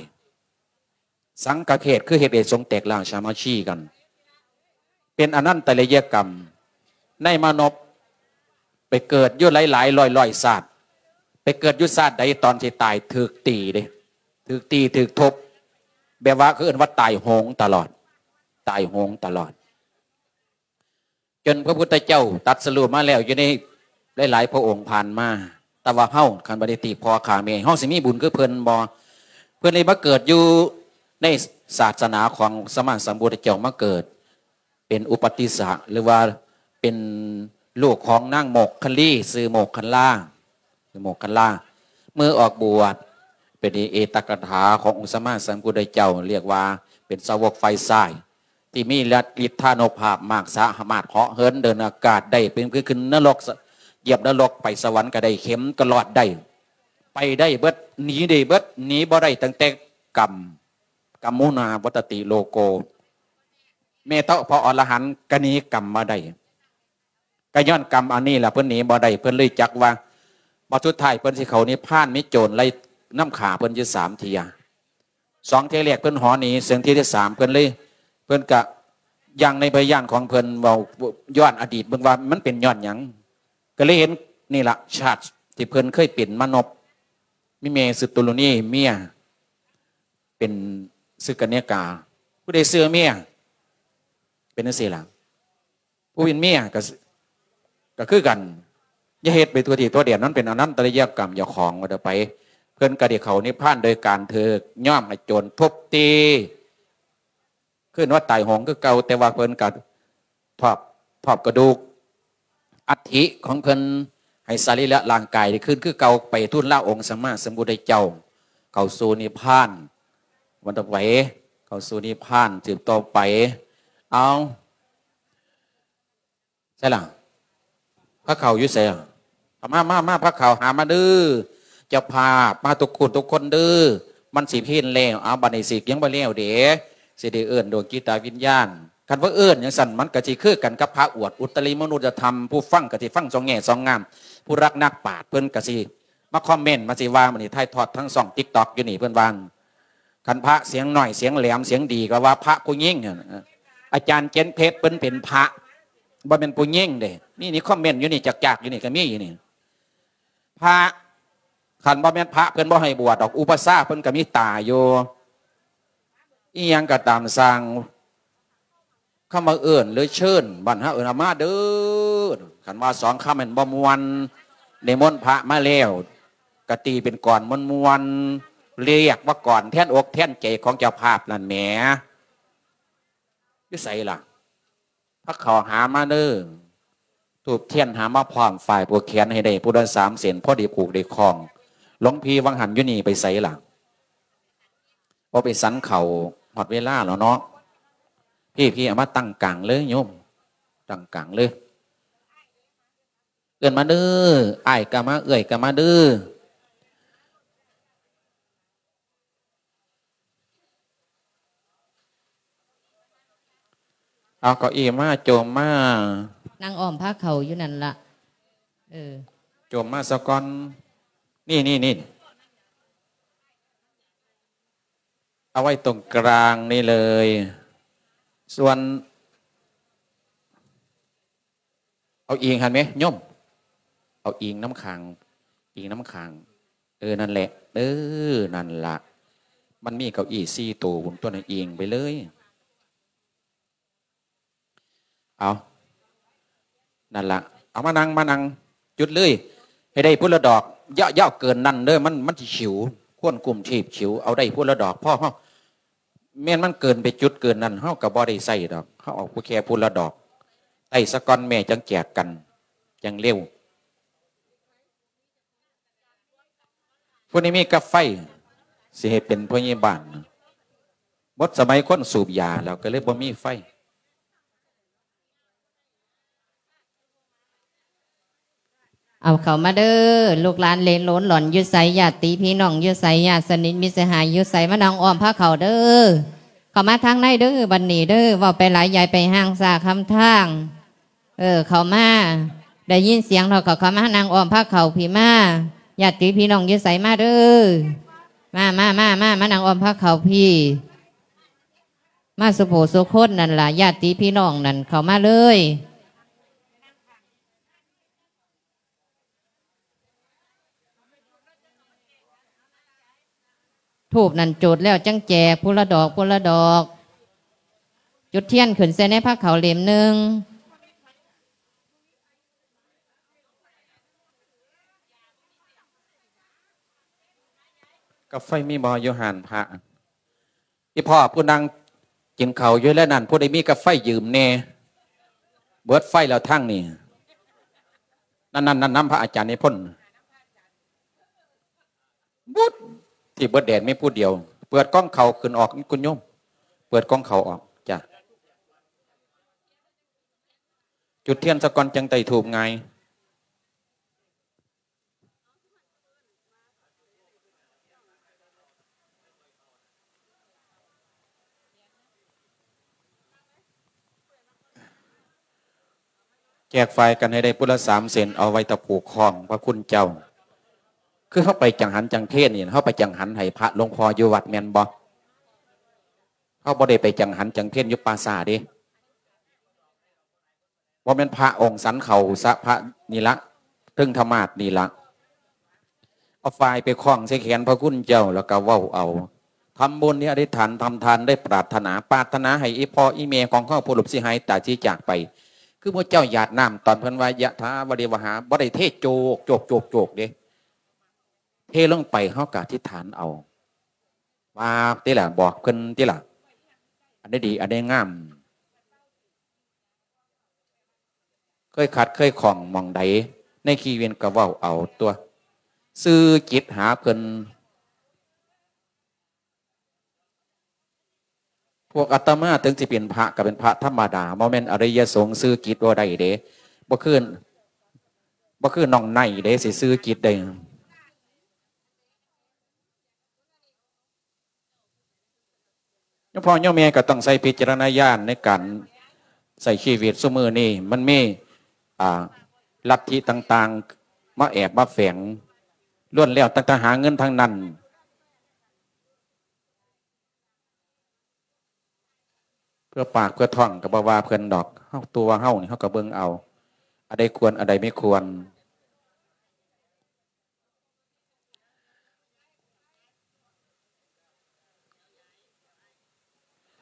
ສັງຄະເຂດ ຄືເຮັດໃຫ້ສົງແຕກລ້າງສາມັກຄີກັນ. ເປັນອະນັນຕະລິຍະກຳ. ນາຍມານົບໄປເກີດຢູ່ຫຼາຍໆຮ້ອຍໆຊາດ. ໄປເກີດຢູ່ຊາດໃດ ຕອນຊິຕາຍຖືກຕີເດ້ ຖືກຕີຖືກທຸບ ແບບວ່າເຂົາເອີ້ນວ່າຕາຍໂຫງຕະຫຼອດ ຕາຍໂຫງຕະຫຼອດ. ຈົນພະພຸດທະເຈົ້າຕັດສະຮູ້ມາແລ້ວ ຢູ່ໃນຫຼາຍໆພະອົງຜ່ານມາ, ແຕ່ວ່າເຮົາ ຄັນບໍ່ໄດ້ຕີພໍ່ຂ້າແມ່ ເຮົາຊິມີບຸນຄືເພິ່ນບໍ່? ເພິ່ນໄດ້ມາເກີດຢູ່ໃນສາສະໜາຂອງສຳມາສຳພຸດທະເຈົ້າ ມາເກີດເປັນອຸປະຕິສະ ຫຼືວ່າເປັນລູກຂອງນາງໂມກຄະລີ ຊື່ໂມກຄັນລາ ໂມກຄັນລາ. ເມື່ອອອກບວດ ເປັນເອຕະກະຖາຂອງອົງສຳມາສຳພຸດທະເຈົ້າ ຮຽກວ່າເປັນສາວົກຝ່າຍຊ້າຍ ທີ່ມີລະ ລິດທານຸພາບມາກ ສາມາດເຫາະເຫີນເດີນອາກາດໄດ້ ເປັນຄືຂຶ້ນນະລົກ ຢຽບນະລົກ ໄປສະຫວັນກໍໄດ້ ເຂັມກໍລອດໄດ້ ໄປໄດ້ເບິດ ໜີໄດ້ເບິດ ໜີບໍ່ໄດ້ຕັ້ງແຕ່ກຳ ກຳມຸນາວັດຕະຕິໂລໂກ ແມ່ເຖົ້າພະອໍລະຫັນກໍໜີກຳບໍ່ໄດ້. ກໍຍ້ອນກຳອັນນີ້ລະ ເພິ່ນໜີບໍ່ໄດ້ ເພິ່ນເລີຍຈັກວ່າ ບັດສຸດທ້າຍເພິ່ນຊິເຂົ້ານິບພານ ມີໂຈນໄລ່ນຳຂ້າເພິ່ນຢູ່ສາມເທື່ອ. ສອງເທື່ອແລກເພິ່ນຫົວໜີ ເຊິ່ງເທື່ອທີສາມເພິ່ນເລີຍ ເພິ່ນກະຢ່າງໃນພະຍານຂອງເພິ່ນເວົ້າຍ້ອນອະດີດເບິ່ງວ່າມັນເປັນຍ້ອນຫຍັງ ກໍເລີຍເຫັນນີ້ລະ ຊາດທີ່ເພິ່ນເຄີຍເປັນມະນົບ ມີແມ່ຊື່ຕຸລຸນີ ເມຍເປັນຊື່ກັນຍະກາ ຜູ້ໃດເຊື່ອເມຍເປັນຈັ່ງຊີ້ລະ. ຜູ້ເປັນເມຍກໍ ກໍຄືກັນ ຢ່າເຮັດໄປທົ່ວທີ່ທົ່ວແດນ ມັນເປັນອະນັນຕະລິຍະກຳເຈົ້າຂອງວ່າໄປ. ເພິ່ນກໍໄດ້ເຂົ້ານິບພານໂດຍການຖືກຍ້ອມໃຫ້ໂຈນທຸບຕີ ຄືວ່າຕາຍໂຫງຄືເກົ່າ ແຕ່ວ່າເພິ່ນກໍທອບ ທອບກະດູກອັດຖິຂອງເພິ່ນ ໃຫ້ສະລີລະຮ່າງກາຍໄດ້ຄືນຄືເກົ່າ ໄປທູນລາອົງສຳມາສຳພຸດທະເຈົ້າ ເຂົ້າສູ່ນິບພານ ວັນຕໍ່ໄປ ເຂົ້າສູ່ນິບພານສືບຕໍ່ໄປ. ເອົາ ໃສລະ? ພະເຂົ້າຢູ່ໃສລະ? ເອົາມາ ມາ ມາ ພະເຂົ້າຫາມາເດີ ເຈົ້າພາບ ມາທຸກຄົນທຸກຄົນເດີ ມັນຊິເພນແລ້ວ. ເອົາ ບັດນີ້ຊິຍັງບໍ່ແລ້ວເດ້ ຊິໄດ້ເອີ້ນດວງຈິດຕະວິນຍານ. ຄັນວ່າເອີ້ນຈັ່ງຊັ້ນ ມັນກໍຊິຄືກັນກັບພະອວດອຸດຕະລິມະນຸດຍະທຳ ຜູ້ຟັງກໍຊິຟັງສອງແງ່ສອງງາມ ຜູ້ລັກນັກປາດເພິ່ນກໍຊິ ມາຄອມເມັນ ມາຊິວ່າ ມື້ນີ້ຖ່າຍທອດທາງຊ່ອງຕິກຕັອກຢູ່ນີ້ ເພິ່ນວ່າ ຄັນພະສຽງໜ້ອຍ ສຽງແຫຼມ ສຽງດີ ກໍວ່າພະຜູ້ຍິງຫັ້ນ. ອາຈານເຈັນເພັດ ເພິ່ນເປັນພະ ບໍ່ແມ່ນຜູ້ຍິງເດ້. ນີ້ ນີ້ຄອມເມັນຢູ່ນີ້ ຈາກໆຢູ່ນີ້ກໍມີຢູ່ນີ້. ພະ ຄັນບໍ່ແມ່ນພະ ເພິ່ນບໍ່ໃຫ້ບວດດອກ ອຸປະຊາ ເພິ່ນກໍມີຕາຢູ່. ອີ່ຫຍັງກໍຕາມຊ່າງ ຄຳວ່າເອີ້ນ ຫຼື ເຊີນ ບ້ານເຮົາເອີ້ນວ່າມາເດີ. ຄັນວ່າສອງຄຳແມ່ນບໍ່ມ່ວນ ນິມົນພະມາແລ້ວ ກະຕີເປັນກອນມ່ວນໆ ລຽກວ່າກອນແທນອົກແທນໃຈຂອງເຈົ້າພາບນັ້ນແໝ. ຢູ່ໃສລະ? ພາເຂົ້າຫາມາເດີ. ທູບທຽນຫາມາພ້ອມ ຝ້າຍຜູກແຂນໃຫ້ໄດ້ຜູ້ລະສາມເສັ້ນ ພໍໄດ້ຜູກໄດ້ຄ້ອງ. ຫຼວງພີ່ວັງຫັນຢູ່ນີ້ໄປໃສລະ? ບໍ່ໄປສັນເຂົ້າ ຮອດເວລາແລ້ວເນາະ. ພີ່ ພີ່ເອົາມາຕັ້ງກາງເລີຍໂຍມ ຕັ້ງກາງເລີຍ. ເອີ້ນມາເດີ ອ້າຍກໍມາ ເອື້ອຍກໍມາເດີ. ເອົາເກົ້າอี้ມາ ໂຈມມາ ນັ່ງອ້ອມພາເຂົ້າຢູ່ນັ້ນລະ ເອີ ໂຈມມາສາກ່ອນ ນີ້ໆໆ ເອົາໄວ້ຕົງກາງນີ້ເລີຍ ສ່ວນ ເອົາອີງຫັ້ນແມ ໂຍມ ເອົາອີງນຳຂ້າງ ອີງນຳຂ້າງ ເອີ ນັ້ນແຫຼະ ເອີ ນັ້ນລະ ມັນມີເກົ້າອີ້ສີ່ໂຕພຸ້ນຕົວະ ອີງໄປເລີຍ ເອົາ ນັ້ນລະ ເອົາມານັ່ງ ມານັ່ງ ຈຸດເລີຍ ໃຫ້ໄດ້ພຸ້ນລະດອກ ຢ່າ ຢ່າເກີນນັ້ນເດີ ມັນ ມັນຊິຂິວ ຄວັນກຸມທີບຂິວ ເອົາໄດ້ພຸ້ນລະດອກ ພໍເຮົາ ແມ່ນມັນເກີນໄປຈຸດເກີນນັ້ນ ເຮົາກໍບໍ່ໄດ້ໃຊ້ດອກ ເຮົາເອົາຜູ້ແຄ່ຜູ້ລະດອກ ໄຕ້ສາກ່ອນແມ່ ຈັ່ງແຈກກັນ ຈັ່ງເລັວ. ຜູ້ໃດມີກາໄຟ ຊິໃຫ້ເປັນພະຍາບານ ໝົດສະໄໝຄົນສູບຢາແລ້ວ ກໍເລີຍບໍ່ມີໄຟ. ເອົາເຂົ້າມາເດີ ລູກຫຼານເລໂຫຼນຫຼອນຢູ່ໃສ ຍາດຕິພີ່ນ້ອງຢູ່ໃສ ຍາດສະໜິດມິດສະຫາຍຢູ່ໃສ ມານັ່ງອ້ອມພາເຂົ້າເດີ ເຂົ້າມາທາງໃນເດີ ບັດນີ້ເດີ ເວົ້າໄປຫຼາຍ ຢ່າໄປຮ່າງຊ້າຄຳທາງ ເອີ ເຂົ້າມາ ໄດ້ຍິນສຽງເຮົາກໍເຂົ້າມາ ນັ່ງອ້ອມພາເຂົ້າພີ້ມາ ຍາດຕິພີ່ນ້ອງຢູ່ໃສ ມາເດີ ມາ ມາ ມາ ມາ ມານັ່ງອ້ອມພາເຂົ້າພີ້ ມາສຸຜູ້ສຸຄົນນັ້ນລະ ຍາດຕິພີ່ນ້ອງນັ້ນ ເຂົ້າມາເລີຍ. ທູບນັ້ນຈູດແລ້ວຈັ່ງແຈກ ຜູ້ລະດອກ ຜູ້ລະດອກ ຈຸດທຽນຂຶ້ນໃສ່ໃນພາເຂົ້າເຫຼັ້ມໜຶ່ງ. ກາໄຟມີບໍ່ຢູ່ຮ້ານພະ? ອີ່ພໍ່ຜູ້ນັ່ງກິນເຂົ້າຢູ່ແລ້ວນັ້ນ ຜູ້ໃດມີກາໄຟຢືມແດ່ ເບິດໄຟແລ້ວທາງນີ້ ນັ້ນໆໆ ນຳພະອາຈານນິພົນ ບຸດ ທີ່ເບິດແດນມີຜູ້ດຽວ ເປີດກ່ອງເຂົ້າຂຶ້ນອອກ ຄຸນໂຍມ ເປີດກ່ອງເຂົ້າອອກ ຈ້າ ຈຸດທຽນສາກ່ອນ ຈັ່ງໄຕ້ທູບງ່າຍ. ແຈກຝາຍກັນໃຫ້ໄດ້ພຸ້ນລະສາມເສັ້ນ ເອົາໄວ້ຕະຜູກຄອງພະຄຸນເຈົ້າ. ຄືເຮົາໄປຈັງຫັນຈັງເພນນີ້ ເຮົາໄປຈັງຫັນໃຫ້ພະຫຼວງພໍ່ຢູ່ວັດແມ່ນບໍ່? ເຮົາບໍ່ໄດ້ໄປຈັງຫັນຈັງເພນຢູ່ປ່າຊ້າເດ້. ບໍ່ແມ່ນພະອົງສັນເຂົ້າສະພະນີ້ລະ ເທິງທະໝາດນີ້ລະ ເອົາຝາຍໄປຄ້ອງໃສ່ແຂນພະຄຸນເຈົ້າ ແລ້ວກໍເວົ້າເອົາ ທຳບຸນນີ້ອະທິຖານ ທຳທານໄດ້ປາດຖະໜາ ປາດຖະໜາໃຫ້ອີ່ພໍ່ອີ່ແມ່ຂອງເຮົາຜູ້ລົບຊິຫາຍຕາຍຊິຈາກໄປ ຄືໝູ່ເຈົ້າຢາດນ້ຳຕອນເພິ່ນວ່າ ຍະຖາວະລິວະຫາ ບໍ່ໄດ້ເທໂຈກ ໂຈກ ໂຈກ ໂຈກເດ້ ເທລົງໄປ ເຮົາກໍອະທິຖານເອົາ ວ່າຕິລະ ບອກເພິ່ນຕິລະ ອັນໃດດີ ອັນໃດງາມ ເຄີຍຂັດເຄີຍຂ້ອງໝ່ອງໃດໃນຊີວິດກໍເວົ້າເອົາຕົວະ ສື່ຈິດຫາເພິ່ນ. ພວກອາດຕະມາເຖິງຊິເປັນພະກໍເປັນພະທຳມະດາ ບໍ່ແມ່ນອະລິຍະສົງ ສື່ຈິດບໍ່ໄດ້ເດ້ ບໍ່ຄື ບໍ່ຄືນ້ອງໄນເດ້ ຊິສື່ຈິດໄດ້. ໂຍມພໍ່ໂຍມແມ່ກໍຕ້ອງໃຊ້ວິຈາລະນະຍານໃນການໃຊ້ຊີວິດ. ຊຸມື້ນີ້ມັນມີ ອ່າ ລັດທິຕ່າງໆ ມາແອບມາແຝງ ລ້ວນແລ້ວຕັ້ງແຕ່ຫາເງິນທັງນັ້ນ ເພື່ອປາກເພື່ອທ້ອງກໍບໍ່ວ່າເພິ່ນດອກ ເຮົາ ຕົວເຮົານີ້ເຮົາກໍເບິ່ງເອົາ ອັນໃດຄວນ ອັນໃດບໍ່ຄວນ.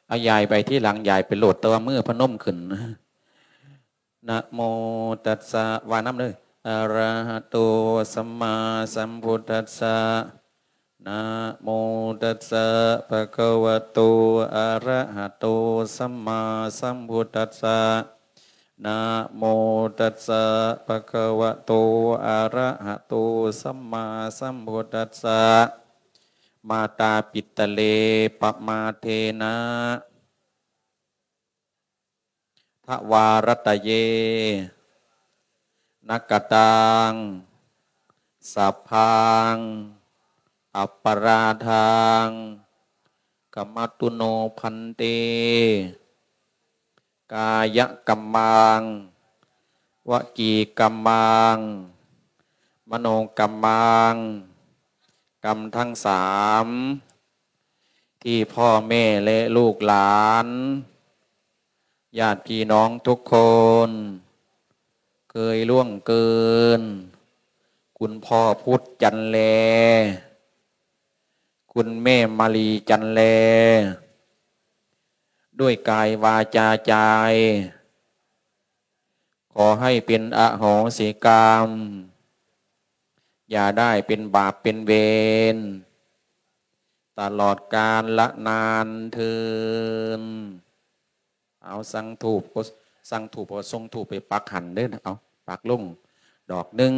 ເອົາ ຢາຍໄປທີຫຼັງ ຢາຍໄປໂລດ ແຕ່ວ່າມືພະນົມຂຶ້ນ ນະໂມຕັດສະ ວ່ານຳເດີ ອະຣະຫະໂຕ ສຳມາສຳພຸດທັດສະ ນະໂມຕັດສະ ພະຄະວະໂຕ ອະຣະຫະໂຕ ສຳມາສຳພຸດທັດສະ ນະໂມຕັດສະ ພະຄະວະໂຕ ອະຣະຫະໂຕ ສຳມາສຳພຸດທັດສະ ມາຕາປິດຕະເລ ປະມາເທນະ ທະວາຣັດຕະເຍ ນະກະຕັງ ສັບພັງ ອັບປະລາທັງ ຂະມະຕຸໂນ ພັນເຕ. ກາຍະກຳມັງ ວະຈີກຳມັງ ມະໂນກຳມັງ ກຳທັງສາມ ທີ່ພໍ່ແມ່ ແລະ ລູກຫຼານ ຍາດພີ່ນ້ອງທຸກຄົນ ເຄີຍລ່ວງເກີນ ຄຸນພໍ່ພຸດຈັນແລ ຄຸນແມ່ມາລີຈັນແລ ດ້ວຍກາຍວາຈາໃຈ ຂໍໃຫ້ເປັນອະໂຫສິກຳ ຢ່າໄດ້ເປັນບາບເປັນເວນ ຕະຫຼອດການລະນານເທີນ. ເອົາ ສັງທູບ ສັງທູບ ກໍສົ່ງທູບໄປປັກຫັ້ນເດີ ເອົາ ປັກລົງດອກໜຶ່ງ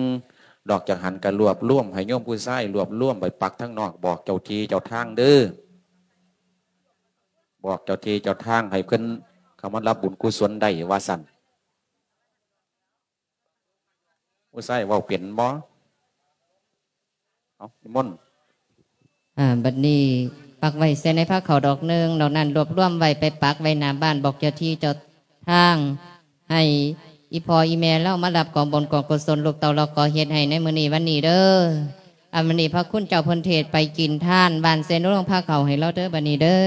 ດອກຈາກຫັ້ນກໍລວບລວມ ໃຫ້ໂຍມຜູ້ຊາຍລວບລວມໄປປັກທາງນອກ ບອກເຈົ້າທີ່ເຈົ້າທາງເດີ ບອກເຈົ້າທີ່ເຈົ້າທາງໃຫ້ເພິ່ນເຂົ້າມາຮັບບຸນກຸສົນໄດ້ວ່າຊັ້ນ. ຜູ້ຊາຍເວົ້າເປັນບໍ່? ເອົາ ນິມົນ. ອ່າ ບັດນີ້ປັກໄວ້ໃສ່ໃນພາເຂົ້າດອກໜຶ່ງ ດອກນັ້ນລວບລວມໄວ້ໄປປັກໄວ້ໜ້າບ້ານ ບອກເຈົ້າທີ່ເຈົ້າທາງ ໃຫ້ອີ່ພໍ່ອີ່ແມ່ລາວມາຮັບກອງບຸນກອງກຸສົນ ລູກເຕົ້າລະກໍເຮັດໃຫ້ໃນມື້ນີ້ວັນນີ້ເດີ. ອັນມື້ນີ້ພະຄຸນເຈົ້າເພິ່ນເທດໄປກິນທານ ບ້ານເຊໂນ ລົງພາເຂົ້າໃຫ້ລາວເດີ ບັດນີ້ເດີ.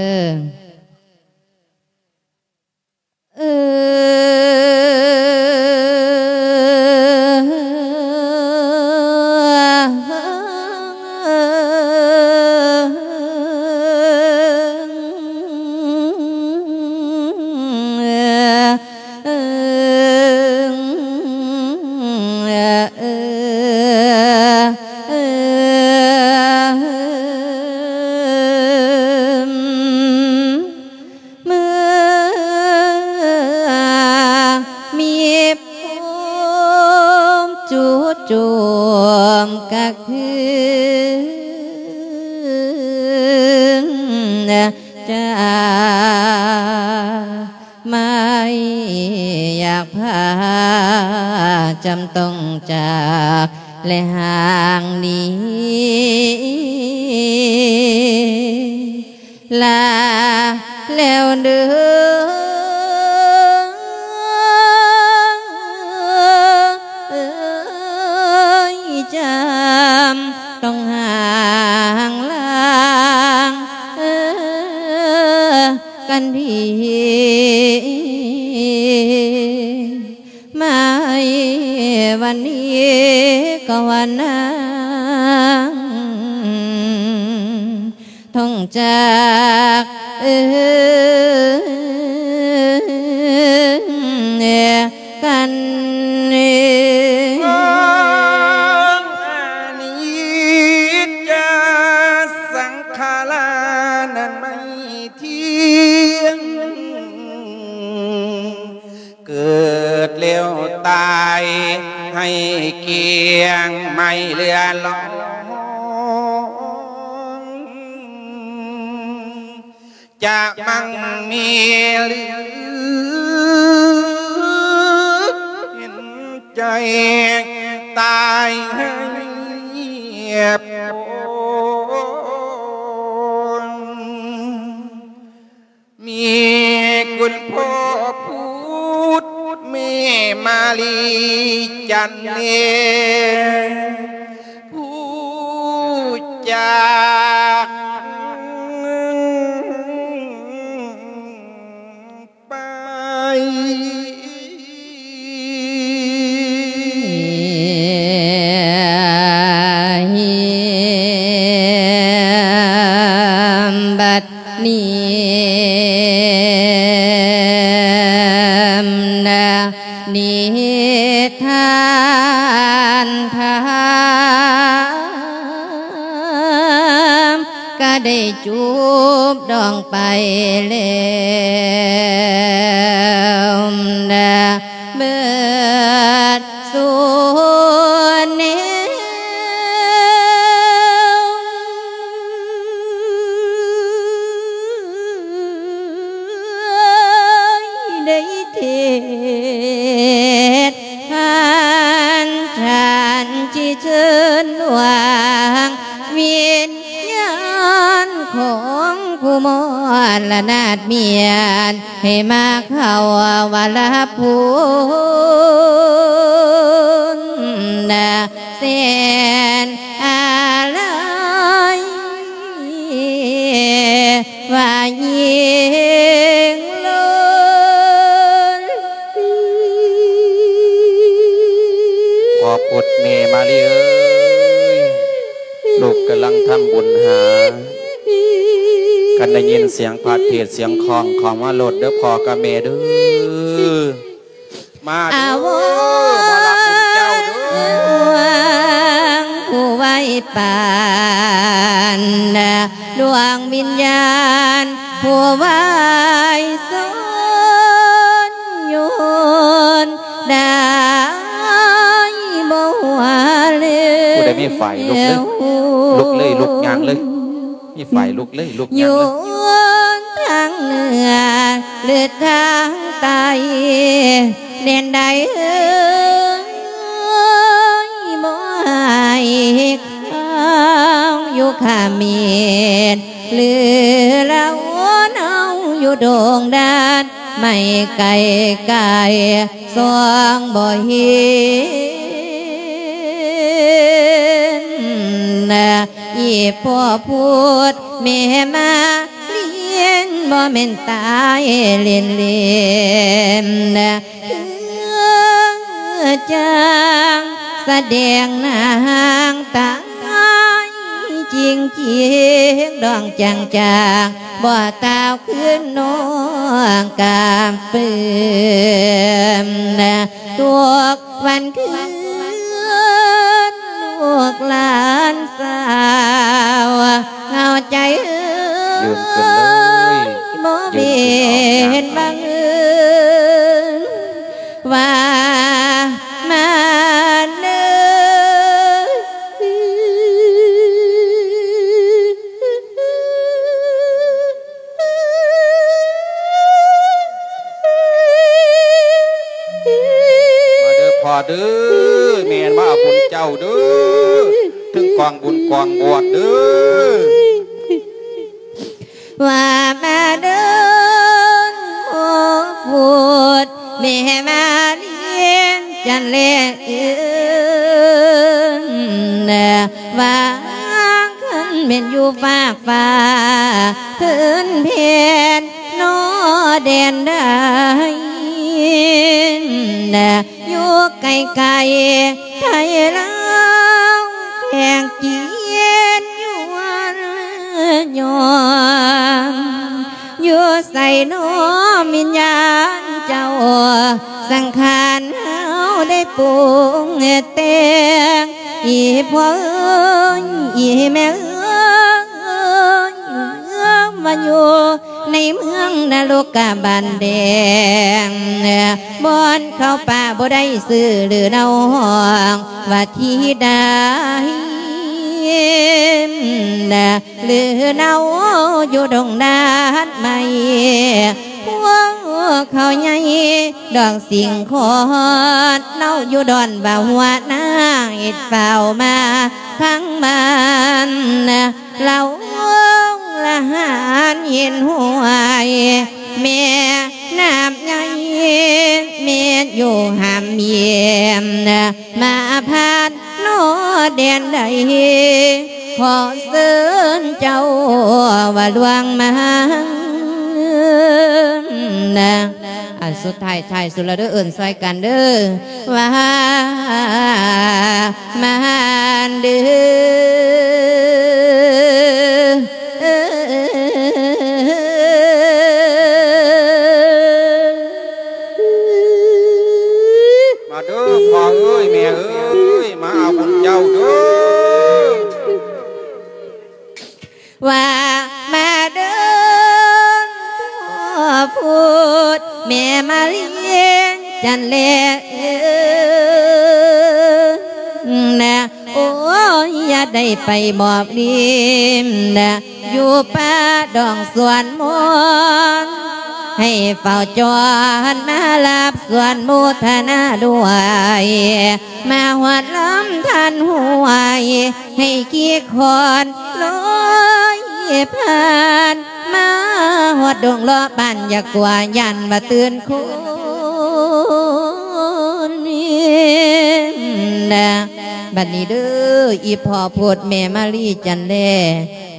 ເມື່ອມີພູມຈູດໂຈມກະຄືນຈາ ໄມ່ຢາກພາ ຈຳຕ້ອງຈາກ ແລະ ຫ່າງໜີ ລາແລ້ວເດີ ຈຳຕ້ອງຫ່າງລາງ ກັນພີ ມາໃນວັນນີ້ກໍວ່ານາງ ທ່ອງຈາກເອີ້ນກັນ ອະນິດຈະສັງຂາລານັ້ນໄມ່ທຽງ ເກີດແລ້ວຕາຍໃຫ້ກ້ຽງໄມ້ເຫຼືອລອງ ຈະມັ່ງມີເຫຼືອເຫັນໃຈຕາຍໃຫ້ປອງ ມີຄຸນພໍ່ພຸດ ແມ່ມາລີຈັນເນ ຜູ້ຈາກໄປ. ບັດນີ້ນະ ນິທານທາມ ກະໄດ້ຈູບດອງໄປແລ້ວນະ ເບິດສູນແນວ ໄດ້ເທດ ທ່ານ ທ່ານຊິເຊີນວາງ ວິນຍານຂອງຜູ້ມອດລະນາດມຽນ ໃຫ້ມາ ເຂົາວ່າລະພຸນນະ ແສນອາໄລ ວ່າຍິງລົງ ພໍ່ພຸດແມ່ມາລີເອີຍ ລູກກຳລັງທຳບຸນຫາ ຄັນໄດ້ຍິນສຽງພະເທດສຽງຄອງ ເຂົ້າມາໂລດເດີພໍ່ກັບແມ່ເດີ ມາເດີ ອາວອນ ມາຮັບບຸນເຈົ້າເດີ ຜູ້ໄວປານດວງວິນຍານ ຜູ້ໄວສົນຍົນ ໄດ້ບໍ່ຫົວເຫຼືອ ຜູ້ໃດມີໄຟລຸກເລີຍ ລຸກເລີຍ ລຸກຍ່າງເລີຍ ມີໄຟລຸກເລີຍ ລຸກຍ່າງເລີຍ ຢູ່ທາງເໜືອ ຫຼືທາງໃຕ້ ແດນໃດເອີຍ ບໍ່ໃຫ້ຂ້າວຢູ່ຂະເໝນ ຫຼືລາວເຮົາຢູ່ດົງດານ ໄມ່ໄກໄກ ສ່ອງບໍ່ເຫັນ ອີ່ພໍ່ພຸດແມ່ມາ ລຽນບໍ່ແມ່ນຕາຍເລ່ນໆ ຄືຈັ່ງສະແດງນາງຕາຍຈິງໆ ດອງຈາງໆ ບໍ່ຕາວຄືນນ້ອງກາບເປື້ອນ ທຸກວັນຄືນລູກຫຼານສາວ ເຫງົາໃຈເອີຍ ຢືນຂຶ້ນເລີຍ ບໍ່ແມ່ນບັງເອີນວ່າມາເນີ ມາເດີພໍ່ເດີ ແມ່ນມາເອົາບຸນເຈົ້າເດີ ເຖິງກອງບຸນກອງບວດເດີ ວ່າມາເດີ ໂອ້ ພຸດແມ່ມາລຽນຈັນແລເອີນ ວ່າຄັນແມ່ນຢູ່ຟາກຟ້າ ພື້ນແຜ່ນ ນອແດນໃດ ຢູ່ໄກໆ ໄທລາວແຂກຈີນຍວນຍອງ ຢູ່ໃສນອວິນຍານເຈົ້າ ສັງຂານເຮົາໄດ້ປຸງແຕ່ງ ອີ່ພໍ່ເອີຍ ອີ່ແມ່ເອີຍ ມາຢູ່ ໃນເມືອງນະລົກກະບານແດງ ບ່ອນເຂົ້າປ່າບໍ່ໄດ້ຊື່ ຫຼືນາວຮ້ອງວ່າທີໃດ ຫຼືນາວຢູ່ດົງນາດໄມ້ ພວກເຂົາໃຫຍ່ດອກສິງຄອດ ເຮົາຢູ່ດອນວ່າຫົວນາເຮັດຟ້າວມາທາງບ້ານ ລາວລະຫານເຫັນຫ້ວຍ ແມ່ນ້ຳໃຫຍ່ ແມ່ນຢູ່ຫາມເຫຍມ ມາຜ່ານນອແດນໃດ ຂໍເຊີນເຈົ້າວ່າລ່ວງມາ ອັນສຸດທ້າຍ ທ້າຍສຸດແລ້ວເດີ ເອີ້ນຊ່ອຍກັນເດີ ວ່າມາເດີ ມາເດີພໍ່ເອີຍແມ່ເອີຍ ມາເອົາບຸນເຈົ້າເດີ ວ່າມາເດີ ພໍ່ພຸດແມ່ມາລຽນຈັນແລເອີຍ ໂອ້ຍ ຢ່າໄດ້ໄປມອບລິນ ຢູ່ປ່າດອງສວນມອນ ໃຫ້ເຝົ້າຈອນມາຮັບສວນໂມທະນາດ້ວຍ ມາຮອດລຳທ່ານຫ້ວຍ ໃຫ້ຂີ້ຄອນລອຍ ຜ່ານມາຮອດດົງເລາະບ້ານ ຢ່າກົວຢ້ານວ່າຕື່ນຄົນນະ. ບັດນີ້ເດີ ອີ່ພໍ່ໂພດແມ່ມາລີຈັນແລ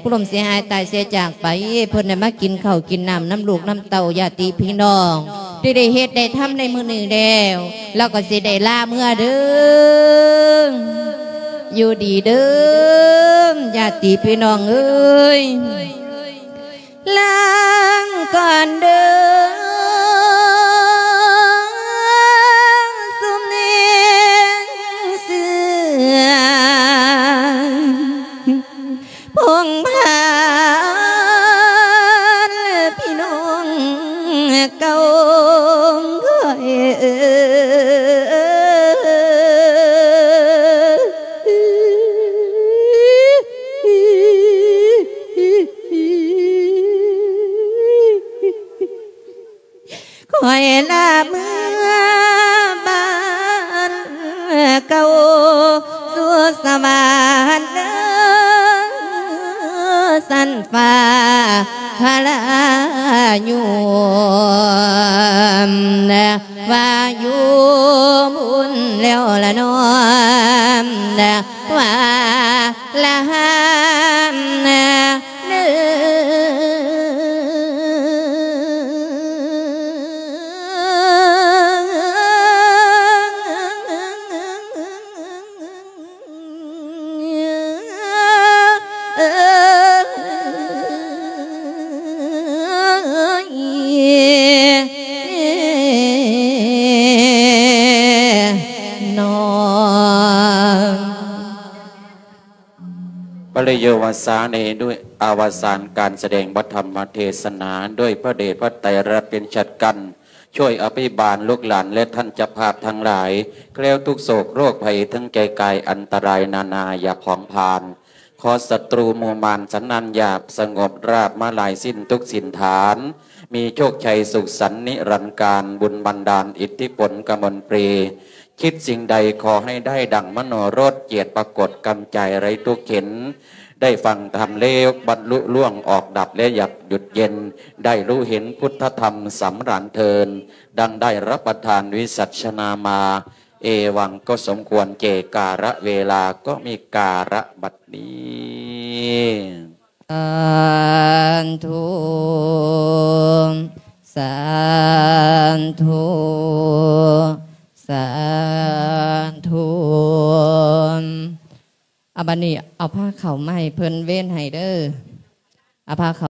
ຜູ້ລົ້ມເສຍຫາຍຕາຍເສຍຈາກໄປ ເພິ່ນໄດ້ມາກິນເຂົ້າກິນນ້ຳນຳລູກນຳເຕົ້າ ຍາດຕິພີ່ນ້ອງ ທີ່ໄດ້ເຮັດໄດ້ທຳໃນມື້ນີ້ແລ້ວ ລາວກໍຊິໄດ້ລາເມືອເດີ. ຢູ່ດີເດີ ຍາດຕິພີ່ນ້ອງເອີຍ ລາກ່ອນເດີ ຊຸມແຮງເຊື່ອ ພົງພານ ແລະ ພີ່ນ້ອງເກົ່າຂ້ອຍເອີຍ ຂ້ອຍລາເມືອບ້ານເກົ່າ ສູ່ສະຫວັນເດີ ຊັ້ນຟ້າພະລາຍົມ ວ່າຢູ່ບຸນແລ້ວລະນ້ອມ ວ່າລະຫາມເດີ. ປະລິໂຍວາສາເນ ດ້ວຍອະວະສານການສະແດງພະທຳມະເທສະໜາ ດ້ວຍພະເດດພະໄຕລັດເປັນຈັດກັນ ຊ່ວຍອະພິບານລູກຫຼານ ແລະ ທ່ານເຈົ້າພາບທັງຫຼາຍ ແຄล้วທຸກໂສກໂລກໄພ ທັງແກ່ກາຍອັນຕະລາຍນານາ ຢ່າຜອງຜານ ຂໍສັດຕູໝູ່ມານສັນນານຢາບ ສະຫງົບລາບມາລາຍສິ້ນທຸກຖິ່ນຖານ ມີໂຊກໄຊສຸກສັນນິລັນການ ບຸນບັນດານອິດທິພົນກະມົນເປ ຄິດສິ່ງໃດຂໍໃຫ້ໄດ້ດັ່ງມະໂນລົດ ຈຽດປາກົດກຳໃຈໄຮ້ທຸກເຂັນ ໄດ້ຟັງທຳແລ້ວບັນລຸລ່ວງອອກດັບ ແລະ ຢາກຢຸດເຢັນ ໄດ້ຮູ້ເຫັນພຸດທະທຳສຳລານເທີນ ດັ່ງໄດ້ຮັບປະທານວິສັດຊະນາມາ ເອວັງ ກໍສົມຄວນແກ່ກາລະເວລາ ກໍມີກາລະບັດນີ້. ສາທຸ ສາທຸ ສາທຸ. ອາ ບັດນີ້ເອົາພາເຂົ້າມາໃຫ້ເພິ່ນເວັນໃຫ້ເດີ ເອົາພາເຂົ້າ